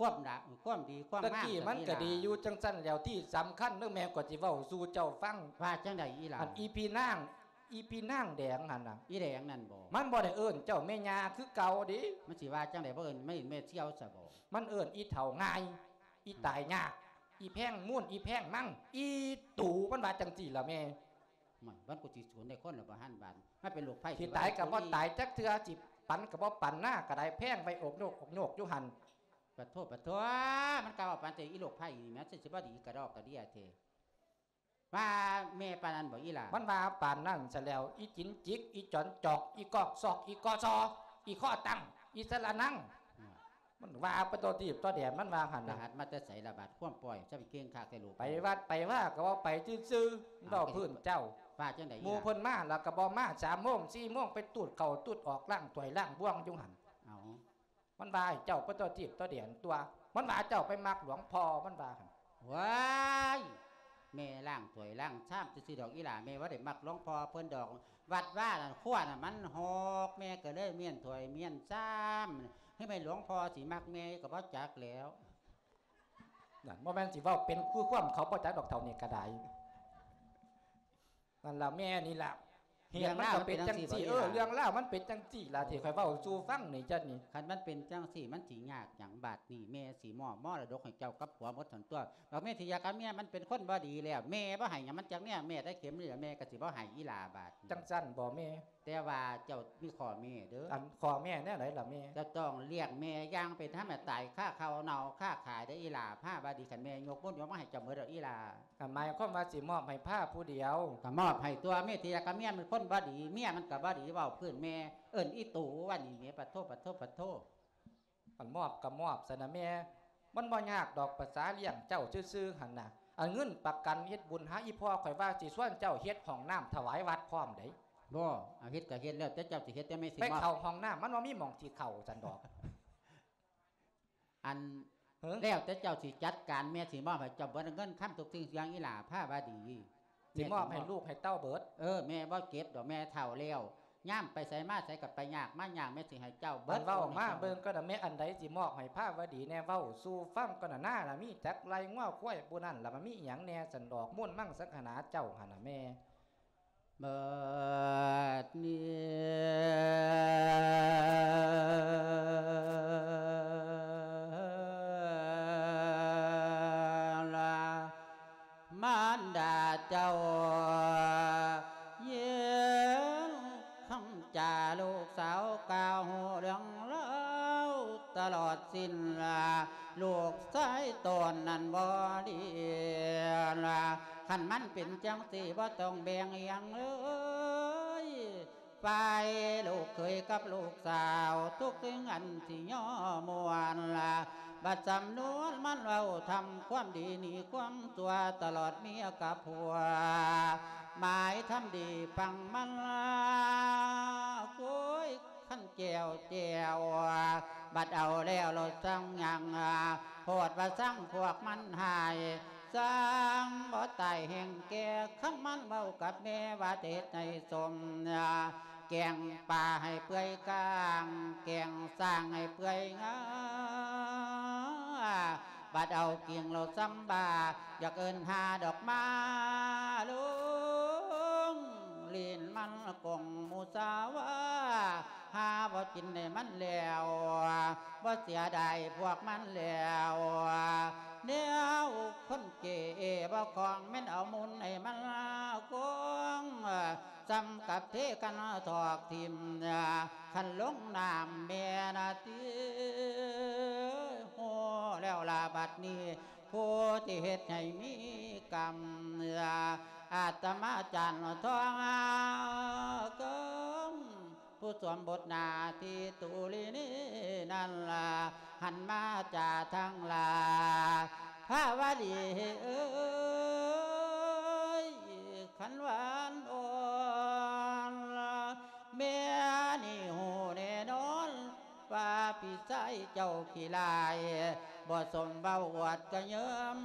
ຄວາມລະ ຄວາມດີຄວາມງາມ ຕະກີ້ມັນກໍດີຢູ່ ກໍມີຫຼາຍ ຈັ່ງຊັ້ນແລ້ວ ທີ່ສຳຄັນເດີ້ແມ່ ຂ້ອຍຊິເວົ້າສູ່ເຈົ້າຟັງ ວ່າຈັ່ງໃດອີ່ຫຼ້າ? ອັນອີ່ພີ່ນາງ ອີ່ພີ່ນາງແດງຫັ້ນນະ ອີ່ແດງນັ້ນບໍ? ມັນບໍ່ໄດ້ເອີ້ນເຈົ້າແມ່ຍ່າຄືເກົ່າເດ້. ມັນຊິວ່າຈັ່ງໃດ ບໍ່ເອີ້ນ ມັນເອີ້ນແມ່ສ່ຽວຊະບໍ? ມັນເອີ້ນອີ່ເຖົ້າງ່າຍ ອີ່ຕາຍຍາກ ອີ່ແພງມູນ ອີ່ແພງມັງ ອີ່ຕູ ມັນວ່າຈັ່ງຊີ້ລະແມ່. ມັນ ມັນກໍຊິສູນໃນຄົນລະບໍ່ຫັ້ນບາດ ມັນເປັນໂລກໄພ ຊິຕາຍກໍບໍ່ຕາຍຈັກເທື່ອ ຊິປັນກໍບໍ່ປັນ ນາກໍໄດ້ແພງໄວ້ອົກໂຍກອົກໂຍກຢູ່ຫັ້ນ. ປະໂທ ປະໂທ ມັນກໍເວົ້າປານແຕ່ອີ່ໂລກໄພນີ້ແມ່ນ ຊິບໍ່ດີກະດອກກະເດຍແທ້. ວ່າແມ່ປານນັ້ນບໍອີ່ຫຼ້າ? ມັນວ່າປານນັ້ນຊະແລ້ວ ອີ່ຈິນຈິກ ອີ່ຈອນຈອກ ອີ່ກອກຊອກ ອີ່ກອຊອ ອີ່ຂໍ້ຕັ້ງ ອີ່ສະລະນັງ ອືມ ມັນວ່າໄປຕົວທີບຕົວແດນ ມັນວ່າຫັ້ນນະ. ໄປຫັດມາແຕ່ໃສລະບາດ ຄວາມປ່ອຍ ຈະໄປເກັ່ງຄັກແທ້ລູກ. ໄປວັດໄປວາກໍເວົ້າໄປຊື່ໆ ເວົ້າພື້ນເຈົ້າ. ວ່າຈັ່ງໃດ? ໝູ່ເພິ່ນມາແລ້ວກໍບໍ່ມາ ສາມໂມງ ສີ່ໂມງ ໄປຕູດເຂົ້າຕູດອອກ ລ້າງຖ້ວຍລ້າງບ່ວງຢູ່ຫັ້ນ. ເອົາ ມັນວ່າໃຫ້ເຈົ້າໄປຕົວທີບຕົວແດນຕົວະ ມັນວ່າເຈົ້າໄປມັກຫຼວງພໍ່ ມັນວ່າຫັ້ນ. ວ້າຍ ແມ່ລ້າງຖ້ວຍລ້າງຊາມຊື່ໆດອກອີ່ຫຼ້າ ແມ່ບໍ່ໄດ້ມັກຫຼວງພໍ່ເພິ່ນດອກ. ວັດວານັ້ນ ຄົວນະມັນຮອກ ແມ່ກໍເລີຍມ້ຽນຖ້ວຍມ້ຽນຊາມ ໃຫ້ແມ່ ຫຼວງພໍ່ຊິມັກແມ່ກໍບໍ່ຈັກແລ້ວ. ນັ້ນ ບໍ່ແມ່ນຊິເວົ້າເປັນຄືຄວາມເຂົາບໍ່ຈັກດອກ ເຖົ້ານີ້ກໍໄດ້. ນັ້ນລະແມ່ນີ້ລະ ເລື່ອງລາວມັນເປັນຈັ່ງຊີ້ ເອີ ເລື່ອງລາວມັນເປັນຈັ່ງຊີ້ລະ ທີ່ຂ້ອຍເວົ້າສູ່ຟັງນີ້ ຈັດນີ້. ຄັນມັນເປັນຈັ່ງຊີ້ ມັນຊິຍາກຫຍັງບາດນີ້? ແມ່ຊິມອບມໍລະດົກໃຫ້ເຈົ້າກັບຜົວໝົດຫັ້ນຕົວະ. ບັກເມທິຍາກັບເມຍມັນເປັນຄົນບໍ່ດີແລ້ວ ແມ່ບໍ່ໃຫ້ຫຍັງມັນຈັກແນວ ແມ່ໄດ້ເຂັມນີ້ລະ ແມ່ກໍຊິບໍ່ໃຫ້ອີ່ຫຼ້າບາດ. ຈັ່ງຊັ້ນບໍແມ່? ແຕ່ວ່າເຈົ້າມີຂໍ້ແມ້ເດີ້. ອັນຂໍ້ແມ້ແນວໃດລະແມ່? ເຈົ້າຕ້ອງລ້ຽງແມ່ຢ່າງເປັນທຳມະ ຕາຍຄາເຂົ້າເນົ່າຄາຂາຍເດີ້ອີ່ຫຼ້າ ພາວ່າດີ. ຄັນແມ່ຍົກບຸນຍົກມາໃຫ້ເຈົ້າໝົດແລ້ວອີ່ຫຼ້າ. ກໍໝາຍຄວາມວ່າຊິມອບໃຫ້ພາຜູ້ດຽວ. ກໍມອບໃຫ້ຕົວະ ເມທິຍາກັບເມຍມັນຄົນບໍ່ດີ ເມຍມັນກໍບໍ່ດີ ເວົ້າພື້ນແມ່ເອີ້ນອີ່ຕູວ່ານີ້ແໝ່. ປະໂທ ປະໂທ ປະໂທ. ອັນມອບກໍມອບຊັ້ນນະແມ່ ມັນບໍ່ຍາກດອກ ປະສາລ້ຽງເຈົ້າຊື່ໆຫັ້ນນະ. ອັນເງິນປະກັນເຮັດບຸນຫາອີ່ພໍ່ ຂ້ອຍວ່າຊິຊວນເຈົ້າເຮັດຫ້ອງນ້ຳຖວາຍວັດພ້ອມໃດ໋. ບໍ່ ເອົາເຮັດກໍເຮັດ ແລ້ວແຕ່ເຈົ້າຊິເຮັດ ແຕ່ແມ່ຊິມອບ ໄປເຂົ້າຫ້ອງນ້ຳ ມັນບໍ່ມີໝ່ອງຊິເຂົ້າຊັ້ນດອກ. ອັນ ເອີ ແລ້ວແຕ່ເຈົ້າຊິຈັດການ ແມ່ຊິມອບໃຫ້ເຈົ້າເບິດເງິນຄຳທຸກສິ່ງທຸກຢ່າງອີ່ຫຼ້າ ພາວ່າດີ. ຊິມອບໃຫ້ລູກໃຫ້ເຕົ້າເບິດ. ເອີ ແມ່ບໍ່ເກັບດອກ ແມ່ເຖົ້າແລ້ວ ຍາມໄປໃສມາໃສກໍໄປຍາກມາຍາກ ແມ່ຊິໃຫ້ເຈົ້າເບິດ. ອັນເວົ້າມາເບິ່ງກໍນະແມ່ ອັນໃດຊິມອບໃຫ້ພາວ່າດີແດ່ ເວົ້າສູ່ຟັງກ່ອນນະ. ນານະມີຈັກໄລ່ ງົວຄວາຍ ຜູ້ນັ້ນລະມັນມີອີ່ຫຍັງແດ່ຊັ້ນດອກ ມູນມັງສັງຄະນາເຈົ້າຫັ້ນນະແມ່. ບັດນີ້ລະ ມານດາເຈົ້າ ຍິນຄຳຈາລູກສາວກ່າວ ຮູ້ເລື່ອງລາວຕະຫຼອດສິ້ນລະ ລູກຊາຍຕົນນັ້ນບໍ່ດີລະ. ຄັນມັນເປັນຈັ່ງຊີ້ ບໍ່ຕ້ອງແບ່ງຫຍັງເລີຍ ຝ່າຍລູກເຂີຍກັບລູກສາວ ທຸກສິ່ງອັນຊິຍໍມ່ວນລະ ບັດສຳນວນມັນເວົ້າທຳຄວາມດີໜີຄວາມຊົ່ວ ຕະຫຼອດເມຍກັບຜົວ ໝາຍທຳດີຟັງມັນລະ ໂອ້ຍ ຄັນແກ້ວແຈ່ວ ບັດເອົາແລ້ວລະຈັ່ງຍັງ ໂພດວ່າຊັງພວກມັນຫາຍ ຊ່າງບໍ່ຕາຍແຮງແກ່ ຄັນມັນເວົ້າກັບແມ່ວ່າຈະເຮັດໃຫ້ສົມ ແກງປາໃຫ້ເປື່ອຍກ້າງ ແກງຊ້າງໃຫ້ເປື່ອຍງາ ບັດເອົາກິ່ງລະຊຳບາ ຢາກເອີ້ນຫາດອກມາລົງ ລີ້ນມັນກົງໝູ່ສາວາ ຫາບໍ່ກິນໃຫ້ມັນແລ້ວ ບໍ່ເສຍດາຍພວກມັນແລ້ວ ແນວຄົນເກເອບໍ່ຄອງ ແມ່ນເອົາມູນໃຫ້ມັນກອງ ສ່ຳກັບເທກັນຖອກຖິ້ມ ຄັນລົງນ້ຳແມ່ນະຕິ ຮູ້ແລ້ວລະບັດນີ້ ຜູ້ທີ່ເຮັດໃຫ້ມີກຳ ອາດຕະມາຈານທອງກຳ ຜູ້ສວມບົດໜ້າທີ່ຕຸລີນີນັ້ນລະ ຫັນມາຈາທັງຫຼາຍ ພາວະດີເອີຍ ຂັນຫວານອ່ອນ ແມ່ນີ້ຮູ້ແນ່ນອນ ວ່າພີ່ຊາຍເຈົ້າຂີ້ລ້າຍ ບໍ່ສົມເວົ້າອວດກະເຍີ້ມ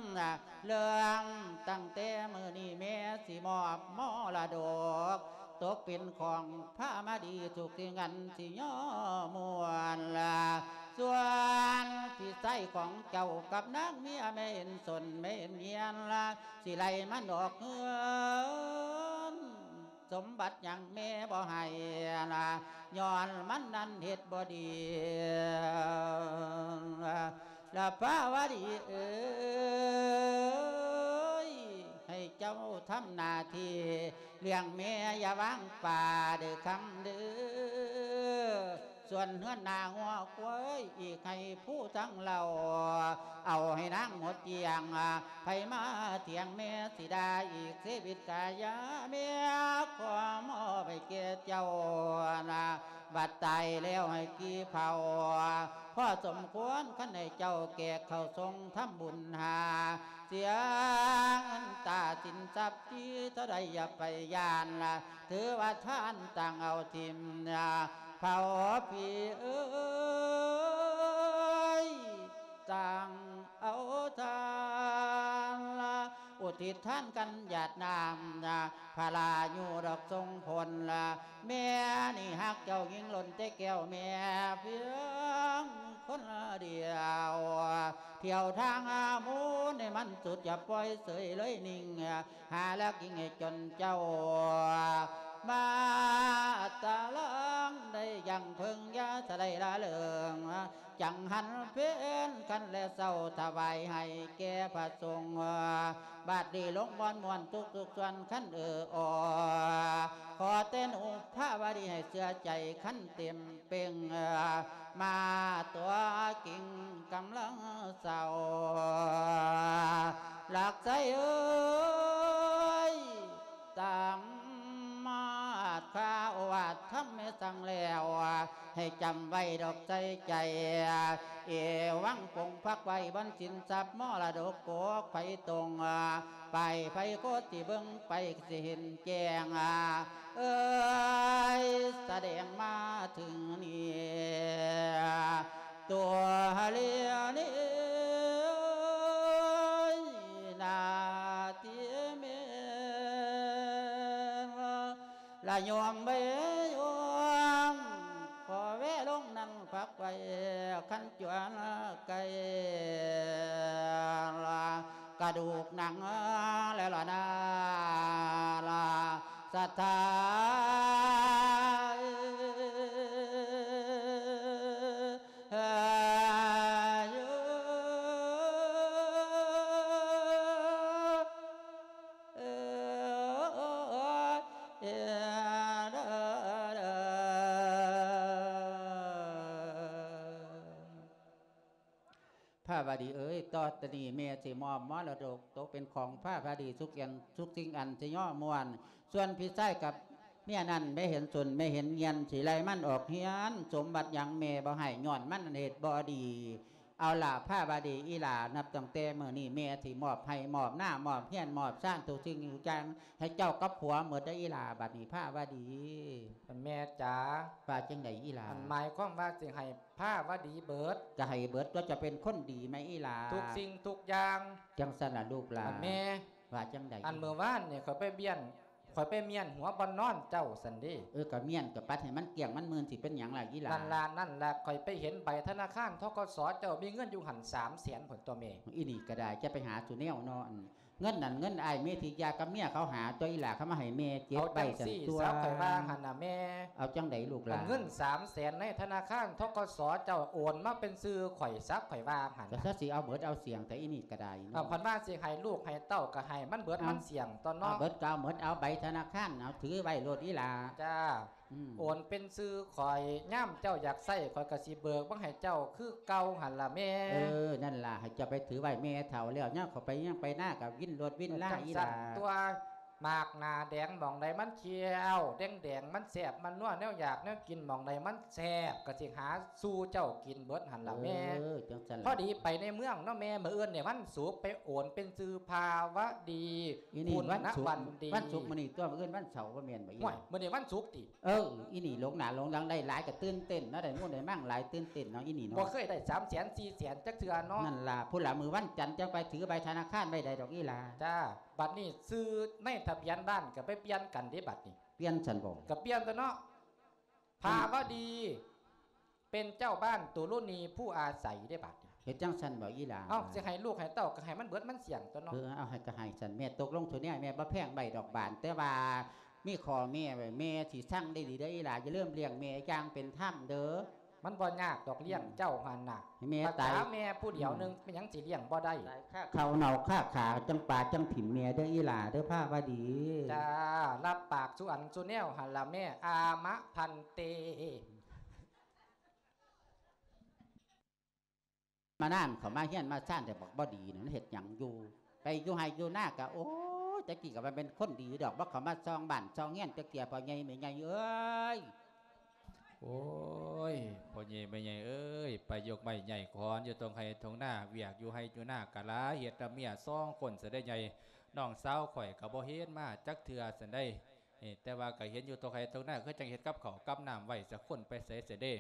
ເລື່ອງຕັ້ງແຕ່ມື້ນີ້ແມ່ຊິມອບມໍລະດົກ ຕົກເປັນຂອງພາມາດີ ທຸກສິ່ງອັນຊິຍໍມ່ວນລະ ສ່ວນພີ່ຊາຍຂອງເຈົ້າກັບນາງເມຍ ແມ່ເຫັນສົນແມ່ເຫັນເຮຍນລະ ຊິໄລ່ມັນອອກເຮືອນ ສົມບັດຫຍັງແມ່ບໍ່ໃຫ້ລະ ຍ້ອນມັນນັ້ນເຮັດບໍ່ດີລະ ພາວະດີເອີຍ ໃຫ້ເຈົ້າທຳໜ້າທີ່ລ້ຽງແມ່ ຢ່າວາງປ່າເດີຄຳເດີ ສ່ວນເຮືອນນາງົວຄວາຍອີກໃຫ້ຜູ້ທັງເຫຼົ່າ ເອົາໃຫ້ນາງໝົດກ້ຽງ ໃຜມາຖຽງແມ່ຊິດ່າອີກ ຊີວິດກາຍາແມ່ ຂໍມອບໃຫ້ແກ່ເຈົ້ານະ ບັດຕາຍແລ້ວໃຫ້ກີ່ເຜົາ ພໍສົມຄວນ ຄັນໃຫ້ເຈົ້າແກກເຂົ້າຊົງທຳບຸນຫາ ສຽເງິນຕາສິນຊັບ ທີ່ເທົ່າໃດຢ່າໄປຢ້ານລະ ຖືວ່າທານຕ່າງເອົາຖິ້ມນະ ເຜົາພີ່ເອີຍ ຕ່າງເອົາທານລະ ອຸທິດທານກັນຫຍາດນ້ຳນະ ພະລາຢູ່ດອກຊົງຜົນລະ ແມ່ນີ້ຮັກເຈົ້າຍິ່ງລົ້ນແຕ່ແກ້ວແມ່ພຽງຄົນດຽວ ທ່ຽວທາງອາໝູນໃຫ້ມັນສຸດ ຢ່າປ່ອຍເສີຍເລີຍນິ່ງ ຫາແລກຍິ່ງໃຫ້ຈົນເຈົ້າ ມາຕະລາງໄດ້ຢ່າງເພິ່ງ ຢ່າສະໄຫຼລະເລີງ ຈັງຫັນເພັນຄັນແລເຊົ້າ ຖວາຍໃຫ້ແກ່ພະສົງ ບາດນີ້ລົງມ່ອນມ່ວນທຸກໆສ່ວນ ຄັນເອີອອ ຂໍແຕ່ໜູພາວະດີໃຫ້ເຊື່ອໃຈ ຄັນເຕັມ ເປັ່ງມາຕົວກິງກຳລັງເສົ້າ ລັກໄຊເອີຍ ຕາມມາດຄາໂອວາດທຳແມ່ສັ່ງແລ້ວ ໃຫ້ຈຳໄວ້ດອກໃສ່ໃຈ ເອວັງປົງພັກໄວ້ ບ່ອນສິນຊັບມໍລະດົກກົກໄຟຕົງ ປາຍໄຟໂຄດຊິເບິ່ງໄປ ຊິເຫັນແຈ້ງ ເອີຍ ສະແດງມາເຖິງນີ້ ຕົວເລວນີ້ ໜ້າທີ່ແມ່ນ ລະຍອມໄວ້ຍອມ ຂໍແວະລົງນັ່ງພັກໄວ້ ຄັນຈວນໄກ່ ລະກະດູກໜັງແລ້ວລະນາ ລະສະຖາຍ ພາວະດີເອີຍ ຕໍ່ແຕ່ນີ້ແມ່ຊິມອບມໍລະດົກຕົກເປັນຂອງພາວະດີທຸກຢ່າງ ທຸກສິ່ງອັນສະຫຍອມມ່ວນ ສ່ວນພີ່ຊາຍກັບເມຍນັ້ນ ແມ່ເຫັນສົນແມ່ເຫັນເຮຍນ ຊິໄລ່ມັນອອກເຮືອນ ສົມບັດຫຍັງແມ່ບໍ່ໃຫ້ ຍ້ອນມັນເຮັດບໍ່ດີ. ເອົາລະ ພາວະດີອີ່ຫຼ້າ ນັບຕັ້ງແຕ່ມື້ນີ້ແມ່ຊິມອບໄຮ່ມອບນາ ມອບເຮືອນມອບຊານ ທຸກສິ່ງທຸກຢ່າງໃຫ້ເຈົ້າກັບຜົວໝົດເດີອີ່ຫຼ້າ ບັດນີ້ພາວະດີ. ແມ່ຈ໋າ ວ່າຈັ່ງໃດອີ່ຫຼ້າ? ອັນໝາຍຄວາມວ່າຊິໃຫ້ພາວະດີເບີດ. ກະໃຫ້ເບີດຕົວະ ເຈົ້າເປັນຄົນດີແມ່ອີ່ຫຼ້າ ທຸກສິ່ງທຸກຢ່າງ. ຈັ່ງຊັ້ນລະລູກຫຼານ. ແມ່ ວ່າຈັ່ງໃດ? ອັນມື້ວານນີ້ຂ້ອຍໄປບ້ຽນ ຂ້ອຍໄປມ້ຽນຫົວບ່ອນນອນເຈົ້າຊັ້ນເດ. ເອີ ກະມ້ຽນກະປັດໃຫ້ມັນກ້ຽງມັນໝື່ນ ຊິເປັນຫຍັງລະອີ່ຫຼ້າ? ນັ້ນລະ ນັ້ນລະ ຂ້ອຍໄປເຫັນໃບທະນາຄານ ທກສ ເຈົ້າມີເງິນຢູ່ຫັ້ນສາມແສນພຸ້ນຕົວະແມ່. ອີ່ນີ້ກະໄດ້ ຈະໄປຫາສູ່ແນວເນາະ ເງິນນັ້ນເງິນອ້າຍເມທິຢາກັບເມຍເຂົາຫາຕົວະອີ່ຫຼ້າ ເຂົາມາໃຫ້ແມ່ເຈັດໃບຊັ້ນຕົວະ. ເອົາຈັ່ງໃດລູກຫຼານ? ເງິນສາມແສນໃນທະນາຄານ ທກສ ເຈົ້າໂອນມາເປັນຊື່ຂ້ອຍ ສັກຂ້ອຍວ່າຫັ້ນ ກະຊະຊິເອົາເບີດເອົາສ່ຽງແທ້ ອີ່ນີ້ກະໄດ້ເນາະ. ເອົາ ເພິ່ນວ່າຊິໃຫ້ລູກໃຫ້ເຕົ້າກະໃຫ້ມັນເບີດມັນສ່ຽງຕົວະເນາະ. ເອົາເບີດກະເອົາເບີດ ເອົາໃບທະນາຄານ ເອົາຖືໄວ້ໂລດອີ່ຫຼ້າ. ຈ້າ ອືມ ໂອນເປັນຊື່ຂ້ອຍ ຍາມເຈົ້າຢາກໃຊ້ ຂ້ອຍກະຊິເບີກມາໃຫ້ເຈົ້າຄືເກົ່າຫັ້ນລະແມ່. ເອີ ນັ້ນລະ ໃຫ້ເຈົ້າໄປຖືໄວ້ ແມ່ເຖົ້າແລ້ວ ຍາມເຂົາໄປຫຍັງໄປນາກະວິນໂລດວິນລາອີ່ຫຼ້າ. ເອົາຈັ່ງຊັ້ນຕົວະ ໝາກໜ້າແດງໝ່ອງໃດມັນຂຽວແດງໆ ມັນແຊບມັນນົວ ແນວຢາກແນວກິນໝ່ອງໃດມັນແຊບ ກະຊິຫາສູ່ເຈົ້າກິນເບີດຫັ້ນລະແມ່. ເອີ ຈັ່ງຊັ້ນລະ ພໍດີໄປໃນເມືອງເນາະແມ່ ມື້ອື່ນນີ້ວັນສຸກ ໄປໂອນເປັນຊື່ພາວະດີ. ອີ່ນີ້ວັນສຸກ ວັນສຸກ ມື້ນີ້ຕົວະ ມື້ອື່ນວັນເສົາບໍ່ແມ່ນບໍ່? ໂອ້ຍ ມື້ນີ້ວັນສຸກຕິ. ເອີ ອີ່ນີ້ຫຼົງໜ້າຫຼົງຫຼັງ ໄດ້ຫຼາຍກະຕື່ນເຕັ້ນເນາະ ໄດ້ມູນໄດ້ມັ່ງຫຼາຍຕື່ນເຕັ້ນເນາະ ອີ່ນີ້ເນາະ. ບໍ່ເຄີຍໄດ້ສາມແສນສີ່ແສນຈັກເທື່ອເນາະ. ນັ້ນລະ ພຸ້ນລະ ມື້ວັນຈັນຈັ່ງໄປຖືໃບທະນາຄານໄວ້ໄດ້ດອກອີ່ຫຼ້າ. ຈ້າ ບັດນີ້ຊື່ໃນທະບຽນບ້ານກະໄປປ່ຽນກັນເດບັດນີ້. ປ່ຽນຊັ້ນບໍ? ກະປ່ຽນຕົວະເນາະ. ພາວະດີ ປັນເຈົ້າບ້ານຕຸລຸນີຜູ້ອາໄສເດ້ບາດນີ້. ເຮັດຈັ່ງຊັ້ນບໍ່ອີ່ຫຼ້າ? ເອົ້າ ຊິໃຫ້ລູກໃຫ້ເຕົ້າກໍໃຫ້ມັນເບິດມັນສ່ຽງຕົວເນາະ. ເອີ ເອົາໃຫ້ກໍໃຫ້ຊັ້ນ ແມ່ຕົກລົງໂຕແນວ ແມ່ບໍ່ແພງໃບດອກບານ ແຕ່ວ່າມີຂໍ້ແມ້ໄວ້ ແມ່ຊິສັ່ງໄດ້ດີເດີອີ່ຫຼ້າ ຢ່າລືມລ້ຽງແມ່ຢ່າງເປັນທຳເດີ. ມັນບໍ່ຍາກດອກລ້ຽງເຈົ້າຫັ້ນນະ ໃຫ້ແມ່ຕາຍ ແມ່ຜູ້ດຽວໜຶ່ງ ອືມ ເປັນຫຍັງຊິລ້ຽງບໍ່ໄດ້? ຕາຍຄາເຂົ້າເນົ່າຄາຂາ ຈັ່ງປາຈັ່ງຖິ້ມແມ່ເດີອີ່ຫຼ້າເດີພາວະດີ. ຈ້າ ຮັບປາກສູ່ອັນສູ່ແນວຫັ້ນລະແມ່ ອາມະພັນເຕ. ມານານເຂົ້າມາເຮືອນມາຊານແຕ່ບັກບໍ່ດີນັ້ນເຮັດຫຍັງຢູ່ ໄປຢູ່ໄຮ່ຢູ່ນາກະ ໂອ້ຍ ແຕ່ກີ້ກະວ່າແມ່ນຄົນດີດອກ ບໍ່ເຂົ້າມາຊ່ອງບ້ານຊ່ອງເຮືອນຈັກເທື່ອ ພໍ່ໃຫຍ່ແມ່ໃຫຍ່ເອີຍ. ໂອ້ຍ ພໍ່ໃຫຍ່ແມ່ໃຫຍ່ເອີຍ ໄປຍົກໄມ້ຍ້າຍຂອນຢູ່ທົ່ງໄຮ່ທົ່ງນາ ວຽກຢູ່ໄຮ່ຢູ່ນາກະຫຼາຍ ເຮັດນຳເມຍສອງຄົນຊະໄດ໋ໃຫຍ່ ນ້ອງສາວຂ້ອຍກະບໍ່ເຫັນມາຈັກເທື່ອຊັ້ນໃດ໋. ເອີ ແຕ່ວ່າກໍເຫັນຢູ່ຕົກໄຮ່ຕົກນາ ຄືຈັ່ງເຮັດກັບເຂົ້າກັບນ້ຳໄວ້ ຈັກຄົນໄປໃສເສຍເດ້.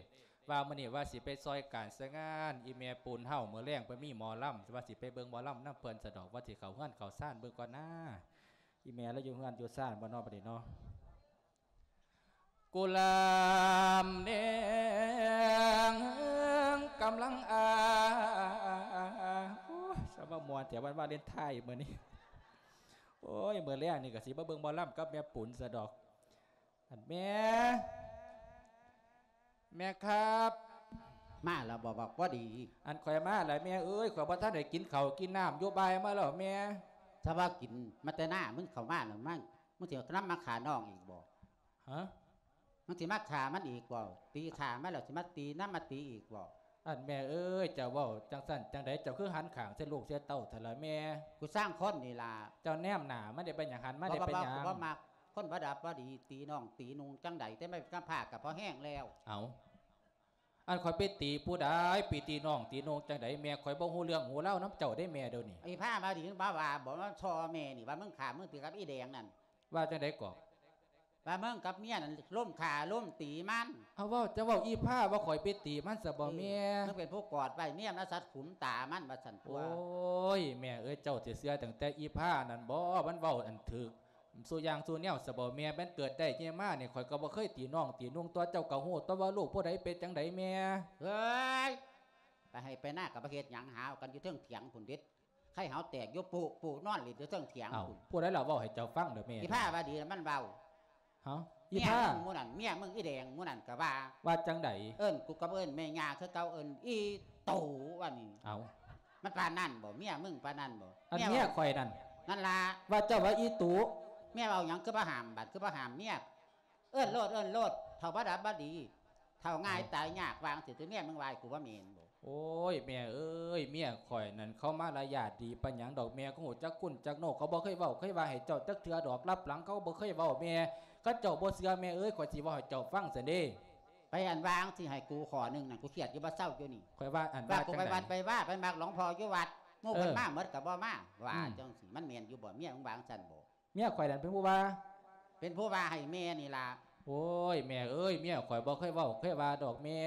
ວ່າມື້ນີ້ວ່າຊິໄປຊ່ອຍການຊ່ອຍງານອີ່ແມ່ປູນເຮົາ ມື້ແລງເພິ່ນມີໝໍລຳ ວ່າຊິໄປເບິ່ງໝໍລຳນຳເພິ່ນສະດອກ ວ່າຊິເຂົ້າເຮືອນເຂົ້າຊານເບິ່ງກ່ອນນາ. ອີ່ແມ່ລາວຢູ່ເຮືອນຢູ່ຊານບໍ່ເນາະ ບັດນີ້ເນາະ? ກຸລາມແດງກຳລັງອາ ໂອ້ຍ ສະມາມ່ວນແທ້ ວັນວາເລນທາຍມື້ນີ້. ໂອ້ຍ ມື້ແລງນີ້ກໍຊິມາເບິ່ງໝໍລຳກັບແມ່ປຸນຊະດອກ. ອັນແມ່ ແມ່ຄັບ ມາແລ້ວບໍ່ ບັກບໍ່ດີ? ອັນຂ້ອຍມາແລ້ວແມ່ເອີຍ ຂ້ອຍບໍ່ທັນໄດ້ກິນເຂົ້າກິນນ້ຳຢູ່ ບ່າຍມາແລ້ວແມ່. ສະວ່າກິນມາແຕ່ນາ ມຶງເຂົ້າມາແລ້ວ ມາ ມຶງຊິນຳມາຂ້ານ້ອງອີກບໍ່? ຮະ? ມຶງຊິມາຂ້າມັນອີກບໍ່? ຕີຂ້າມັນແລ້ວ ຊິມາຕີນຳມາຕີອີກບໍ່? ອັນແມ່ເອີຍ ເຈົ້າເວົ້າຈັ່ງຊັ້ນຈັ່ງໃດ ເຈົ້າຄືຫັນຂ້າງໃສ່ລູກໃສ່ເຕົ້າຊັ້ນລະແມ່? ກູຊ່າງຄົນນີ້ລະ. ເຈົ້າແນມໜ້າມັນໄດ້ເປັນຫຍັງ ຫັນມາໄດ້ເປັນຫຍັງ? ບໍ່ ບໍ່ ບໍ່ມັກ ຄົນບໍ່ດັບບໍ່ດີ ຕີນ້ອງຕີນຸ່ງຈັ່ງໃດ ແຕ່ມາເປັນກຳພ້າກໍພໍແຮງແລ້ວ. ເອົ້າ ອັນຂ້ອຍໄປຕີຜູ້ໃດ ໄປຕີນ້ອງຕີນຸ່ງຈັ່ງໃດ ແມ່ ຂ້ອຍບໍ່ຮູ້ເລື່ອງຮູ້ລາວນຳເຈົ້າເດ້ແມ່ ດຽວນີ້. ອີ່ພ້າມາດີ ມາວ່າບໍ່ ມາສໍ້ແມ່ນີ້ ວ່າມຶງຂ້າມຶງຕີກັບອີ່ແດງນັ້ນ. ວ່າຈັ່ງໃດເກາະ? ວ່າມຶງກັບເມຍນັ້ນລົມຂ້າລົມຕີມັນ. ເອົາ ເວົ້າ ເຈົ້າເວົ້າອີ່ພ້າວ່າຂ້ອຍໄປຕີມັນຊະບໍ່ແມ່? ເອີ ມຶງເປັນຜູ້ກອດໄວ້ ເມຍມາສັດຂຸມຕາມັນວ່າຊັ້ນຕົວະ. ໂອ້ຍ ແມ່ເອີຍ ເຈົ້າຊິເຊື່ອຕັ້ງແຕ່ອີ່ພ້ານັ້ນບໍ່? ມັນເວົ້າອັນຖືກ ສູ່ຢ່າງສູ່ແນວຊະບໍ່ແມ່? ແມ່ນເກີດໄດ້ໃຫຍ່ມານີ້ ຂ້ອຍກໍບໍ່ເຄີຍຕີນ້ອງຕີນຸ່ງຕົວະ ເຈົ້າກໍຮູ້ຕົວະວ່າລູກຜູ້ໃດເປັນຈັ່ງໃດແມ່. ເອີຍ ໄປໄຮ່ໄປນາກໍບໍ່ເຮັດຫຍັງ ຫາວກັນຢູ່ເທິງຖຽງພຸ້ນເດັດ ໄຂ່ຫາວແຕກຢູ່ປຸ ປຸ ນອນຫຼິ້ນຢູ່ເທິງຖຽງ. ເອົ້າ ພຸ້ນ ຜູ້ໃດລະເວົ້າໃຫ້ເຈົ້າຟັງເດີແມ່? ອີ່ພ້າວ່າດີລະມັນເວົ້າ. ຮະ? ອີ່ພ້າ ເມຍມຶງມື້ນັ້ນ ເມຍມຶງອີ່ແດງມື້ນັ້ນກໍວ່າ. ວ່າຈັ່ງໃດ? ເອີ້ນ ກູກໍເອີ້ນແມ່ຍ່າຄືເກົ່າ ເອີ້ນອີ່ຕູວ່ານີ້. ເອົ້າ ມັນປານນັ້ນບໍ່? ເມຍມຶງປານນັ້ນບໍ່? ອັນເມຍຂ້ອຍນັ້ນ ນັ້ນລະ ວ່າເຈົ້າວ່າອີ່ຕູ. ເມຍເວົ້າຫຍັງຄືບໍ່ຫ້າມ ບາດຄືບໍ່ຫ້າມເມຍ? ເອີ້ນໂລດ ເອີ້ນໂລດ ເຖົ້າບໍ່ດັບບໍ່ດີ ເຖົ້າງ່າຍຕາຍຍາກ ວ່າຈັ່ງຊີ້ ເມຍມຶງວ່າໃຫ້ກູວ່າແມ່ນບໍ່? ໂອ້ຍ ແມ່ເອີຍ ເມຍຂ້ອຍນັ້ນເຂົາມາລະຍາດດີປານຫຍັງດອກແມ່ ເຂົາຮູ້ຈັກຄຸນຈັກໂນ ເຂົາບໍ່ເຄີຍເວົ້າເຄີຍວ່າໃຫ້ເຈົ້າຈັກເທື່ອດອກ ລັບຫຼັງເຂົາບໍ່ເຄີຍເວົ້າແມ່. ຄັນເຈົ້າບໍ່ເຊື່ອແມ່ເອີຍ ຂ້ອຍຊິເວົ້າໃຫ້ເຈົ້າຟັງຊັ້ນເດ້. ໄປອັນວ່າຈັ່ງຊີ້ໃຫ້ກູຂໍ້ໜຶ່ງນັ້ນ ກູຄຽດຢູ່ບໍ່ເຊົາຢູ່ນີ້. ຂ້ອຍວ່າອັນວ່າ ວ່າກູໄປວັດໄປວາ ໄປມັກຫຼວງພໍ່ຢູ່ວັດ ໝູ່ເພິ່ນ ເອີ ມາໝົດກໍບໍ່ມາ ວ່າ ອືມ ຈັ່ງຊີ້ ມັນແມ່ນຢູ່ບໍ່? ເມຍມຶງວ່າຈັ່ງຊັ້ນບໍ່? ເມຍຂ້ອຍນັ້ນເປັນຜູ້ວ່າ ເປັນຜູ້ວ່າໃຫ້ແມ່ນີ້ລະ. ໂອ້ຍ ແມ່ເອີຍ ເມຍຂ້ອຍບໍ່ເຄີຍເວົ້າເຄີຍວ່າດອກແມ່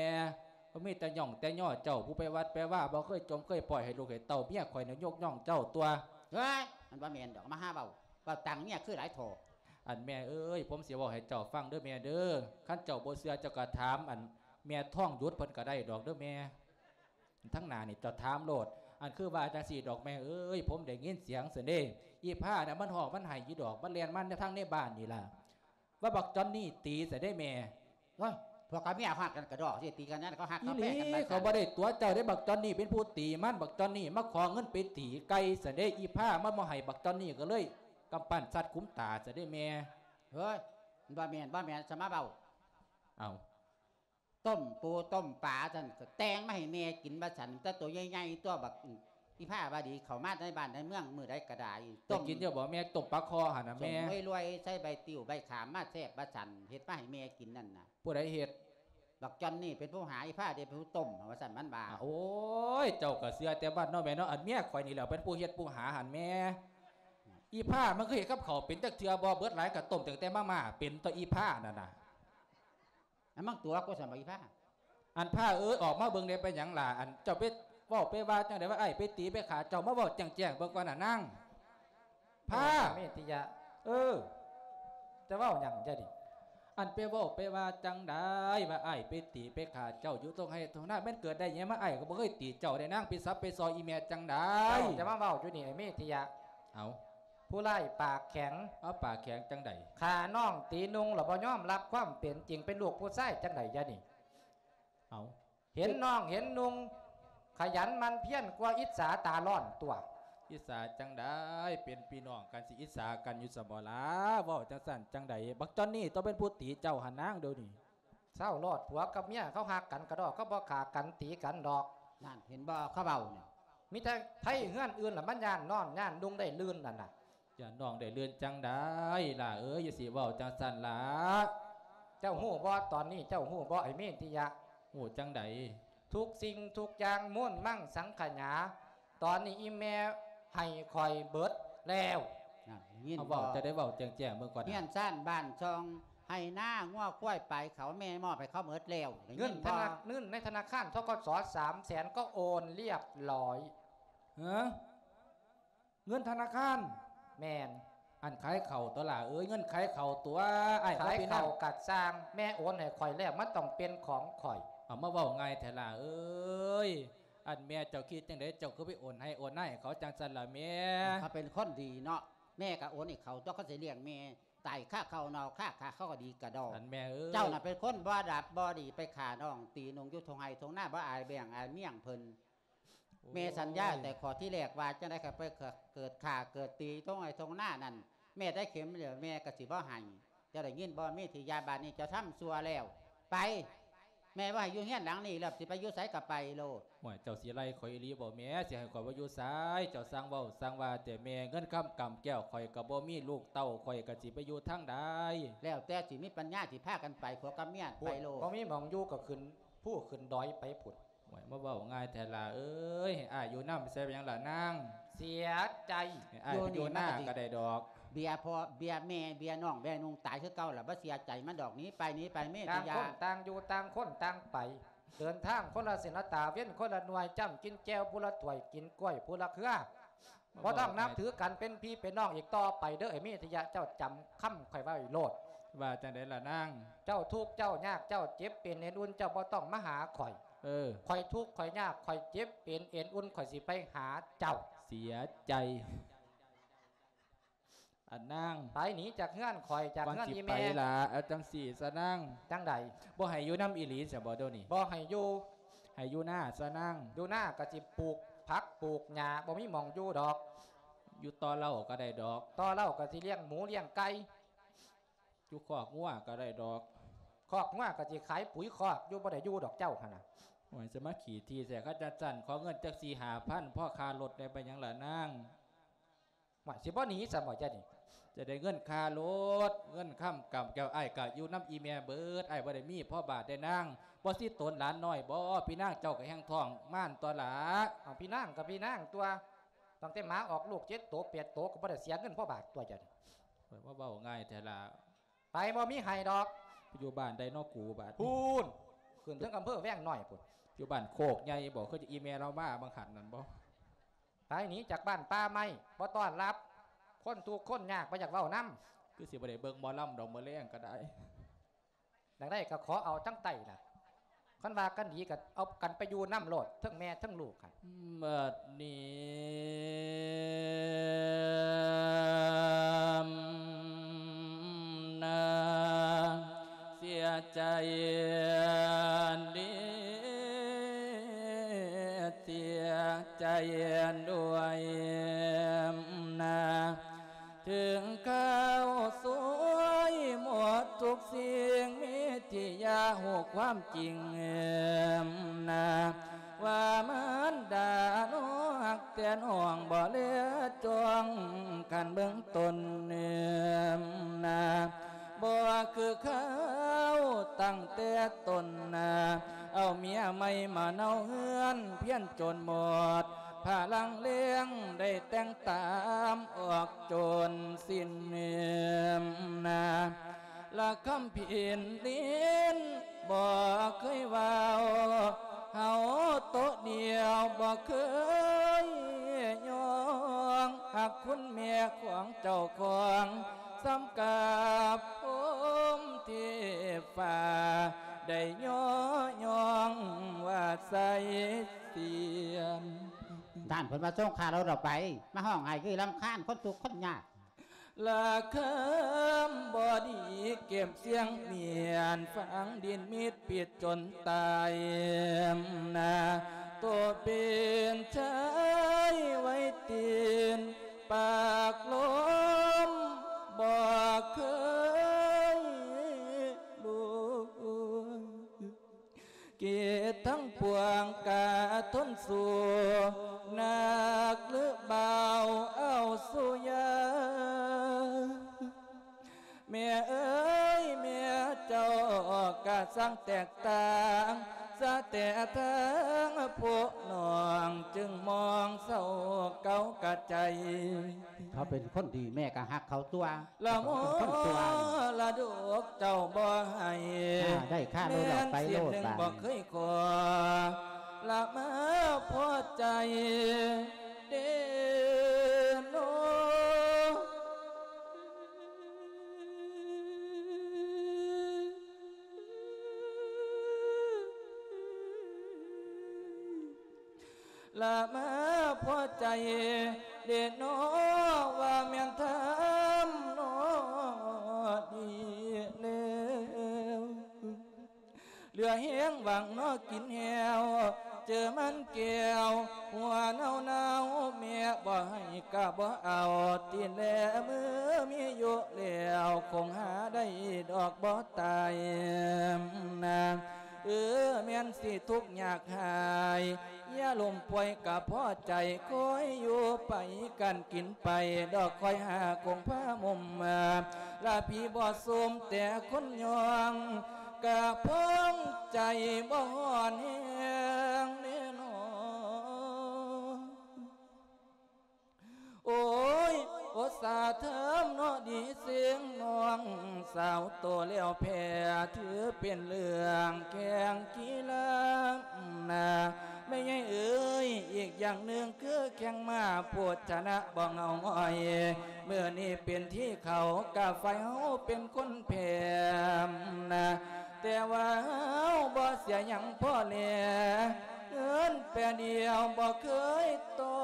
ມີແຕ່ຍ້ອງແຕ່ຍໍ້ເຈົ້າ ຜູ້ໄປວັດໄປວາ ບໍ່ເຄີຍຈົ່ມເຄີຍປ່ອຍໃຫ້ລູກໃຫ້ເຕົ້າ. ເມຍຂ້ອຍນີ້ຍົກຍ້ອງເຈົ້າຕົວະ. ເຮີ້ຍ ມັນບໍ່ແມ່ນດອກ ມາຫາເວົ້າ ເວົ້າຕ່າງເມຍຄືຫຼາຍທໍ່. ອັນແມ່ເອີຍ ຜົມຊິເວົ້າໃຫ້ເຈົ້າຟັງເດີແມ່ເດີ ຄັນເຈົ້າບໍ່ເຊື່ອເຈົ້າກໍຖາມອັນແມ່ທອງຢຸດເພິ່ນກໍໄດ້ດອກເດີແມ່. ທາງໜ້ານີ້ເຈົ້າຖາມໂລດ ອັນຄືວ່າຈັ່ງຊີ້ດອກແມ່ເອີຍ ຜົມໄດ້ຍິນສຽງຊັ້ນເດ້ ອີ່ພ້ານະ ມັນຮ້ອງມັນໄຫ້ຢູ່ດອກ ມັນແລ່ນມາທາງໃນບ້ານນີ້ລະ ວ່າບັກຈອນນີ້ຕີຊັ້ນເດ້ແມ່. ໂອ້ຍ ພວກກັບເມຍຮັກກັນກະດອກ ຊິຕີກັນນັ້ນ ເຂົາຮັກເຂົາແພງກັນວ່າຊັ້ນ. ເຂົາບໍ່ໄດ້ຕົວະເຈົ້າເດ້ ບັກຈອນນີ້ເປັນຜູ້ຕີມັນ ບັກຈອນນີ້ມາຂໍເງິນໄປຕີໄກ່ຊັ້ນເດ້ ອີ່ພ້າມັນບໍ່ໃຫ້ ບັກຈອນນີ້ກໍເລີຍກຳປັ້ນສັດຂຸມຕາຊັ້ນເດ້ແມ່. ເຮີ້ຍ ມັນບໍ່ແມ່ນ ບໍ່ແມ່ນ ສະມາເວົ້າ. ເອົ້າ ຕົ້ມປູຕົ້ມປາຊັ້ນ ກໍແຕ່ງມາໃຫ້ແມ່ກິນວ່າຊັ້ນ ແຕ່ໂຕໃຫຍ່ໆ ຕົວະ ບັກ ອີ່ພ້າວ່າດີ ເຂົ້າມາໃນບ້ານໃນເມືອງມື້ໃດກໍໄດ້. ໄດ້ກິນຢູ່ບໍ່ແມ່ ຕົ້ມປາຄໍ່ຫັ້ນນະແມ່? ສົ້ມລວຍໆ ໃສ່ໃບຕິ້ວໃບຂາມມາແຊບວ່າຊັ້ນ ເຮັດມາໃຫ້ແມ່ກິນນັ້ນນະ. ຜູ້ໃດເຮັດ? ບັກຈອນນີ້ເປັນຜູ້ຫາ ອີ່ພ້າເດ້ເປັນຜູ້ຕົ້ມວ່າຊັ້ນ ມັນວ່າ. ໂອ້ຍ ເຈົ້າກໍເຊື່ອແຕ່ບ້ານເນາະແມ່ເນາະ ອັນເມຍຂ້ອຍນີ້ແຫຼະເປັນຜູ້ເຮັດຜູ້ຫາຫັ້ນແມ່. ອີ່ພ້າມັນຄືເຮັດກັບເຂົ້າເປັນຈັກເທື່ອບໍ່? ເບິດຫຼາຍກໍຕົ້ມຕັ້ງແຕ່ມາມ່າເປັນຕົວະ ອີ່ພ້ານັ້ນນະ. ອັນມັນຕົວະກູຊັ້ນບໍ່ ອີ່ພ້າ? ອັນພ້າເອີຍ ອອກມາເບິ່ງແດ່ ເປັນຫຍັງລະ? ອັນເຈົ້າໄປເວົ້າໄປວ່າຈັ່ງໃດວ່າອ້າຍໄປຕີໄປຂ້າ ເຈົ້າມາເວົ້າແຈ້ງໆເບິ່ງກ່ອນນະນາງພ້າ. ເມດຕິຍະ ເອີ ຈະເວົ້າຫຍັງຈະນີ້? ອັນໄປເວົ້າໄປວ່າຈັ່ງໃດ ວ່າອ້າຍໄປຕີໄປຂ້າເຈົ້າຢູ່ທົ່ງໄຮ່ທົ່ງນາ ແມ່ນເກີດໄດ້ຫຍັງມາ ອ້າຍກໍບໍ່ເຄີຍຕີເຈົ້າໄດ໋ນາງ ໄປສັບໄປຊອຍອີແມ່ຈັ່ງໃດ ເຈົ້າຈະມາເວົ້າຢູ່ນີ້ ໄອ້ເມທິຍະ. ເອົາ ຜູ້ຮ້າຍປາກແຂງ ເອົາ ປາກແຂງຈັ່ງໃດ ຂ້ານ້ອງຕີນຸ່ງລະບໍ່ຍອມຮັບຄວາມເປັນຈິງ ເປັນລູກຜູ້ຊາຍຈັ່ງໃດຍະນີ້ ເອົາ ເຫັນນ້ອງເຫັນນຸ່ງ ຂະຫຍັນໝັ່ນພຽນກວ່າ ອິດສາຕາຮ້ອນຕົວະ. ອິດສາຈັ່ງໃດ ເປັນພີ່ນ້ອງກັນ ຊິອິດສາກັນຢູ່ຊັ້ນບໍລະ ເວົ້າຈັ່ງຊັ້ນຈັ່ງໃດ ບັກຈອນນີ້ຕ້ອງເປັນຜູ້ຕີເຈົ້າຫັ້ນນາງ ດຽວນີ້. ເຊົາໂລດ ຜົວກັບເມຍເຂົາຮັກກັນກະດອກ ເຂົາບໍ່ຂ້າກັນຕີກັນດອກ. ນັ້ນ ເຫັນບໍ່ ເຂົາເວົ້ານີ້ ມີແຕ່ໃຜເຮືອນອື່ນລະມັນຢ້ານນອນຢ້ານນຸ່ງໄດ້ລື່ນນັ້ນນະ. ຢ່ານ້ອງໄດ້ເລື່ອນຈັ່ງໃດຫຼ້າເອີຍ ຢ່າຊິເວົ້າຈັ່ງຊັ້ນຫຼ້າ. ເຈົ້າຮູ້ບໍ່ ຕອນນີ້ເຈົ້າຮູ້ບໍ່ ໄອ້ເມທິຍະ? ຮູ້ຈັ່ງໃດ? ທຸກສິ່ງທຸກຢ່າງມູນມັງສັງຂະຫຍາ ຕອນນີ້ອີ່ແມ່ໃຫ້ຂ້ອຍເບິດແລ້ວ. ນັ້ນ ໄດ້ຍິນບໍ່? ເວົ້າ ຈະໄດ້ເວົ້າແຈ້ງໆເບິ່ງກ່ອນນະ. ເຮືອນຊານບ້ານຊ່ອງ ໄຮ່ນາ ງົວຄວາຍ ປາຍເຂົາ ແມ່ມອບໃຫ້ເຂົາເບິດແລ້ວ. ໄດ້ຍິນບໍ່? ເງິນທະນາ ເງິນໃນທະນາຄານ ທກສ ສາມແສນ ກໍໂອນລຽບຮ້ອຍ. ເອີ ເງິນທະນາຄານ? ແມ່ນ. ອັນຂາຍເຂົ້າຕົວະຫຼ້າເອີຍ ເງິນຂາຍເຂົ້າຕົວະ ອ້າຍເຂົາ ຂາຍເຂົ້າກະຊ່າງ ແມ່ໂອນໃຫ້ຂ້ອຍແລ້ວ ມັນຕ້ອງເປັນຂອງຂ້ອຍ. ເອົາ ມາເວົ້າງ່າຍແທ້ຫຼ້າເອີຍ ອັນແມ່ເຈົ້າຄິດຈັ່ງໃດ ເຈົ້າຄືໄປໂອນໃຫ້ໂອນນາໃຫ້ເຂົາຈັ່ງຊັ້ນລະແມ່? ເຂົາເປັນຄົນດີເນາະ ແມ່ກະໂອນໃຫ້ເຂົາຕົວະ ເຂົາຊິລ້ຽງແມ່ຕາຍຄາເຂົ້າເນົ່າຄາຂາ ເຂົາກໍດີກະດອກ. ອັນແມ່ເອີຍ ເຈົ້ານະເປັນຄົນບໍ່ດັບບໍ່ດີ ໄປຂ້ານ້ອງຕີນຸ່ງຢູ່ທົ່ງໄຮ່ທົ່ງນາ ບໍ່ອາຍແບງອາຍມຽງເພິ່ນ. ໂອ້ຍ ແມ່ສັນຍາແຕ່ຂໍ້ທີແລກວ່າ ຈັ່ງໃດກໍໄປເກີດຂ້າເກີດຕີຕົງໄຮ່ຕົງນານັ້ນ ແມ່ໄດ້ເຂັມແລ້ວ ແມ່ກໍຊິບໍ່ໃຫ້. ເຈົ້າໄດ້ຍິນບໍ່ ເມທິຍາ? ບາດນີ້ເຈົ້າທຳຊົ່ວແລ້ວ ໄປ ແມ່ບໍ່ໃຫ້ຢູ່ເຮືອນຫຼັງນີ້ແລ້ວ ຊິໄປຢູ່ໃສກໍໄປໂລດ. ໂອ້ຍ ເຈົ້າຊິໄລ່ຂ້ອຍອີ່ຫຼີບໍ່ແມ່? ຊິໃຫ້ຂ້ອຍໄປຢູ່ໃສ? ເຈົ້າຊ່າງເວົ້າຊ່າງວ່າແຕ່ແມ່ ເງິນຄຳກຳແກ້ວຂ້ອຍກໍບໍ່ມີ ລູກເຕົ້າຂ້ອຍກໍຊິໄປຢູ່ທາງໃດ? ແລ້ວແຕ່ຊິມີປັນຍາ ຊິພາກັນໄປ ຜົວກັບເມຍໄປໂລດ. ບໍ່ມີໝ່ອງຢູ່ກໍຂຶ້ນພູຂຶ້ນດອຍໄປພຸ້ນ. ໂອ້ຍ ມາເວົ້າງ່າຍແທ້ຫຼ້າເອີຍ ໃຫ້ອ້າຍຢູ່ນຳໃສ່ເປັນຫຍັງລະນາງ? ເສຍໃຈ. ໃຫ້ອ້າຍໄປຢູ່ນາກໍໄດ້ດອກ. ເບຍພໍ່ເບຍແມ່ເບຍນ້ອງເບຍນຸ່ງຕາຍຄືເກົ່າລະ ບໍ່ເສຍໃຈມັນດອກ. ໜີໄປ ໜີໄປ ເມທິຍາ. ຕ່າງຄົນຕ່າງຢູ່ ຕ່າງຄົນຕ່າງໄປ ເດີນທາງຄົນລະເສັ້ນລະຕາ ເວັນຄົນລະໜ່ວຍ ຈ້ຳກິນແຈ່ວຜູ້ລະຖ້ວຍ ກິນກ້ວຍຜູ້ລະເຄືອ. ບໍ່ຕ້ອງນັບຖືກັນເປັນພີ່ເປັນນ້ອງອີກຕໍ່ໄປເດີ ໄອ້ເມທິຍະ ເຈົ້າຈຳຄຳຂ້ອຍໄວ້ໂລດ. ວ່າຈັ່ງໃດລະນາງ? ເຈົ້າທຸກເຈົ້າຍາກ ເຈົ້າເຈັບເປັນເອັນອຸ່ນ ເຈົ້າບໍ່ຕ້ອງມາຫາຂ້ອຍ. ເອີ ຂ້ອຍທຸກຂ້ອຍຍາກ ຂ້ອຍເຈັບເປັນເອັນອຸ່ນ ຂ້ອຍຊິໄປຫາເຈົ້າ. ເສຍໃຈ. ອັນນາງ ໄປໜີຈາກເຮືອນຂ້ອຍ ຈາກເຮືອນອີ່ແມ່. ວ່າຊິໄປລະ ເອົາຈັ່ງຊີ້ຊະນາງ. ຈັ່ງໃດ? ບໍ່ໃຫ້ຢູ່ນຳອີ່ຫຼີຊະບໍ່ດຽວນີ້? ບໍ່ໃຫ້ຢູ່. ໃຫ້ຢູ່ນາຊະນາງ. ຢູ່ນາກໍຊິປູກຜັກປູກຫຍ້າ ບໍ່ມີໝ່ອງຢູ່ດອກ. ຢູ່ຕໍ່ເລົ້າກໍໄດ້ດອກ. ຕໍ່ເລົ້າກໍຊິລ້ຽງໝູລ້ຽງໄກ່. ຢູ່ຄອກງົວກໍໄດ້ດອກ. ຄອກງົວກໍຊິຂາຍປຸ໋ຍຄອກຢູ່ ບໍ່ໄດ້ຢູ່ດອກເຈົ້າຫັ້ນນະ. ໂອ້ຍ ຈະມາຂີ້ຖີ່ແທ້ ຄັນຈັ່ງຊັ້ນ ຂໍເງິນຈັກສີ່ຫ້າພັນ ພໍຄ່າລົດແດ່ ເປັນຫຍັງລະນາງ? ວ່າຊິບໍ່ໜີຊະບໍ່ຈະນີ້? ຈະໄດ້ເງິນຄ່າລົດ ເງິນຄຳກຳແກ້ວ ອ້າຍກະຢູ່ນຳອີ່ແມ່ເບິດ ອ້າຍບໍ່ໄດ້ມີພໍບາດເດ້ນາງ. ບໍ່ຊິໂຕນຫຼານນ້ອຍບໍ່? ພີ່ນາງເຈົ້າກະແຮ່ງທ້ອງມານຕົວະລະ. ເອົາ ພີ່ນາງກະພີ່ນາງຕົວະ ຕັ້ງແຕ່ໝາອອກລູກເຈັດໂຕແປດໂຕ ກະບໍ່ໄດ້ເສຍເງິນພໍບາດຕົວະຈະນີ້. ໂອ້ຍ ມາເວົ້າງ່າຍແທ້ລະ. ໄປ ບໍ່ມີໃຫ້ດອກ. ຢູ່ບ້ານໃດເນາະກູບາດນີ້? ພຸ້ນ ຂຶ້ນເທິງອຳເພີແວງນ້ອຍພຸ້ນ. ຢູ່ບ້ານໂຄກໃຫຍ່ບໍ່? ຄືອີ່ແມ່ລາວມາບາງຫັ້ນນັ້ນບໍ່? ໄປໜີຈາກບ້ານປ່າໄມ້ ບໍ່ຕ້ອນຮັບ ຄົນທຸກຄົນຍາກ ບໍ່ຢາກເວົ້ານຳ. ຄືຊິບໍ່ໄດ້ເບິ່ງໝໍລຳດອກ ມື້ແລງກໍໄດ້. ຢາກໄດ້ກໍຂໍເອົາທັງໃຕ້ລະ. ຄັນວ່າກັນດີກໍເອົາກັນໄປຢູ່ນຳໂລດ ເທິງແມ່ເທິງລູກຫັ້ນ. ບັດນີ້ນາ ເສຍໃຈເດ ເສຍໃຈດ້ວຍນາ. ເຖິງຄາວສວຍໝົດທຸກສິ່ງ ເມທິຍາຮູ້ຄວາມຈິງນາ ວ່າມານດານ້ອງຮັກແຕ່ນ້ອງບໍ່ເຫຼືອຈ່ອງ ຄັນເບິ່ງຕົນນາ ບໍ່ຄືຄາວຕັ້ງແຕ່ຕົ້ນນາ ເອົາເມຍໃໝ່ມາເນົາເຮືອນ ພຽນຈົນໝົດພະລັງແຮງ ໄດ້ແຕ່ງຕາມອອກ ຈົນສິ້ນເໜືອມນາ ລະຄຳພິນດິນບໍ່ເຄີຍເວົ້າ ເຮົາໂຕະດຽວບໍ່ເຄີຍຍອງ ຮັກຄຸນແມ່ຂອງເຈົ້າຂອງ ສ່ຳກັບພົມເທ ເທບຟ້າ ໄດ້ຍໍຍ້ອງວ່າໃສ່ສຽນ. ທ່ານເພິ່ນວ່າ ສົ່ງຂ້າລົດອອກໄປ ມາຮ້ອງໄຫ້ຄືລຳຄານຄົນທຸກຄົນຍາກ. ລະຄຳບໍ່ດີເກັບສຽງມຽນ ຝັງດິນມິດປິດຈົນຕາຍນາ ໂຕເປັນຊາຍໄວ້ຕີນ ປາກລົມບໍ່ເຄີຍລຸຍ ເກດທັງປວງກະທົນສູ້ ໜັກຫຼືເບົາເອົາສູ້ຢາ. ແມ່ເອີຍ ແມ່ເຈົ້າກະຊ່າງແຕກຕ່າງ ສະແຕ່ທາງພວກນ້ອງ ຈຶ່ງມອງເສົ້າເກົ່າກະໃຈ. ເຂົາເປັນຄົນດີ ແມ່ກະຮັກເຂົາຕົວະ. ລະມໍລະດົກເຈົ້າບໍ່ໃຫ້ ອ່າ ໄດ້ຄ່າໂລດ ແມ່ນເສຍໜຶ່ງບໍ່ເຄີຍຂໍ ລະມາພໍໃຈເດໂນ. ລະມາພໍໃຈເດເນາະ ວ່າແມ່ນທຳເນາະ ດີແລ້ວ ເຫຼືອແຮງຫວັງເນາະກິນແຫ້ວ ເຈີມັນແກ້ວຫົວເນົ່າໆ ແມ່ບໍ່ໃຫ້ກະບໍ່ເອົາ ຕິແລເມື່ອມີຢູ່ແລ້ວ ຄົງຫາໄດ້ດອກບໍ່ຕາຍນາ. ເອີ ແມ່ນຊິທຸກຍາກຫາຍ ຢ່າລົ້ມປ່ວຍກະພໍໃຈ ຄອຍຢູ່ໄປກັນກິນໄປ ດອກຄອຍຫາຄົງພາມຸມມາ ລະພີ່ບໍ່ສົມແຕ່ຄົນຍ້ອງ ກະພອງໃຈບໍ່ຮ້ອນແຮງເດເນາະ. ໂອ້ຍ ໂອດສາເທີມເນາະດີເຊິ່ງນ້ອງສາວໂຕແລ້ວແພ້ ຖືເປັນເລື່ອງແຂ່ງກິລານາ ແມ່ໃຫຍ່ເອີຍ ອີກຢ່າງໜຶ່ງຄືແຂ່ງມ້າ ຜູ້ຊະນະບໍ່ເຫງົາຫງອຍ ມື້ນີ້ເປັນທີ່ເຂົາ ກະຝ່າຍເຮົາເປັນຄົນແພ້ນາ. ແຕ່ວ່າເຮົາບໍ່ເສຍຫຍັງພໍແລ ເງິນແປດຽວບໍ່ເຄີຍຕໍ່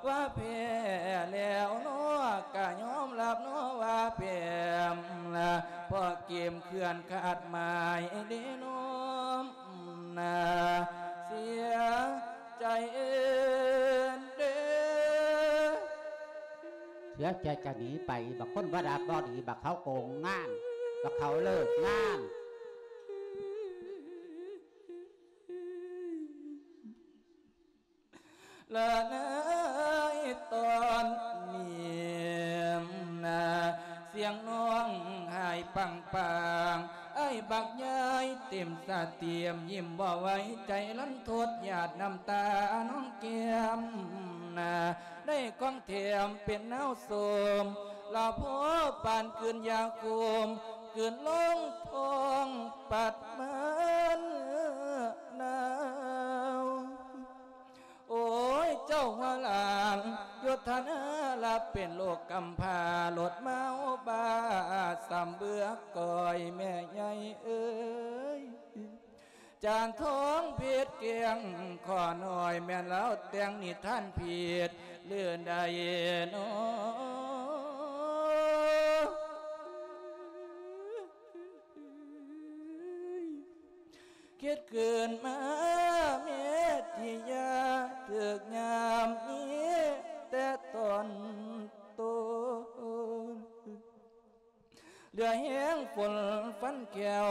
ວ່າແພ້ແລ້ວເນາະ ກະຍອມຮັບເນາະວ່າແພ້ ເພາະເກມເຄື່ອນຂາດໝາຍເດເນາະ ເສຍໃຈເດ. ເສຍໃຈຈະໜີໄປ ບັກຄົນບໍ່ດັບບໍ່ດີ ບັກເຂົາໂກງງານ ບັກເຂົາເລີກງານ. ລະໃນຕອນນີ້ນາ ສຽງນ້ອງໄຫ້ປັງໆ ອ້າຍບັກໃຫຍ່ເຕັມສະຕຽມ ຍິ້ມບໍ່ໄຫວໃຈລັນທົດ ຫຍາດນ້ຳຕານອງແກ້ມນາ ໄດ້ຂອງແຖມເປັນນາວໂສມ ລະພໍປານກືນຢາໂຄມ ກືນລົງທ້ອງປັດມານາວ. ໂອ້ຍ ເຈົ້າຫົວຫຼານ ໂຍທະນາລະເປັນໂລກກຳພ້າ ລົດເມົາບ້າສຳເບືອກອຍ ແມ່ໃຫຍ່ເອີຍ ຈານທອງເພັດແກ້ງຂໍໜ້ອຍ ແມ່ນລາວແຕ່ງນິທານຜິດ ຫຼືໃດນໍ ຄິດຂຶ້ນມາເມດທິຍາ ຖືກຍາມນີ້ແຕ່ຕອນຕົ້ນ ເຫຼືອແຮງຝົນຟັນແຂ້ວ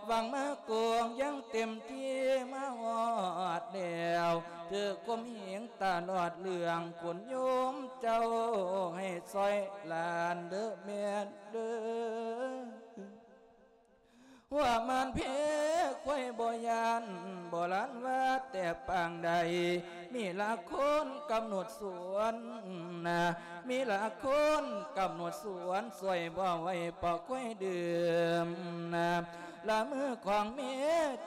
ຫວັງມາກອງຢ່າງເຕັມທີ່ ມາຮອດແລ້ວ ຖືກຂົ່ມເຫງຕະຫຼອດເລື່ອງ ຄຸນໂຍມເຈົ້າໃຫ້ຊ່ອຍຫຼານເດີແມ່ເດີ. ຫົວມານເພຄວາຍບໍ່ຢ້ານ ບໍ່ລານວ່າແຕ່ປາງໃດ ມີລະຄົນກຳນົດສວນນະ ມີລະຄົນກຳນົດສວນ ຊ່ວຍບໍ່ໄຫວເພາະຄວາຍດື່ມນະ ລະມືຂອງເມ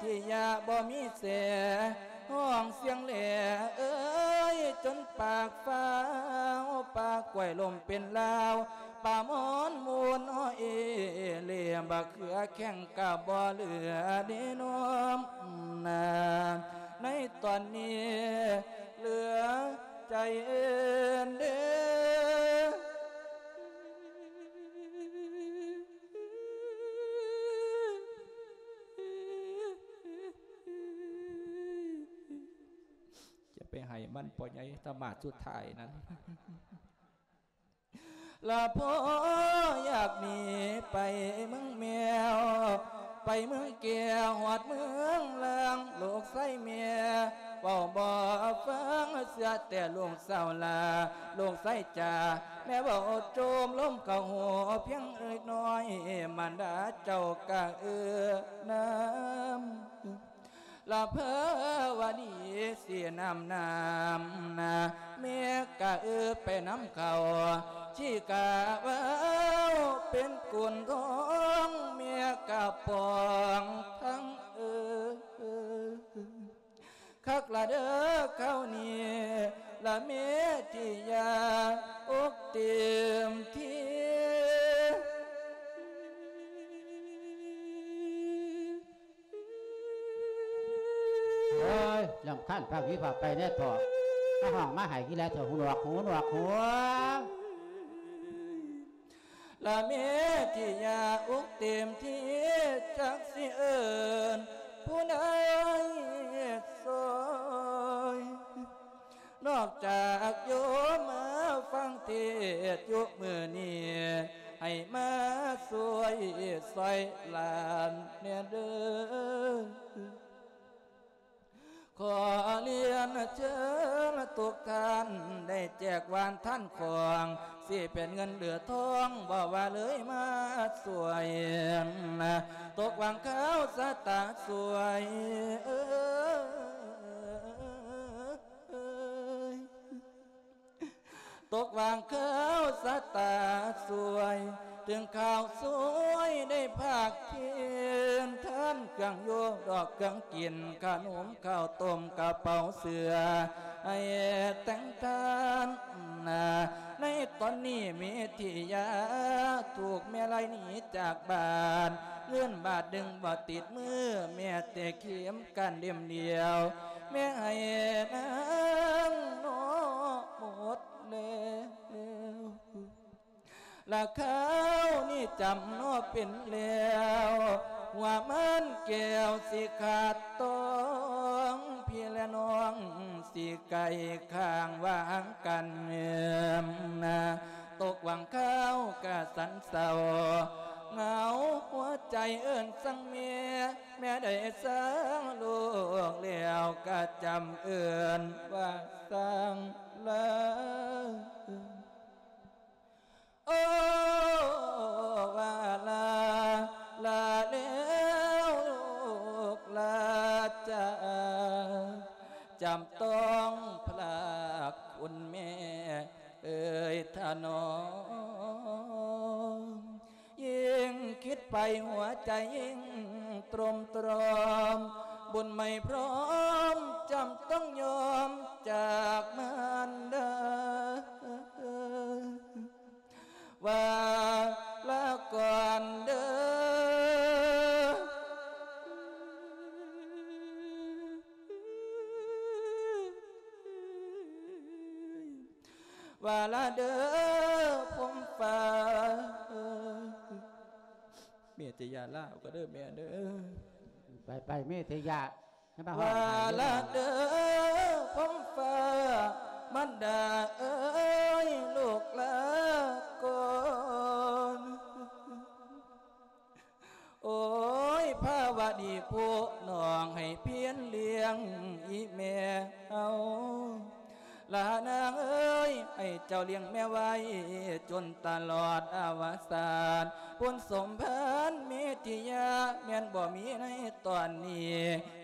ທິຍາບໍ່ມີແສ ຮ້ອງສຽງແຫຼເອີຍ ຈົນປາກຟ້າວ ປາກກ້ວຍລົ້ມເປັນລາວ ປາໝອນມູນອ້ອເອເລ ບັກເຂືອແຂ້ງກະບໍ່ເຫຼືອເດນ້ອມນາ ໃນຕອນນີ້ເຫຼືອໃຈເອີນເດ້. ຈະໄປໃຫ້ມັນພໍ່ໃຫຍ່ທຳມາດສຸດທ້າຍນັ້ນ ລະພໍ່ຢາກໜີໄປເມືອງແມວ ໄປເມືອງແກ້ວ ຮອດເມືອງລາງ ລູກຊາຍແມ່ເວົ້າບໍ່ຟັງ ເຊື່ອແຕ່ລູກສາວລາ ລູກຊາຍຈ໋າ ແມ່ເວົ້າໂຈມລົມເຂົ້າຫູພຽງເລັກນ້ອຍ ມານດາເຈົ້າກະເອື້ອນຳ ລະພາວະດີສີນ້ຳນ້ຳນາ ແມ່ກະເອື້ອໄປນຳເຂົາ ທີ່ກະເວົ້າເປັນກຸນທອງ ແມ່ກະປອງທັງເອື້ອ ຄັກລະເດີຄາວນີ້ ລະເມທິຍາ ອົກເຕັມທີ່. ເອີຍ ລຳຄານພາກວິພາກໄປແດ່ເຖາະ ມາຮ້ອງມາໄຫ້ກິນແລ້ວເຖາະ ຫູໜວກ ຫູໜວກ ຫູ ລະເມທິຍາ ອົກເຕັມທີ່ ຈັກຊິເອີ້ນຜູ້ໃດຊ່ອຍ ນອກຈາກໂຍມມາຟັງເທດຢູ່ມື້ນີ້ ໃຫ້ມາຊ່ວຍຊ່ອຍຫຼານແດ່ເດີ. ຂໍລຽນເຊີນທຸກທ່ານ ໄດ້ແຈກຫວານທານຂອງ ຊິເປັນເງິນຫຼືທອງ ບໍ່ວ່າເລີຍມາຊ່ວຍ ຕົກຫວ່າງຄາວຊະຕາຊ່ວຍ ເອີຍ ຕົກຫວ່າງຄາວຊະຕາຊ່ວຍ ເຖິງຄາວຊ່ວຍໄດ້ພາກເຄນ ທານເຄື່ອງຢູ່ດອກເຄື່ອງກິນ ຂະໜົມ ເຂົ້າຕົ້ມ ກະເປົາເສື້ອ ໃຫ້ແຕ່ງທ່ານນາ. ໃນຕອນນີ້ເມທິຍາ ຖືກແມ່ໄລ່ໜີຈາກບ້ານ ເງິນບາດໜຶ່ງບໍ່ຕິດມື ແມ່ແຕ່ເຂັມຂັດເຫຼັ້ມດຽວ ແມ່ໃຫ້ນາງເນາະໝົດແລ້ວ ລະຄາວນີ້ຈຳເນາະເປັນແລ້ວ ຫົວມັນແກ້ວຊິຂາດຕ້ອງ ພີ່ແລະນ້ອງຊິໄກ່ຂ້າງຫວ່າງກັນນາ. ຕົກຫວ່າງຄາວກະສັນເສົ້າ ເຫງົາຫົວໃຈເອີ້ນສັງແມ່ ແມ່ໄດ້ສັງລູກແລ້ວ ກະຈຳເອີ້ນວ່າສັງລາ. ໂອ້ ວ່າລາ ລາແລ້ວລູກລາຈ໋າ ຈຳຕ້ອງພລາກຄຸນແມ່ເອີຍທະນອມ. ຍິ່ງຄິດໄປຫົວໃຈຍິ່ງໂຕຣມຕຣອມ ບຸນໄມ່ພ້ອມຈຳຕ້ອງຍອມຈາກມານດາ ວ່າລາກ່ອນເດີ ວ່າລາເດີພົມຟ້າ. ເມຕິຍາ ລາເອົາກໍເດີແມ່ເດີ. ໄປໆ ເມຕິຍາ ຢ່າມາຮ້ອງໄຫ້ເດີ ວ່າລາເດີພົມຟ້າ ມັນດາເອີຍ ລູກລາກ່ອນ. ໂອ້ຍ ພາວະດີຜູ້ນ້ອງໃຫ້ພຽນລ້ຽງອີ່ແມ່ເຮົາ ລານາງເອີຍ ໃຫ້ເຈົ້າລ້ຽງແມ່ໄວ້ຈົນຕະຫຼອດອະວະສານ. ບຸນສົມພານເມທິຍາ ແມ່ນບໍ່ມີໃນຕອນນີ້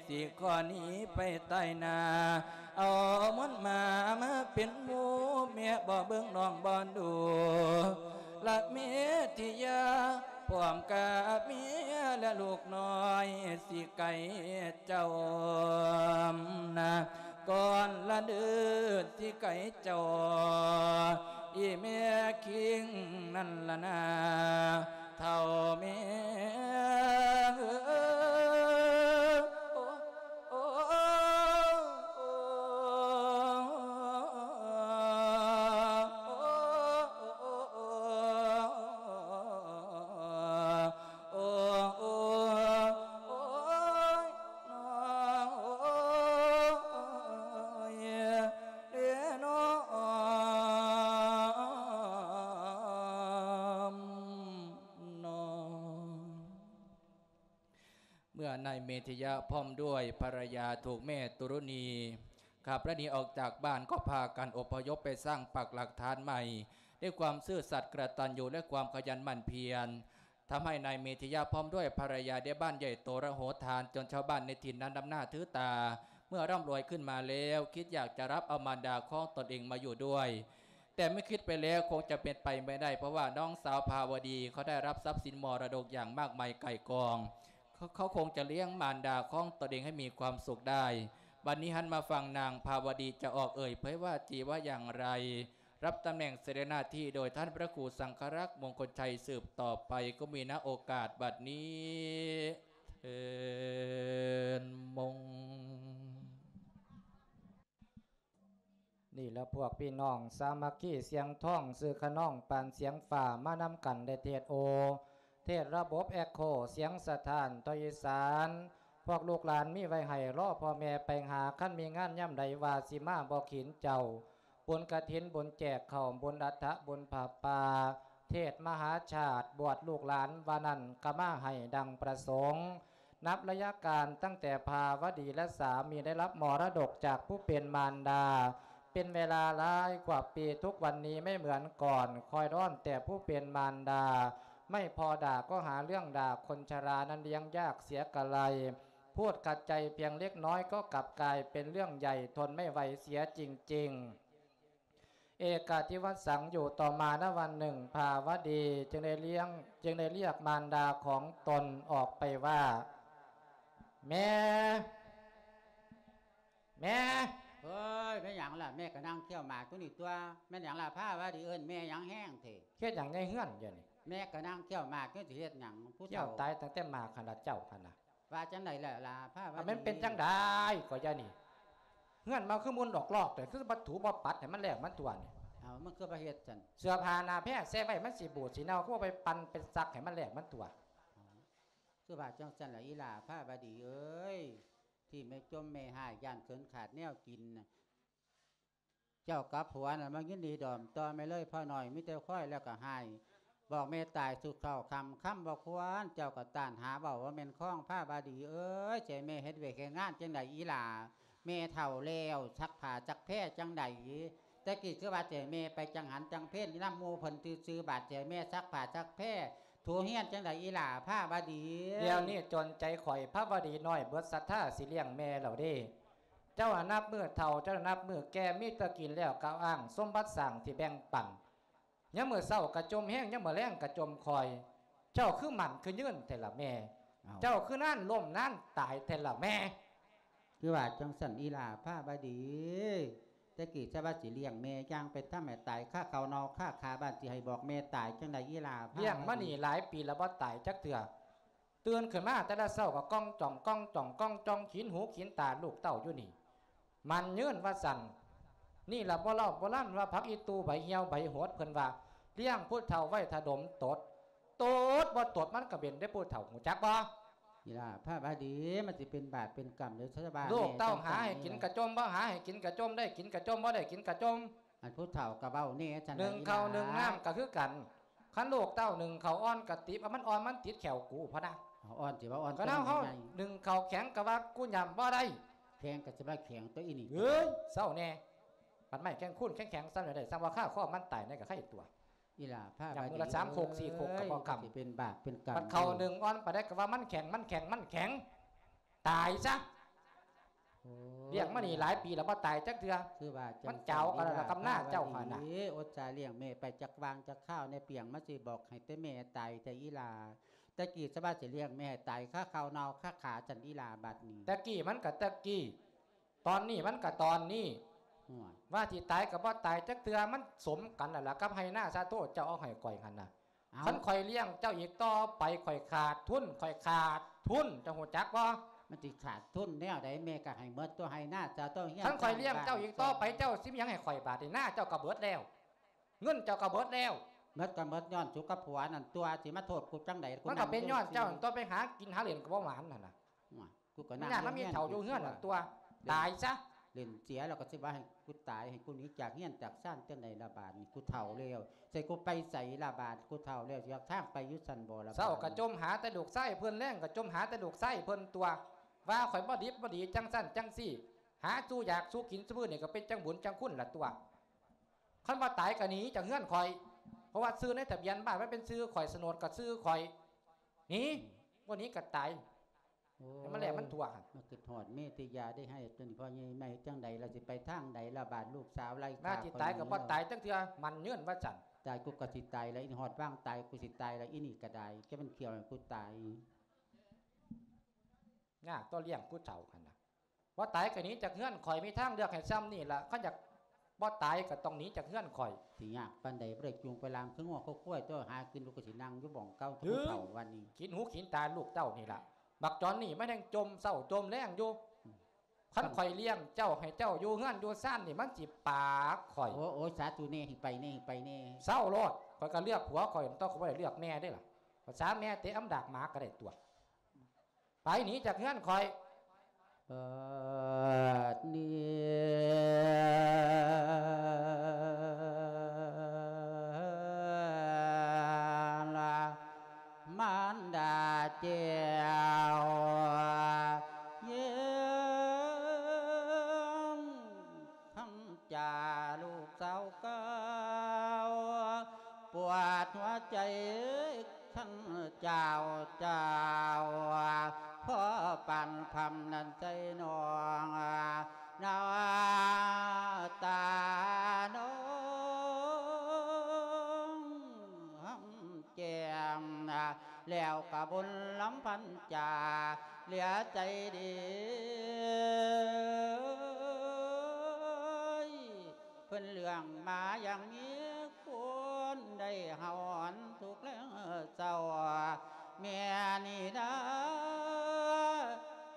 ຊິຂໍໜີໄປຕາຍໜ້າ ເອົາມອນໝາມາເປັນໝູ່ ແມ່ບໍ່ເບິ່ງນ້ອງບໍ່ດູ. ລະເມທິຍາ ພ້ອມກັບເມຍ ແລະລູກນ້ອຍ ຊິໄກ່ເຈົ້ານະ ກ່ອນລະເດີ ຊິໄກ່ເຈົ້າ ອີແມ່ຄິງນັ້ນລະນາ ເຖົ້າແມ່ເອີຍ. ເມື່ອນາຍເມທິຍະພ້ອມດ້ວຍພັນລະຍາ ຖືກແມ່ຕຸລຸນີຂັບໄລ່ໜີອອກຈາກບ້ານ ກໍພາກັນອົບພະຍົບໄປສ້າງປັກຫຼັກຖານໃໝ່ ດ້ວຍຄວາມຊື່ສັດກະຕັນຍູ ແລະຄວາມຂະຫຍັນໝັ່ນພຽນ ທຳໃຫ້ນາຍເມທິຍະພ້ອມດ້ວຍພັນລະຍາໄດ້ບ້ານໃຫຍ່ໂຕລະໂຫຖານ ຈົນຊາວບ້ານໃນຖິ່ນນັ້ນນັບໜ້າຖືຕາ. ເມື່ອຮ່ຳລວຍຂຶ້ນມາແລ້ວ ຄິດຢາກຈະຮັບເອົາມານດາຂອງຕົນເອງມາຢູ່ດ້ວຍ ແຕ່ເມື່ອຄິດໄປແລ້ວຄົງຈະເປັນໄປບໍ່ໄດ້ ເພາະວ່ານ້ອງສາວພາວະດີເຂົາໄດ້ຮັບຊັບສິນມໍລະດົກຢ່າງມາກມາຍກ່າຍກອງ ເຂົາ ເຂົາຄົງຈະລ້ຽງມານດາຂອງຕົນເອງໃຫ້ມີຄວາມສຸກໄດ້. ບັດນີ້ຫັນມາຟັງນາງພາວະດີຈະອອກເອີ່ຍເຜີຍວ່າຈີວ່າຢ່າງໃດ ຮັບຕຳແໜ່ງເສດໜ້າທີ່ໂດຍທ່ານພະຄູສັງຄະລັກ ມົງຄົນໄຊ ສືບຕໍ່ໄປ ກໍມີນະໂອກາດບັດນີ້ ເທີນມົງ. ນີ້ລະພວກພີ່ນ້ອງສາມັກຄີສຽງທອງ ຊື່ຂະນອງປານສຽງຟ້າ ມານຳກັນໄດ້ເທດໂອ ເທດລະບົບແອັກໂຄ ສຽງສະທ້ານທາງອີສານ ພວກລູກຫຼານມີໄວ້ໃຫ້ ລໍພໍ່ແມ່ໄປຫາ ຄັນມີງານຍາມໃດວ່າຊິມາ ບໍ່ຂີນເຈົ້າ ບຸນກະຖິນ ບຸນແຈກເຂົ້າ ບຸນອັດຖະ ບຸນຜ້າປ່າ ເທດມະຫາຊາດ ບວດລູກຫຼານວ່ານັ້ນ ກະມາໃຫ້ດັ່ງປະສົງ. ນັບໄລຍະການຕັ້ງແຕ່ພາວະດີ ແລະ ສາມີໄດ້ຮັບມໍລະດົກຈາກຜູ້ເປັນມານດາ ເປັນເວລາຫຼາຍກວ່າປີ ທຸກວັນນີ້ໄມ່ເໝືອນກ່ອນ ຄອຍຮ້ອນແຕ່ຜູ້ເປັນມານດາ ໄມ່ພໍດ່າກໍຫາເລື່ອງດ່າ ຄົນຊະລານັ້ນລ້ຽງຍາກເສຍກະໄລ ພູດຂັດໃຈພຽງເລັກນ້ອຍກໍກັບກາຍເປັນເລື່ອງໃຫຍ່ ທົນໄມ່ໄຫວເສຍຈິງໆ. ເອກາທິວັດສັງ ຢູ່ຕໍ່ມານະວັນໜຶ່ງ ພາວະດີຈຶ່ງໄດ້ລ້ຽງ ຈຶ່ງໄດ້ລຽກມານດາຂອງຕົນອອກໄປວ່າ ແມ່ ແມ່. ເອີຍ ແມ່ນຫຍັງລະ? ແມ່ກະນັ່ງຄ້ຽວໝາກຢູ່ນີ້ຕົວະ. ແມ່ນຫຍັງລະພາວະດີ ເອີ້ນແມ່ຫຍັງແຮງເທ? ເຮັດຫຍັງໃນເຮືອນດຽວນີ້? ແມ່ກະນັ່ງຄ້ຽວໝາກຢູ່ ຊິເຮັດຫຍັງ? ຄ້ຽວຕາຍຕັ້ງແຕ່ໝາກຫັ້ນລະເຈົ້າຫັ້ນນະ. ວ່າຈັ່ງໃດແລ້ວລະພາວະດີ? ມັນເປັນຈັ່ງໃດກໍຢ່ານີ້ ເຮືອນມາຄືມຸນອອກລອກ ແຕ່ຄືບໍ່ຖູບໍ່ປັດໃຫ້ມັນແລ້ວມັນທົ່ວນີ້. ເອົາ ມັນຄືບໍ່ເຮັດຊັ້ນ? ເສື້ອຜ້າໜ້າແພໃສ່ໄວ້ມັນຊິບູດຊິເນົ່າ ຄືບໍ່ໄປປັ່ນໄປຊັກໃຫ້ມັນແລ້ວມັນທົ່ວ. ເອົາ ຄືວ່າຈັ່ງຊັ້ນລະອີ່ຫຼ້າພາວະດີເອີຍ ທີ່ແມ່ຈົ່ມແມ່ຮ້າຍ ຢ້ານເຂີນຂາດແນວກິນນະ. ເຈົ້າກັບຜົວນັ້ນມາຍິນດີດອມຕໍ່ແມ່ເລີຍ ພໍ່ນ້ອຍມີແຕ່ຄວາຍແລ້ວກໍຮ້າຍ ບອກແມ່ຕາຍສູ່ເຂົ້າຄ່ຳ ຄ່ຳບໍ່ຄວນ ເຈົ້າກໍຕ້ານຫາເວົ້າ ວ່າແມ່ນຄອງພາວະດີເອີຍ ຊິໃຫ້ແມ່ເຮັດວຽກເຮັດງານຈັ່ງໃດອີ່ຫຼ້າ ແມ່ເຖົ້າແລ້ວ ຊັກຜ້າຊັກແພຈັ່ງໃດ ແຕ່ກີ້ຄືວ່າຊິໃຫ້ແມ່ໄປຈັງຫັນຈັງເພັນນຳໝູ່ເພິ່ນຊື່ໆ ບາດຊິໃຫ້ແມ່ຊັກຜ້າຊັກແພ ຖູຮຽນຈັ່ງໃດອີ່ຫຼ້າພາວະດີ. ດຽວນີ້ຈົນໃຈຂ້ອຍ ພາວະດີນ້ອຍເບິດສັດທາ ຊິລ້ຽງແມ່ແລ້ວເດ້. ເຈົ້າຫັ້ນນັບມື້ເຖົ້າ ເຈົ້ານັ້ນນັບມື້ແກ່ ມີແຕ່ກິນແລ້ວກໍອ້າງສົມບັດສ້າງທີ່ແບ່ງປັນ ຍາມມື້ເຊົ້າກະຈົ່ມແຮງ ຍາມມື້ແລງກະຈົ່ມຄອຍ ເຈົ້າຄືໝັ້ນຄືຍືນແທ້ລະແມ່ ເຈົ້າຄືນານລົ້ມນານຕາຍແທ້ລະແມ່. ຄືວ່າຈັ່ງຊັ້ນອີ່ຫຼ້າພາວະດີ ແຕ່ກີ້ຊະວ່າຊິລ້ຽງແມ່ ຢ່າງໄປທຳໃຫ້ຕາຍຄາເຂົ້າເນົ່າຄາຂາ ບາດຊິໃຫ້ບອກແມ່ຕາຍຈັ່ງໃດອີ່ຫຼ້າພາວະດີ. ລ້ຽງມານີ້ຫຼາຍປີແລ້ວບໍ່ຕາຍຈັກເທື່ອ ຕື່ນຂຶ້ນມາແຕ່ລະເຊົ້າກໍກ້ອງຈ່ອງ ກ້ອງຈ່ອງ ກ້ອງຈ່ອງ ຂີນຫູຂີນຕາລູກເຕົ້າຢູ່ນີ້ ໝັ້ນຍືນວ່າຊັ້ນ. ນີ້ລະບໍ່ເລົ່າໂບລານວ່າ ຜັກອີຕູ່ໃບຫ່ຽວໃບຫົດ ເພິ່ນວ່າລ້ຽງຜູ້ເຖົ້າໄວ້ຖ້າດົມຕົດ ຕົດບໍ່ຕົດມັນກະເປັນເດ້ຜູ້ເຖົ້າ ຮູ້ຈັກບໍ່? ນີ້ລະພາວະດີ ມັນຊິເປັນບາບເປັນກຳເດ້ຊະບາຍ ລູກເຕົ້າຫາໃຫ້ກິນກະຈົ່ມ ບໍ່ຫາໃຫ້ກິນກະຈົ່ມ ໄດ້ກິນກະຈົ່ມ ບໍ່ໄດ້ກິນກະຈົ່ມ. ອັນຜູ້ເຖົ້າກໍເວົ້າແນ່ຊັ້ນ ໜຶ່ງເຂົ້າໜຶ່ງນ້ຳກໍຄືກັນ ຄັນລູກເຕົ້າໜຶ່ງເຂົ້າອ່ອນກໍຕິບ ເອົາມັນອ່ອນມັນຕິດແຂ້ວກູພຸ້ນນະ ເອົາອ່ອນຊິວ່າອ່ອນ ຄັນເຮົາໜຶ່ງເຂົ້າແຂງກໍວ່າກູຫຍ້ຳບໍ່ໄດ້ ແຂງກໍຊິວ່າແຂງຕົວະອີ່ນີ້ ເອີຍ ເຊົາແນ່ ບັດໄມ້ແຂງຄູນແຂງໆ ສ່ຳໃດ ສ່ຳວ່າຄາຄໍມັນຕາຍໃນກໍໄຄຕົວະ ອີ່ຫຼ້າພາຫຍ້ຳມື້ລະສາມໂຄກສີ່ໂຄກກໍບໍ່ຄຳ ຊິເປັນບາບເປັນກຳ ບັດເຂົ້າໜຶ່ງອ່ອນປານໃດກໍວ່າມັນແຂງ ມັນແຂງ ມັນແຂງ ຕາຍຊະ. ໂອ້ຍ ລ້ຽງມານີ້ຫຼາຍປີແລ້ວ ບໍ່ຕາຍຈັກເທື່ອ. ຄືວ່າຈັ່ງ ມັນເຈົ້າກັນແລ້ວ ກຳນາເຈົ້າຫັ້ນນະ. ໂອ້ ອດສາລ້ຽງແມ່ໄປຈັກຫວ່າງຈັກຄາວແດ່ ປ່ຽງມາຊິບອກໃຫ້ແຕ່ແມ່ຕາຍແທ້ອີ່ຫຼ້າ. ແຕ່ກີ້ສະບາຊິລ້ຽງແມ່ໃຫ້ຕາຍຄາເຂົ້າເນົ່າຄາຂາຊັ້ນອີ່ຫຼ້າບັດນີ້. ແຕ່ກີ້ມັນກໍແຕ່ກີ້ ຕອນນີ້ມັນກໍຕອນນີ້. ໂອ້ຍ ວ່າຊິຕາຍກໍບໍ່ຕາຍຈັກເທື່ອ ມັນສົມກັນແລ້ວລະ ກັບໄຮ່ນາສາໂທເຈົ້າເອົາໃຫ້ຂ້ອຍຫັ້ນນະ. ເອົ້າ ຄັນຂ້ອຍລ້ຽງເຈົ້າອີກຕໍ່ໄປ ຂ້ອຍຂາດທຶນ ຂ້ອຍຂາດທຶນ ເຈົ້າຮູ້ຈັກບໍ່? ມັນຊິຂາດທຶນແນວໃດ? ແມ່ກໍໃຫ້ໝົດຕົວະ ໄຮ່ນາເຈົ້າ ເຈົ້າເຮືອນ ຄັນຂ້ອຍລ້ຽງເຈົ້າອີກຕໍ່ໄປ ເຈົ້າຊິມີຫຍັງໃຫ້ຂ້ອຍບາດນີ້? ນາເຈົ້າກໍເບິດແລ້ວ ເງິນເຈົ້າກໍເບິດແລ້ວ. ໝົດກໍໝົດຍ້ອນສຸກັບຜົວນັ້ນຕົວະ ຊິມາໂທດກູຈັ່ງໃດ? ມັນກໍເປັນຍ້ອນເຈົ້າຕົວະ ໄປຫາກິນຫາຫຼິ້ນກໍບໍ່ໝານຫັ້ນນະ. ໂອ້ຍ ກູກໍນັ່ງ ມັນຍາກນຳອີ່ເຖົ້າຢູ່ເຮືອນນັ້ນຕົວະ ຕາຍຊະ. ເຫຼັ້ນເສຍແລ້ວກໍຊິວ່າໃຫ້ກູຕາຍ ໃຫ້ກູໜີຈາກເຮືອນຈາກຊານຈັ່ງໃດລະບາດນີ້? ກູເຖົ້າແລ້ວ ໃສ່ກູໄປໃສລະບາດ? ກູເຖົ້າແລ້ວ ຊິຫາທາງໄປຢູ່ຊັ້ນບໍ່ລະບາດ? ເຊົ້າກໍຈົ່ມຫາແຕ່ລູກຊາຍເພິ່ນ ແລງກໍຈົ່ມຫາແຕ່ລູກຊາຍເພິ່ນຕົວະ ວ່າຂ້ອຍບໍ່ດິບບໍ່ດີ ຈັ່ງຊັ້ນຈັ່ງຊີ້ ຫາສູ່ຢາກສູ່ກິນສູ່ມື້ນີ້ ກໍເປັນຈັ່ງບຸນຈັ່ງຄຸນລະຕົວະ. ຄັນວ່າຕາຍກໍໜີຈາກເຮືອນຂ້ອຍ ເພາະວ່າຊື່ໃນທະບຽນບ້ານມັນເປັນຊື່ຂ້ອຍ ໂສນດກໍຊື່ຂ້ອຍ. ໜີ ບໍ່ໜີກໍຕາຍ. ໂອ້ຍ ໃຫ້ມັນແຫຼະມັນທົ່ວຫັ້ນ. ມາຄິດຮອດເມຕິຍາໄດ້ໃຫ້ຕົວນີ້ ພໍ່ໃຫຍ່ມາເຮັດຈັ່ງໃດລະ ຊິໄປທາງໃດລະບາດ? ລູກສາວໄລ່ຂ້າ ວ່າຊິຕາຍກໍບໍ່ຕາຍຈັກເທື່ອ ໝັ້ນຍືນວ່າຊັ້ນ. ຕາຍກູກໍຊິຕາຍລະ ອີຮອດວາງຕາຍກູຊິຕາຍລະ ອີນີ້ກໍໄດ້ ແກມັນຂ້ຽວໃຫ້ກູຕາຍ. ຍາກຕໍ່ລ້ຽງຜູ້ເຖົ້າຫັ້ນນະ. ບໍ່ຕາຍກໍໜີຈາກເຮືອນຂ້ອຍ ມີທາງເລືອກໃຫ້ຊ່ຳນີ້ລະ ຄັນຢາກບໍ່ຕາຍກໍຕ້ອງໜີຈາກເຮືອນຂ້ອຍ. ຊິຍາກປານໃດ ບໍ່ໄດ້ຈູງໄປລາມຄືງົວຄືຄວາຍຕົວະ ຫາກິນລູກກໍຊິນັ່ງຢູ່ໝ່ອງເກົ່າ ເອີ ເຖົ້າວັນນີ້ ກິນຫູກິນຕາລູກເຕົ້ານີ້ລະ. ບັກຈອນນີ້ມັນຍັງຈົ່ມເຊົ້າຈົ່ມແລງຢູ່. ອືມ ຄັນຂ້ອຍລ້ຽງເຈົ້າໃຫ້ເຈົ້າຢູ່ເຮືອນຢູ່ຊານນີ້ ມັນຊິປາກຂ້ອຍ. ໂອ້ ໂອ້ຍ ສາທຸແນ່ ໃຫ້ໄປແນ່ ໃຫ້ໄປແນ່. ເຊົາໂລດ ຂ້ອຍກໍເລືອກຜົວຂ້ອຍ ຕ້ອງ ຂ້ອຍບໍ່ໄດ້ເລືອກແມ່ເດ້ລະ. ພາສາແມ່ເຕະອຳດາກໝາກໍໄດ້ຕົວະ. ໄປໜີຈາກເຮືອນຂ້ອຍ. ເອີ ນີ້ລະ ມານດາເຈົ້າ ຍິງຄຳຈາລູກສາວເກົ່າ ປວດຫົວໃຈ ທ່ານເຈົ້າ ເຈົ້າ ພໍປານພຳນັ້ນໃສ່ນ້ອງ ນ້ຳຕານ້ອງຫອມແກ້ມ ແລ້ວກໍບຸນລຳພັນຈາ ເຫຼືອໃຈດີ ເພິ່ນເລື່ອງມາຢ່າງມີຄຸນ ໄດ້ເຮົາຫອນທຸກແລງເຊົ້າ ແມ່ນີ້ນາ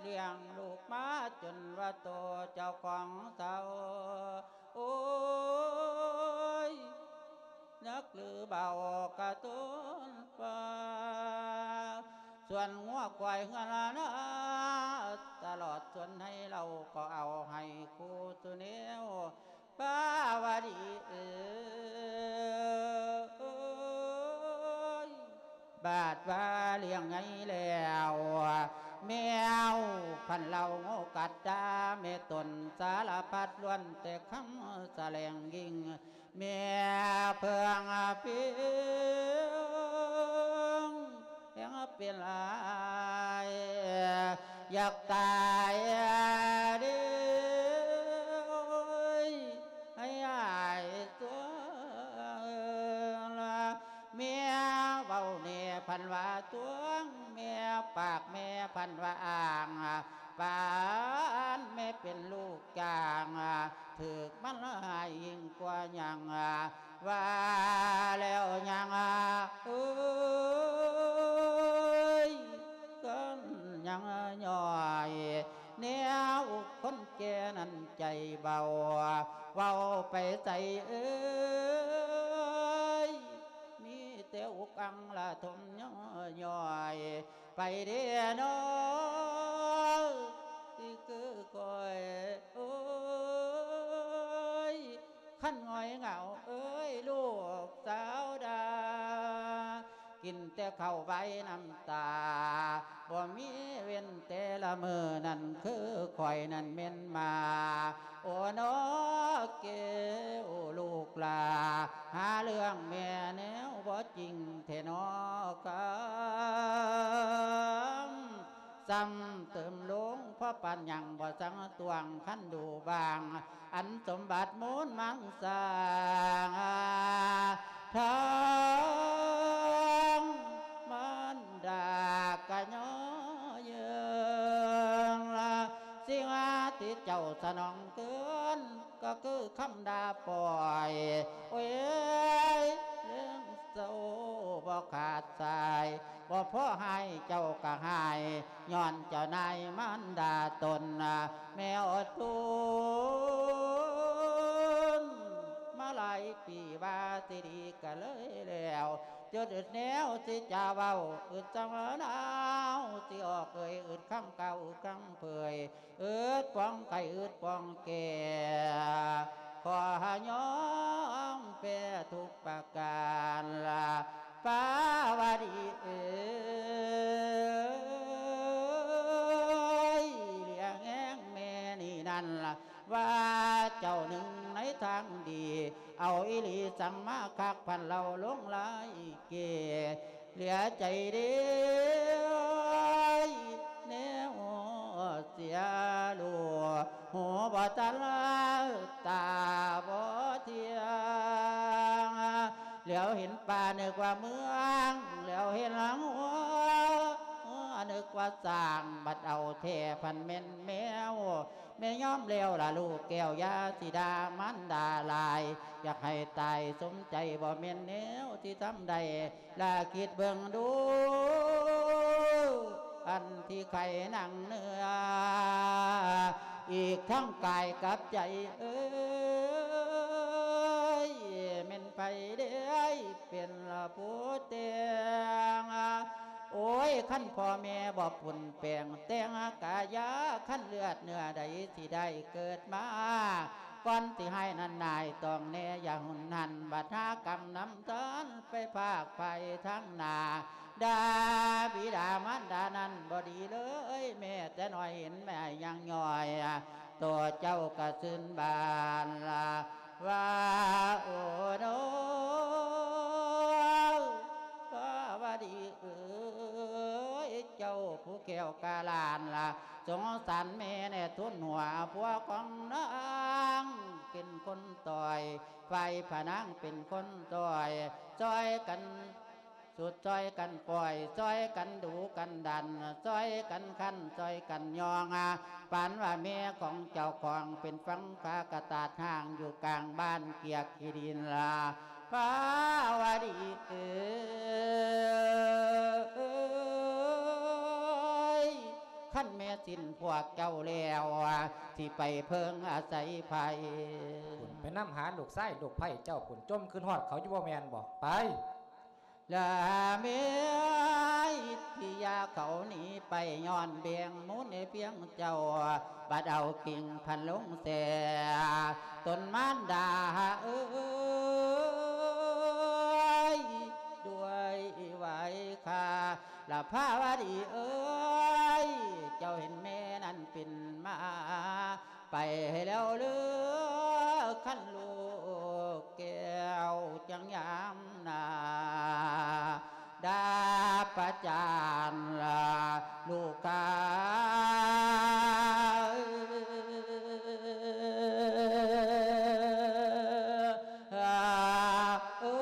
ລ້ຽງລູກມາຈົນວ່າໂຕເຈົ້າຂອງເຖົ້າ ໂອ້ຍ ນັກຫຼືເບົາກະຕົ້ນປ່າ ສວນງົວຄວາຍເຮືອນນາ ຕະຫຼອດສວນໄຮ່ເຫຼົ່າ ກໍເອົາໃຫ້ຄູ່ສູ່ແນວ ປາວະດີເອີຍ ບາດວ່າລ້ຽງໃຫຍ່ແລ້ວ ແມວພັນເຫຼົ່າງູກັດຕາ ແມ່ຕົນສາລະພັດ ລ້ວນແຕ່ຄຳສະແຫຼງຍິ່ງ ແມ່ເພິ່ງພິງ ແຮງເປັນອາຍ ຢາກຕາຍເດ້ ໃຫ້ອາຍຕົວລະ ແມ່ເວົ້າແນ່ພັນວ່າຕົວງ ແມ່ປາກແມ່ພັນວ່າອ້າງ ປານແມ່ເປັນລູກຈ້າງ ຖືກມັນຮ້າຍຍິ່ງກວ່າຫຍັງ ວ່າແລ້ວຍັງເອີຍ ກັນຍັງຍ່ອຍ ແນວຄົນແກ່ນັ້ນໃຈເບົາ ເວົ້າໄປໃສເອີຍ ມີແຕ່ອຸກອັ່ງລະທົມຍ້ອຍໆ ໄປເດ້ນ້ອງ ທີ່ຄືຂ້ອຍ ໂອ້ຍ ຄັນຫງອຍເຫງົາເອີຍ ລູກສາວດາ ກິນແຕ່ເຂົ້າໄວ້ນ້ຳຕາ ບໍ່ມີເວັ້ນແຕ່ລະມື້ ນັ້ນຄືຂ້ອຍນັ້ນແມ່ນໝາ ໂອ້ ນ້ອເກວລູກຫຼ້າ ຫາເລື່ອງແມ່ແນວບໍ່ຈິງແທ້ນ້ອກຳ ຊ້ຳເຕີມລົງ ພໍປານຍັງບໍ່ສັງຕວງຄັນດູບາງ ອັນສົມບັດມູນມັນສ້າງ ທັງມານດາກະຍໍເຍີງ ສິ່ງທີ່ເຈົ້າສະໜອງຄືນ ກໍຄືຄຳດ່າປ່ອຍ ໂອ້ຍ ເລື່ອງເສົ້າບໍ່ຂາດສາຍ ບໍ່ພໍໃຫ້ເຈົ້າກໍຫາຍ ຍ້ອນເຈົ້ານາຍມານດາຕົນ ແມ່ອົດທົນ ມາຫຼາຍປີວ່າຊິດີກໍເລີຍແລ້ວ ຈົນອຶດແນວຊິຈະເວົ້າ ອຶດສຳນາວຊິອອກເອີຍ ອຶດຄຳກ່າວ ອຶດຄຳເຜີຍ ອຶດປອງໄຂ້ ອຶດປອງແກ່ ຂໍໃຫ້ຍອມແພ້ທຸກປະການລະ ປາວະດີເອີຍ ຫຼຽງແຮງແມ່ນີ້ນັ້ນລະ ວ່າເຈົ້າໜຶ່ງໃນທາງດີ ເອົາອີ່ຫຼີສັງມາຄັກ ພັນເລົ່າລົງລາຍເກ ເຫຼືອໃຈເດ້ ແນວເສຍລູກ ຫູບໍ່ທັນ ຕາບໍ່ທ່ຽງ ແລ້ວເຫັນປ່ານຶກວ່າເມືອງ ແລ້ວເຫັນຫົວ ນຶກວ່າຊ້າງ ບັດເອົາແທ້ພັນແມ່ນແມວ ແມ່ຍອມແລ້ວລະລູກແກ້ວ ຢ່າຊິດ່າມານດາຫຼາຍ ຢາກໃຫ້ຕາຍສົມໃຈ ບໍ່ແມ່ນແນວທີ່ທຳໄດ້ ລະຄິດເບິ່ງດູ ອັນທີ່ໄຂ້ໜັງເນື້ອ ອີກທັງກາຍກັບໃຈເອີຍ ແມ່ນໃຜເດ້ເປັນລະຜູ້ແຕ່ງ ໂອ້ຍ ຄັນພໍ່ແມ່ບໍ່ປຸນແປງ ແຕ່ງກາຍາ ຄັນເລືອດເນື້ອໃດຊິໄດ້ເກີດມາ ກ່ອນຊິຮ້າຍນັ້ນນາຍ ຕ້ອງແນ່ຢ່າຮຸນຫັນ ບັດຫາກຳນຳທານ ໄປພາກໄພທາງໜ້າ ດ່າບິດາມານດານັ້ນບໍ່ດີເລີຍ ແມ້ແຕ່ນ້ອຍເຫັນແມ່ຍັງຍ່ອຍ ໂຕເຈົ້າກະຊື່ນບານລະວ່າ ໂອໂນ ພາວະດີເອີຍ ເຈົ້າຜູ້ແກ້ວກາຫຼານລະ ສົງສານແມ່ແນ່ ທຸນຫົວຜົວຂອງນາງເປັນຄົນຕ່ອຍ ຝ່າຍພະນາງເປັນຄົນຊ່ອຍ ຊ່ອຍກັນ ສຸດຊ່ອຍກັນປ່ອຍ ຊ່ອຍກັນດຸກັນດັນ ຊ່ອຍກັນຂັນ ຊ່ອຍກັນຍ່ອງ ປານວ່າແມ່ຂອງເຈົ້າຂອງເປັນຝັ່ງຟ້າກະຕາດຮ່າງຢູ່ກາງບ້ານກຽກຂີ້ດິນລະ ພາວະດີເອີຍ ຄັນແມ່ສິ້ນພວກເຈົ້າແລ້ວ ຊິໄປເພິ່ງອາໄສໃຜ? ພຸ້ນ ໄປນຳຫາລູກຊາຍລູກໃພ້ເຈົ້າພຸ້ນ ຈົ່ມຄຶດຮອດເຂົາຢູ່ບໍ່ແມ່ນບໍ່? ໄປ ລະແມ່ທີ່ຢ່າເຂົາໜີໄປ ຍ້ອນແບ່ງມູນໃຫ້ພຽງເຈົ້າ ບັດເອົາກິ່ງພັນລົງແຊ່ຕົ້ນມານດາເອີຍ ດ້ວຍໄຫວ້ຄາ ລະພາວະດີເອີຍ ເຈົ້າເຫັນແມ່ນັ້ນປິ່ນມາ ໄປແລ້ວເລີ ຄັນລູກແກ້ວຈັ່ງຍາມໜ້າ ດາປະຈານລະລູກຄ້າ ເອີ.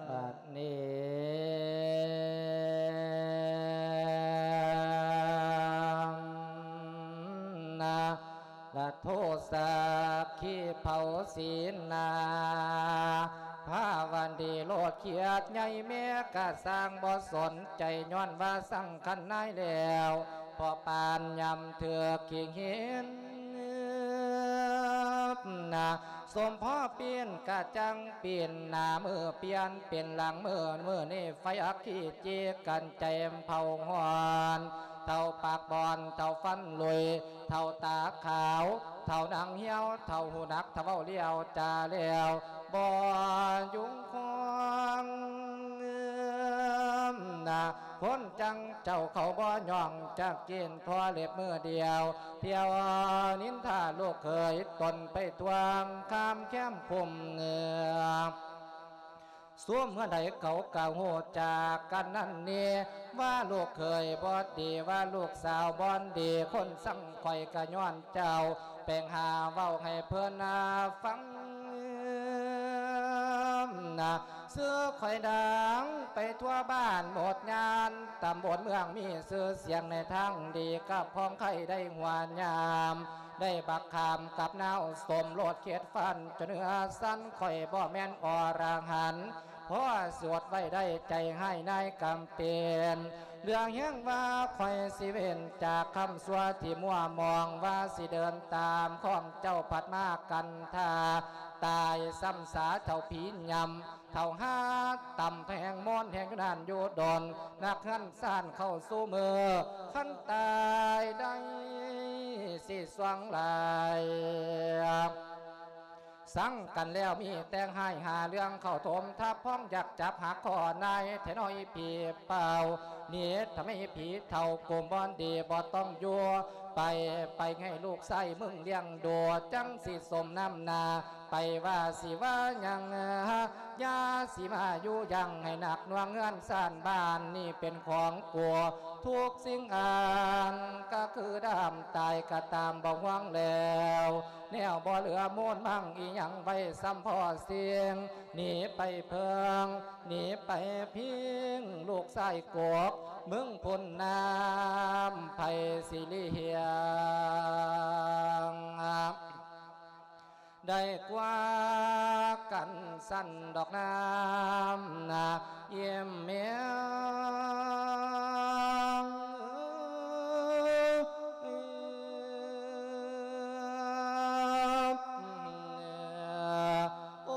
ບັດນີ້ນະ ລະໂທສັກຂີເຜົາສີນາ ພາວັນດີໂລດຂຽດໃຫຍ່ແມ່ກະຊ່າງບໍ່ສົນໃຈ ຍ້ອນວ່າສັງຄັນນາຍແລ້ວ ພໍປານຍາມຖືກຂີ້ຫີນນະ ສົມພໍປີ້ນກະຈັ່ງປີ້ນໜ້າ ມື້ປ່ຽນເປັນຫຼັງ ມື້ ມື້ນີ້ໄຟອັກຂີ້ຈີກັນໃຈເຜົາຮ້ອນ ເທົ່າປາກບອນ ເທົ່າຟັນລຸຍ ເຖົ້າຕາຂາວ ເຖົ້າໜັງຫ່ຽວ ເຖົ້າຫູໜັກ ເຖົ້າເວົ້າລ້ຽວຈາແລ້ວ ບໍ່ຍຸງຄອງນະ ຄົນຈັ່ງເຈົ້າເຂົາບໍ່ຍ້ອງ ຈັກກິນທົ່ວເລັບມື້ດຽວ ທ່ຽວນິນທາລູກເຂີຍ ຕົນໄປທວງຄາມແຄມຄຸ້ມເໜືອ ຊຸມເຮືອນໃດເຂົາກໍຮູ້ຈັກກັນນັ້ນນີ້ ວ່າລູກເຂີຍບໍ່ດີ ວ່າລູກສາວບໍ່ດີ ຄົນຊັງຂ້ອຍກໍຍ້ອນເຈົ້າ ແປງຫາເວົ້າໃຫ້ເພິ່ນນາຟັງນາ ຊື່ຂ້ອຍດັງໄປທົ່ວບ້ານໝົດຍານ ຕຳບົນເມືອງມີຊື່ສຽງໃນທາງດີ ກັບຂອງໄຄໄດ້ຫົວຍາມ ໄດ້ບັກຂາມກັບນາວ ສົມໂລດເຂດຟັນ ຈົນເໜືອຊັ້ນ ຂ້ອຍບໍ່ແມ່ນອໍລະຫັນ ພໍສວດໄວ້ໄດ້ໃຈຮ້າຍນາຍກຳເປັນ ເລື່ອງແຮງວ່າຂ້ອຍຊິເວັ້ນຈາກຄຳຊົ່ວທີ່ມົວມອງ ວ່າຊິເດີນຕາມຂອງເຈົ້າພັດມາກັນທ່າ ຕາຍຊ້ຳສາເທົ່າຜີຍຳ ເທົ່າຫາຕຳແທງມອນແຮງຢູ່ນັ້ນຢູ່ດົນ ນັກເຮືອນຊານເຂົ້າສູ່ມື ຄັນຕາຍໄດ້ຊິຊ່ວງຫຼາຍ ສັງກັນແລ້ວມີແຕ່ຮ້າຍຫາເລື່ອງ ເຂົ້າຖົມທັບພ້ອງຢາກຈັບຫັກຂໍ້ນາຍ ແທ້ນ້ອຍຜີເປົ່າ ໜີທຳໄມຜີເຖົ້າ ກົມບ່ອນດີບໍ່ຕ້ອງຢູ່ ໄປ ໄປໃຫ້ລູກຊາຍມຶງລ້ຽງດູ ຈັ່ງຊິສົມນ້ຳໜ້າ ໄປວ່າຊິວ່າຫຍັງ ຢ່າຊິມາຢູ່ຢັ້ງໃຫ້ໜັກໜ່ວງ ເຮືອນຊານບ້ານນີ້ເປັນຂອງກູ ທຸກສິ່ງອັນກໍຄືດຳຕາຍກໍຕາມບໍ່ຫວງແລ້ວ ແນວບໍ່ເຫຼືອມູນມັງອີ່ຫຍັງໄວ້ ສ່ຳພໍສິ່ງ ໜີໄປເພິ່ງ ໜີໄປພິງ ລູກຊາຍກົກ ມຶງພຸ້ນນຳ ໃຜຊິລ້ຽງ ໄດ້ກວ່າກັນຊັ້ນດອກນາ ນາ ຢ້ຽມແມວ ໂອ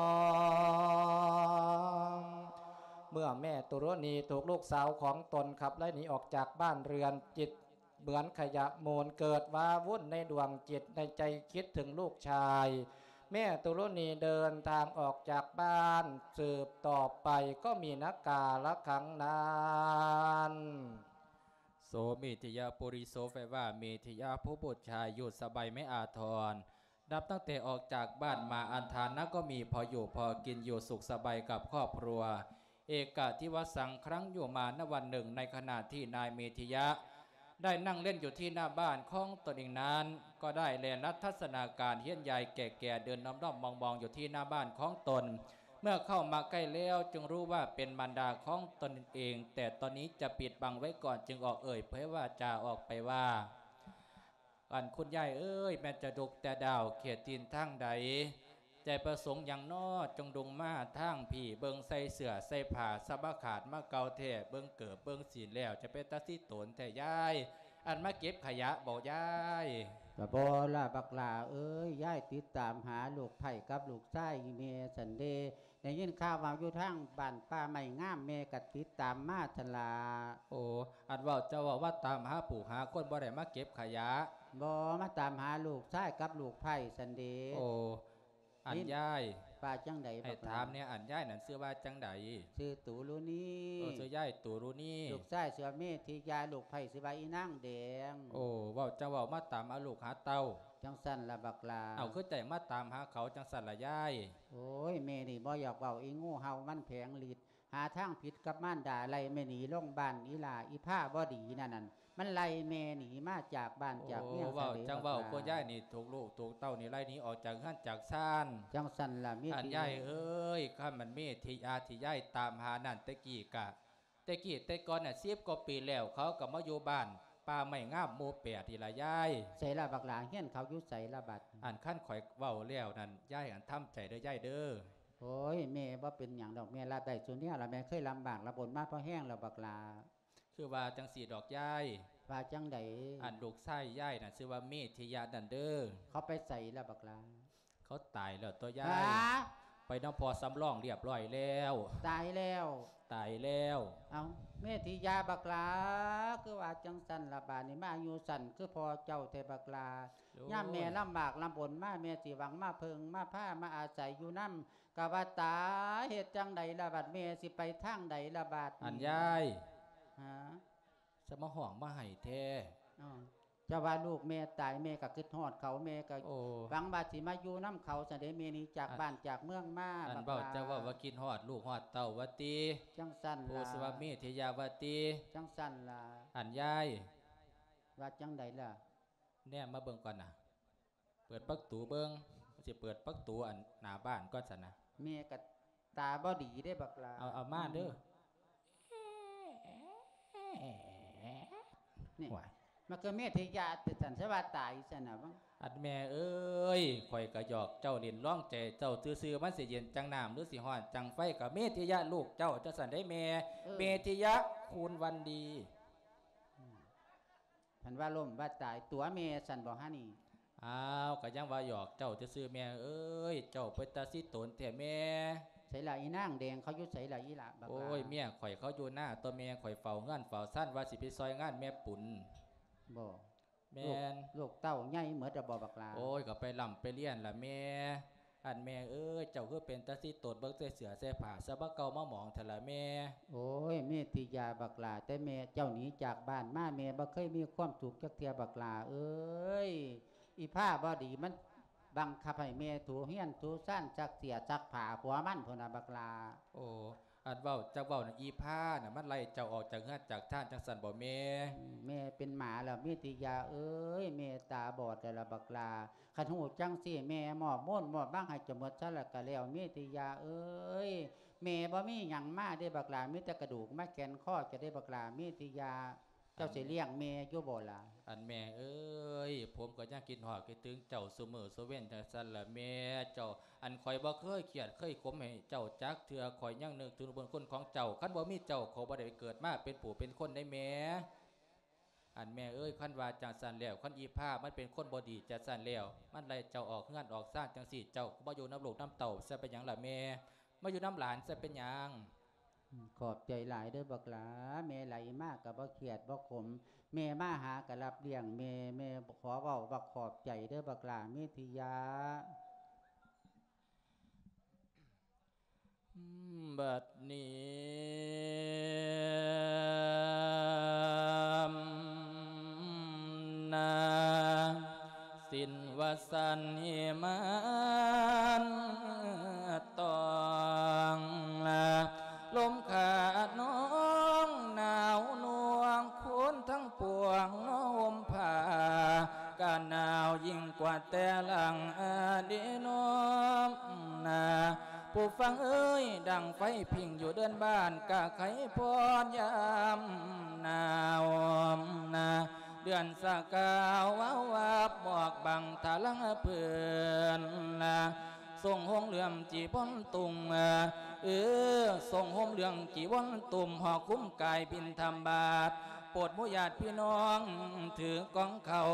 ້ ເມື່ອແມ່ຕຸຣະນີຖືກລູກສາວຂອງຕົນຂັບໄລ່ໜີອອກຈາກບ້ານເຮືອນ ຈິດເໝືອນຂະຫຍະມູນ ເກີດວາວຸ່ນໃນດວງຈິດໃນໃຈ ຄິດເຖິງລູກຊາຍ ແມ່ຕຸຣະນີເດີນທາງອອກຈາກບ້ານ ສືບຕໍ່ໄປກໍມີນາກາລະຄັງນານ ໂສເມທິຍະ ປຸລິໂສ ແປວ່າເມທິຍະ ຜູ້ບຸດຊາຍ ຢູ່ສະບາຍໄມ້ອາທອນ ນັບຕັ້ງແຕ່ອອກຈາກບ້ານມາ ອັນຖານະກໍມີ ພໍຢູ່ພໍກິນ ຢູ່ສຸກສະບາຍກັບຄອບຄົວ ເອກະທິວະສັງ ຄັ້ງຢູ່ມານະວັນໜຶ່ງ ໃນຂະນະທີ່ນາຍເມທິຍະ ໄດ້ນັ່ງເລ່ນຢູ່ທີ່ໜ້າບ້ານຂອງຕົນເອງນັ້ນ ກໍໄດ້ແລນລັດທັດສະນາການເຫັນຍາຍແກ່ໆ ເດີນດ້ອມໆມອງໆຢູ່ທີ່ໜ້າບ້ານຂອງຕົນ ເມື່ອເຂົ້າມາໃກ້ແລ້ວ ຈຶ່ງຮູ້ວ່າເປັນມານດາຂອງຕົນເອງ ແຕ່ຕອນນີ້ຈະປິດບັງໄວ້ກ່ອນ ຈຶ່ງອອກເອີ່ຍເຜີຍວາຈາອອກໄປວ່າ ອັນ ຄຸນຍາຍເອີຍ ແມ່ນຈະດຸກແຕ່ດາວເຂດຖິ່ນທາງໃດ? ໃຈປະສົງຫຍັງນໍ ຈຶ່ງດຸງມາທາງພີ້? ເບິ່ງໃສ່ເສື້ອໃສ່ຜ້າສະບາຂາດມາເກົ່າແທ້ ເບິ່ງເກີບເບິ່ງສີນແລ້ວ ຈະເປັນຕາຊິໂຕນແທ້ຍາຍ ອັນມາເກັບຂະຫຍະບໍຍາຍ? ກະບໍ່ລະບັກຫຼ້າເອີຍ ຍາຍຕິດຕາມຫາລູກໃພ້ກັບລູກຊາຍແມ່ຊັ້ນເດ ໄດ້ຍິນຂ່າວວ່າຢູ່ທາງບ້ານປ່າໄມ້ງາມ ແມ່ກໍຕິດຕາມມາຫັ້ນລະ. ໂອ ອັນເວົ້າເຈົ້າເວົ້າວ່າຕາມຫາຜູ້ຫາຄົນ ບໍ່ໄດ້ມາເກັບຂະຫຍະ. ບໍ່ ມາຕາມຫາລູກຊາຍກັບລູກໃພ້ຊັ້ນເດ. ໂອ ອັນຍາຍ ວ່າຈັ່ງໃດ ໃຫ້ຖາມແດ່ ອັນຍາຍນັ້ນຊື່ວ່າຈັ່ງໃດ? ຊື່ຕູລຸນີ. ເອີ ຊື່ຍາຍຕູລຸນີ. ລູກຊາຍຊື່ວ່າເມທິຍາ ລູກໃພ້ຊື່ວ່າອີນາງແດງ. ໂອ ເວົ້າເຈົ້າເວົ້າມາຕາມຫາລູກຫາເຕົ້າ. ຈັ່ງຊັ້ນລະບັກຫຼ້າ. ເອົາ ຄືຈັ່ງມາຕາມຫາເຂົາຈັ່ງຊັ້ນລະຍາຍ? ໂອ້ຍ ແມ່ນີ້ບໍ່ຢາກເວົ້າ ອີງູເຫົ່າມັນແຜງລິດ ຫາທາງຜິດກັບມານດາ ໄລ່ແມ່ໜີລົງບ້ານ ອີຫຼ້າອີພາບໍ່ດີນັ້ນ ນັ້ນ ມັນໄລ່ແມ່ໜີມາຈາກບ້ານຈາກເມືອງ. ໂອ້ ເວົ້າ ຊັ້ນເດ ຈັ່ງເວົ້າ ບັກຫຼ້າ ໂຄຍາຍນີ້ຖືກລູກຖືກເຕົ້ານີ້ໄລ່ໜີອອກຈາກເຮືອນຈາກຊານ. ຈັ່ງຊັ້ນລະ ເມທິ ອັນຍາຍເອີຍ ຄັນມັນເມທິຍາທີ່ຍາຍຕາມຫານັ້ນ ແຕ່ກີ້ກະ ແຕ່ກີ້ແຕ່ກ່ອນນະ ສິບກວ່າປີແລ້ວ ເຂົາກໍມາຢູ່ບ້ານປ່າໄມ້ງາມໝູ່ແປດນີ້ລະຍາຍ. ໃສລະບັກຫຼ້າ ເຮືອນເຂົາຢູ່ໃສລະບັດ? ອັນ ຄັນຂ້ອຍເວົ້າແລ້ວນັ້ນ ຍາຍອັນທຳໃຈເດີຍາຍເດີ. ໂອ້ຍ ແມ່ບໍ່ເປັນຫຍັງດອກ ແມ່ຮັບໄດ້ຊຸແນວລະ ແມ່ເຄີຍລຳບາກລຳບົນມາພໍແຮງແລ້ວບັກຫຼ້າ. ຄືວ່າຈັ່ງຊີ້ດອກຍາຍ. ວ່າຈັ່ງໃດ? ອັນລູກຊາຍຍາຍນັ້ນຊື່ວ່າເມທິຍະນັ້ນເດີ. ເຂົາໄປໃສລະບັກຫຼ້າ? ເຂົາຕາຍແລ້ວຕົວຍາຍ. ຫາ? ไปนำพ่อสำรองเรียบร้อยแล้ว ตายแล้ว ตายแล้ว เอ้า เมธิยาบักหล่า คือว่าจั่งซั้นล่ะ บาดนี้มาอายุสั้นคือพ่อเจ้าแท้บักหล่า โอ้ย ยามแม่ลำบากลำบนมา แม่สิหวังมาเพิ่งมาพามาอาศัยอยู่นำ กะว่าตาย เฮ็ดจั่งใดล่ะบัด แม่สิไปทางใดล่ะบัดนี้ อันยาย ฮะ สะมาฮ้องมาไห้แท้ อ้อ เจ้าว่าลูกแม่ตาย แม่ก็คิดฮอดเขา แม่ก็ โอ้ หวังว่าสิมาอยู่นำเขา ซั่นเด้ แม่หนีจาก อ่ะ บ้านจากเมืองมา อัน บักหล่า เว้า เจ้าเว้าว่าคิดฮอดลูกฮอดเต้าว่าติ จั่งซั้นล่ะ ผู้ชื่อว่าเมธิยาว่าติ จั่งซั้นล่ะ อันยาย ว่าจั่งใดล่ะ แนมมาเบิ่งก่อนนะ เปิดประตูเบิ่ง สิเปิดประตูอันหน้าบ้านก่อนซั่นนะ แม่ก็ตาบ่ดีเด้บักหล่า เอา เอามาเด้อ นี่ ว้าย มันคือเมธิยาติซั่น ซะว่าตายซั่นน่ะ อันแม่เอ้ย ข้อยก็หยอกเจ้าเล่นลองใจเจ้าซื่อๆ มันสิเย็นจั่งน้ำ หรือสิฮ้อนจั่งไฟ ก็เมธิยะลูกเจ้าจั่งซั่นเด้แม่ เออ เมธิยะ คูณวันดี อืม เพิ่นว่าล้มว่าตาย ตั๋วแม่ซั่นบ่ฮะนี่ อ้าว ก็ยังว่าหยอกเจ้าซื่อๆ แม่เอ้ย เจ้าเป็นตาซิตนแท้แม่ ไสล่ะอีนางแดง เขาอยู่ไสล่ะอีหล่าบักหล่า โอ้ย เมียข้อยเขาอยู่นาตั๊วแม่ ข้อยเฝ้าเฮือนเฝ้าซาน ว่าสิไปซอยงานแม่ปุน บ่ แม่น ลูก ลูกเต้าใหญ่หมดแล้วบ่บักหล่า โอ้ย ก็ไปร่ำไปเรียนล่ะแม่ อันแม่เอ้ย เจ้าคือเป็นตาซิตน เบิ่งแต่เสื้อแต่ผ้า สะบ่าเก่ามาหมองแท้ล่ะแม่ โอ้ย เมธิยาบักหล่า แต่แม่เจ้าหนีจากบ้านมา แม่บ่เคยมีความสุขจักเทื่อบักหล่าเอ้ย อีพาบ่ดีมันบังคับให้แม่ถูเฮือนถูซาน ซักเสื้อซักผ้า ผัวมันพุ้นน่ะบักหล่า โอ้ อันเว้า จักเว้าน่ะ อีพาน่ะ มันไล่เจ้าออกจากเฮือนจากซานจั่งซั้นบ่แม่ อืม แม่เป็นหมาแล้ว เมธิยาเอ้ย แม่ตาบอดแล้วล่ะบักหล่า คันฮู้จั่งซี้ แม่มอบโมนมอบบังให้เจ้าหมดซะแล้วก็แล้ว เมธิยาเอ้ย แม่บ่มีหยังมาเด้บักหล่า มีแต่กระดูกมาแขวนคอเจ้าเด้บักหล่า เมธิยา เจ้าสิเลี้ยงแม่อยู่บ่ล่ะ อันแม่เอ้ย ผมก็ยังคิดฮอดคิดถึงเจ้าซุมื้อซุเว็นจั่งซั้นล่ะแม่ เจ้า อันข้อยบ่เคยเครียดเคยขมให้เจ้าจักเทื่อ ข้อยยังนึกถึงบุญคุณของเจ้า คันบ่มีเจ้า ข้อยบ่ได้เกิดมาเป็นผู้เป็นคนเด้แม่ อันแม่เอ้ย คันว่าจั่งซั้นแล้ว คันอีพามันเป็นคนบ่ดีจั่งซั้นแล้ว มันไล่เจ้าออกเฮือนออกซานจั่งซี้ เจ้าก็มาอยู่นำลูกนำเต้าซะเป็นหยังล่ะแม่ มาอยู่นำหลานซะเป็นหยัง อืม ขอบใจหลายเด้อบักหล่า แม่ไล่มาก็บ่เครียดบ่ขม แม่มาหาก็รับเลี้ยง แม่ แม่ขอเว้าว่าขอบใจเด้อบักหล่า เมธิยา บัดนี้นา สิ้นวสันต์มานต้อง ลมขาดน้องหนาวนวง คนทั้งปวงนอห่มผ้า กะหนาวยิ่งกว่าแต่หลังอดีน้อมนา ผู้ฟังเอ้ย ดังไฟผิงอยู่เดือนบ้าน กะไขพรยามหนาวนา เดือนสะกาววาวาบ หมอกบังทะลังเปื้อนนา ทรงห่มเหลืองจีวรตุ่ม เออ ทรงห่มเหลืองจีวรตุ่ม ห่อคุ้มกายบิณฑบาต โปรดหมู่ญาติพี่น้องถือกองข้าว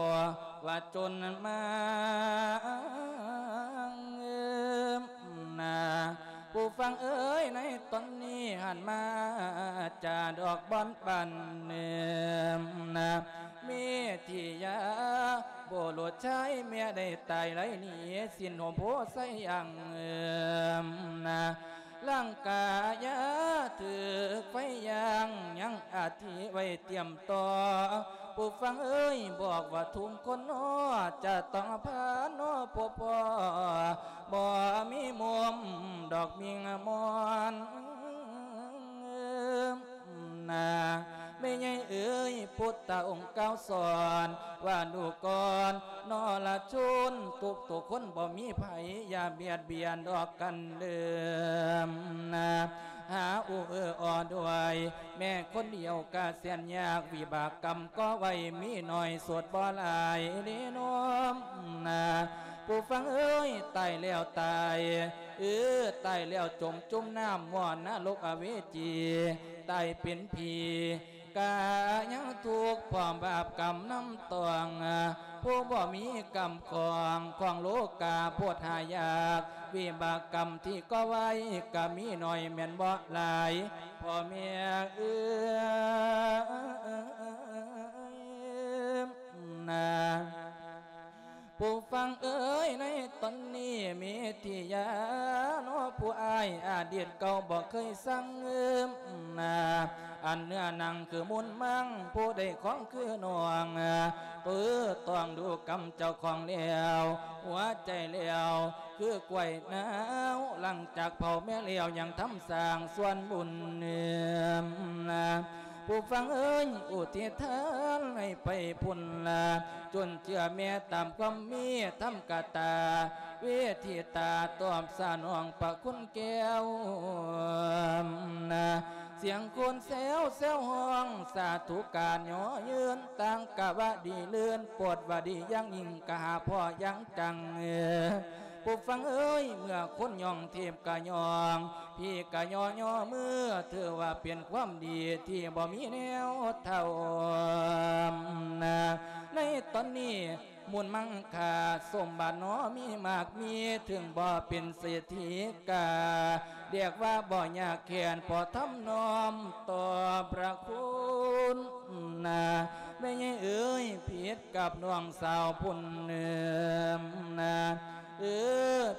ว่าจนมา นา ผู้ฟังเอ้ย ในตอนนี้หันมา จาดอกบอนปันเนิมนา เมธิยา บุรุษชายแม่ได้ตายไร้หนี สิ้นห่มโพไสยังเอิมนา ร่างกายถืกไฟย่าง ยังอาทิไว้เตรียมต่อ ผู้ฟังเอ้ย บอกว่าทุกคนน้อ จะต้องพาน้อพบพ่อ บ่มีมุมดอกมิงมอน นา แม่ใหญ่เอ๋ย พุทธองค์กล่าวสอน ว่าดูก่อนนรชน ทุกๆคนบ่มีไผ อย่าเบียดเบียนดอกกันเดิมนา หาอุเออออด้วย แม่คนเดียวกะแสนยาก วิบากกรรมก่อไว้มีน้อย สุดบ่หลายเด้น้อมนา ผู้ฟังเอ๋ย ตายแล้วตาย เออ ตายแล้วจมจุ่มน้ำหม้อนรกอเวจี ตายเป็นผี ກະຍັງທຸກພ້ອມບາບກຳນຳຕ້ອງ ຜູ້ບໍ່ມີກຳຂອງ ຂອງໂລກາໂພດຫາຍາກ ວິບາກກຳທີ່ກໍ່ໄວ້ ກະມີໜ້ອຍແມ່ນບໍ່ຫຼາຍ ພໍ່ແມ່ເອີຍນາ. ຜູ້ຟັງເອີຍ ໃນຕອນນີ້ເມທິຍາເນາະ ຜູ້ອ້າຍອະດີດເກົ່າບໍ່ເຄີຍສັງເອີມນາ ອັນເນື້ອໜັງຄືມູນມັງ ຜູ້ໄດ້ຂອງຄືນ້ອງ ຕື້ຕ້ອງດູກຳເຈົ້າຂອງແລ້ວ ຫົວໃຈແລ້ວ ຄືກ້ວຍໜາວ ຫຼັງຈາກເຜົາແມ່ແລ້ວ ຍັງທຳສ້າງສ່ວນບຸນນາ. ຜູ້ຟັງເອີຍ ອຸທິດທານໃຫ້ໄປພຸ້ນລະ ຈຸນເຈືອແມ່ຕາມຄວາມເມດທຳກະຕາ ເວທິຕາຕອບສະໜອງພະຄຸນແກ້ວນາ. ສຽງຄົນແຊວແຊວຮ້ອງ ສາທຸການຍໍຍືນ ຕ່າງກະວ່າດີເລີນ ໂປດວ່າດີຢ່າງຍິ່ງ ກະຫາພໍຢ່າງຈັງ. ຜູ້ຟັງເອີຍ ເມື່ອຄົນຍ້ອງ ເທບກະຍ້ອງ ພີກະຍໍຍໍມື ຖືວ່າເປັນຄວາມດີທີ່ບໍ່ມີແນວເທົ່ານາ. ໃນຕອນນີ້ມູນມັງຄ່າສົມບັດໜໍມີມາກມີ ເຖິງບໍ່ເປັນເສດຖີກະ ຮຽກວ່າບໍ່ຍາກແຄ້ນ ພໍທຳນອມຕໍ່ພະຄຸນນາ. ແມ່ໃຫຍ່ເອີຍ ຜິດກັບນ້ອງສາວພຸ້ນນາ ເອີ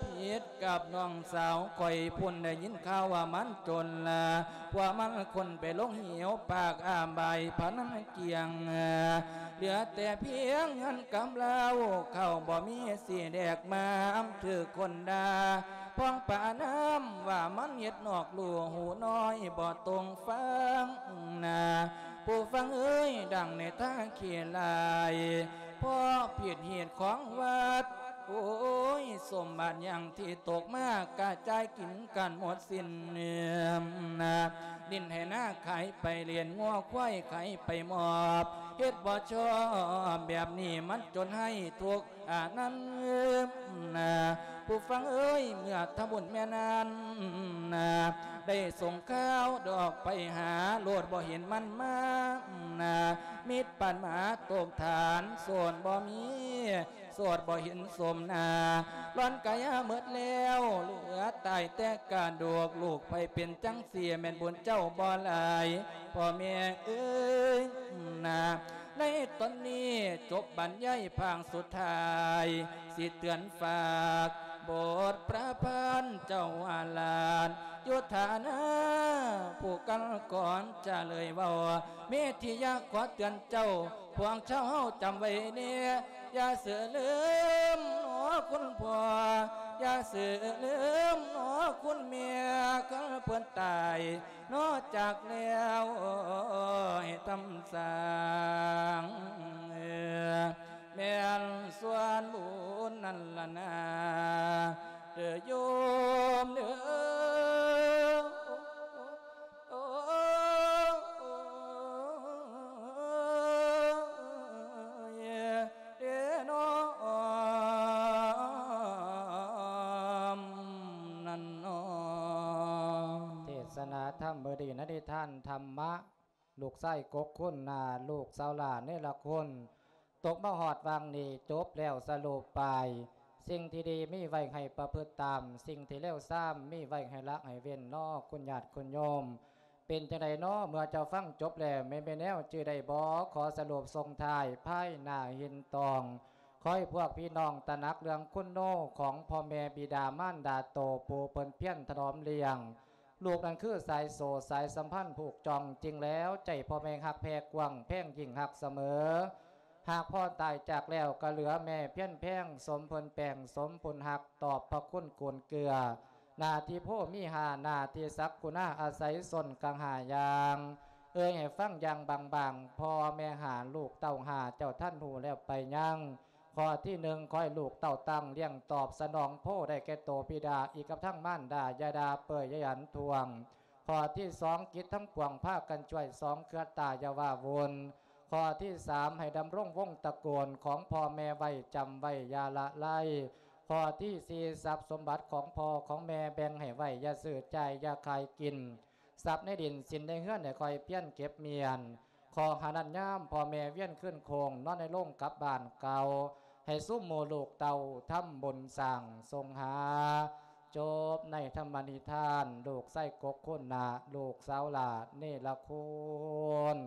ຜິດກັບນ້ອງສາວຂ້ອຍພຸ້ນ ໄດ້ຍິນຂ່າວວ່າມັນຈົນລະ ພວກມັນຄົນໄປລົງເຫວປາກອາບາຍພະນັນກຽງ ເຫຼືອແຕ່ພຽງເງິນກຳລາວ ເຂົ້າບໍ່ມີຊິແດກມາ ອຳຖືກຄົນດ່າ ພອງປານ້ຳວ່າມັນເຮັດນອກຮູ້ ຫູນ້ອຍບໍ່ຕົງຟັງນາ. ຜູ້ຟັງເອີຍ ດັ່ງໃນທາງຂີ້ລາຍ ເພາະຜິດຮີດຂອງວັດ ໂອ້ຍ ສົມບັດຫຍັງທີ່ຕົກມາ ກະຈ່າຍກິນກັນໝົດສິ້ນນາ. ດິນໄຮ່ນາຂາຍໄປ ລ້ຽງງົວຄວາຍຂາຍໄປມອບ ເຮັດບໍ່ຊອບແບບນີ້ ມັນຈົນໃຫ້ທຸກ ອັນນັ້ນນາ. ຜູ້ຟັງເອີຍ ເມື່ອທຳບຸນແມ່ນັ້ນນາ ໄດ້ສົ່ງຂ່າວດອກໄປຫາ ໂລດບໍ່ເຫັນມັນມານາ. ມິດປານໝາຕົກຖານ ໂສນບໍ່ມີ ໂສດບໍ່ເຫັນສົມໜ້າ ຫຼອນກາຍາໝົດແລ້ວ ເຫຼືອຕາຍແຕ່ກະດູກ ລູກໃຜເປັນຈັ່ງຊີ້ ແມ່ນບຸນເຈົ້າບໍ່ຫຼາຍ ພໍ່ແມ່ເອີຍນາ. ໃນຕອນນີ້ຈົບບັນຍາຍພາກສຸດທ້າຍ ຊິເຕືອນຝາກບົດປະພັນເຈົ້າອາລາດ ໂຍທານາ ຜູ້ກັນກ່ອນຈະເລີຍເວົ້າ ເມທິຍາຂໍເຕືອນເຈົ້າ ພວກເຈົ້າເຮົາຈຳໄວ້ແດ່ ຢ່າເສືອລືມໜໍຄຸນພໍ່ ຢ່າເສືອລືມໜໍຄຸນແມ່ ຄັນເພິ່ນຕາຍ ນອກຈາກແລ້ວໃຫ້ທຳສ້າງ ແມ່ນສ່ວນບຸນນັ້ນລະນາ ເດີໂຍມເດີ ໂອ້ຍ ເດນ້ອມນັ້ນນໍ. ເທດສະນາທຳມື້ນີ້ ໃນນິທານທຳມະ ລູກຊາຍກົກຄຸນນາ ລູກສາວຫຼ້າເນລະຄຸນ ຕົກມາຮອດຫວ່າງນີ້ ຈົບແລ້ວສະຫຼຸບໄປ. ສິ່ງທີ່ດີມີໄວ້ໃຫ້ປະພຶດຕາມ, ສິ່ງທີ່ເລວຊາມມີໄວ້ໃຫ້ລະໃຫ້ເວັ້ນເນາະ ຄຸນຍາດຄຸນໂຍມ. ເປັນຈັ່ງໃດເນາະ ເມື່ອເຈົ້າຟັງຈົບແລ້ວ ແມ່ນແນວຈື່ໄດ້ບໍ່? ຂໍສະຫຼຸບສົ່ງທ້າຍພາຍໜ້າເຫັນຕ້ອງ. ຂໍໃຫ້ພວກພີ່ນ້ອງຕະໜັກເລື່ອງຄຸນໂນຂອງພໍ່ແມ່ບິດາມານດາໂຕ ຜູ້ເພິ່ນພຽນຖະໜອມລ້ຽງ ລູກນັ້ນຄືສາຍໂສ້ສາຍສຳພັນຜູກຈ່ອງ. ຈິງແລ້ວໃຈພໍ່ແມ່ຮັກແຜ່ກວ້າງ ແພງຍິ່ງຮັກສະເໝີ. ຫາກພໍ່ຕາຍຈາກແລ້ວ ກໍເຫຼືອແມ່ພຽນແພງ ສົມເພິ່ນແປງ ສົມບຸນຮັກ ຕອບພະຄຸນກຸນເກືອ. ໜ້າທີ່ໂພມີຫ້າ ໜ້າທີ່ສັກຄຸນາອາໄສຊົນກັງຫ້າຢ່າງ. ເອີ່ຍໃຫ້ຟັງຢ່າງບາງໆ ພໍ່ແມ່ຫ້າ ລູກເຕົ້າຫ້າ ເຈົ້າທັນຮູ້ແລ້ວໄປຍັງ? ຂໍ້ທີໜຶ່ງ ຂໍໃຫ້ລູກເຕົ້າຕັ້ງລ້ຽງຕອບສະໜອງໂພໄດ້ແກ່ໂຕບິດາ ອີກກັບທັງມານດາ ຢ່າດ່າເປີຍ ຢ່າຢັນທ້ວງ. ຂໍ້ທີສອງ ກິດທັງປວງພາກັນຊ່ວຍ ສອງເຄືອຕາຢ່າວ່າວຸ່ນ. ຂໍ້ທີສາມ ໃຫ້ດຳລົງວົງຕະໂກນຂອງພໍ່ແມ່ໄວ້ ຈຳໄວ້ຢ່າລະໄລ. ຂໍ້ທີສີ່ ຊັບສົມບັດຂອງພໍ່ຂອງແມ່ແບ່ງໃຫ້ໄວ້ ຢ່າຊື້ຈ່າຍ ຢ່າຂາຍກິນ. ຊັບໃນດິນສິນໃນເຮືອນ ໃຫ້ຄ່ອຍພຽນເກັບມ້ຽນ. ຂໍໃຫ້ນັ້ນຍາມພໍ່ແມ່ວຽນຄືນໂຄ້ງ ນອນໃນໂລງກັບບ້ານເກົ່າ ໃຫ້ຊຸມໝູ່ລູກເຕົ້າທຳບຸນສ້າງສົ່ງຫາ ຈົບໃນທຳມະນິທານ ລູກຊາຍກົກຄຸນນາ ລູກສາວຫຼ້າເນລະຄຸນ.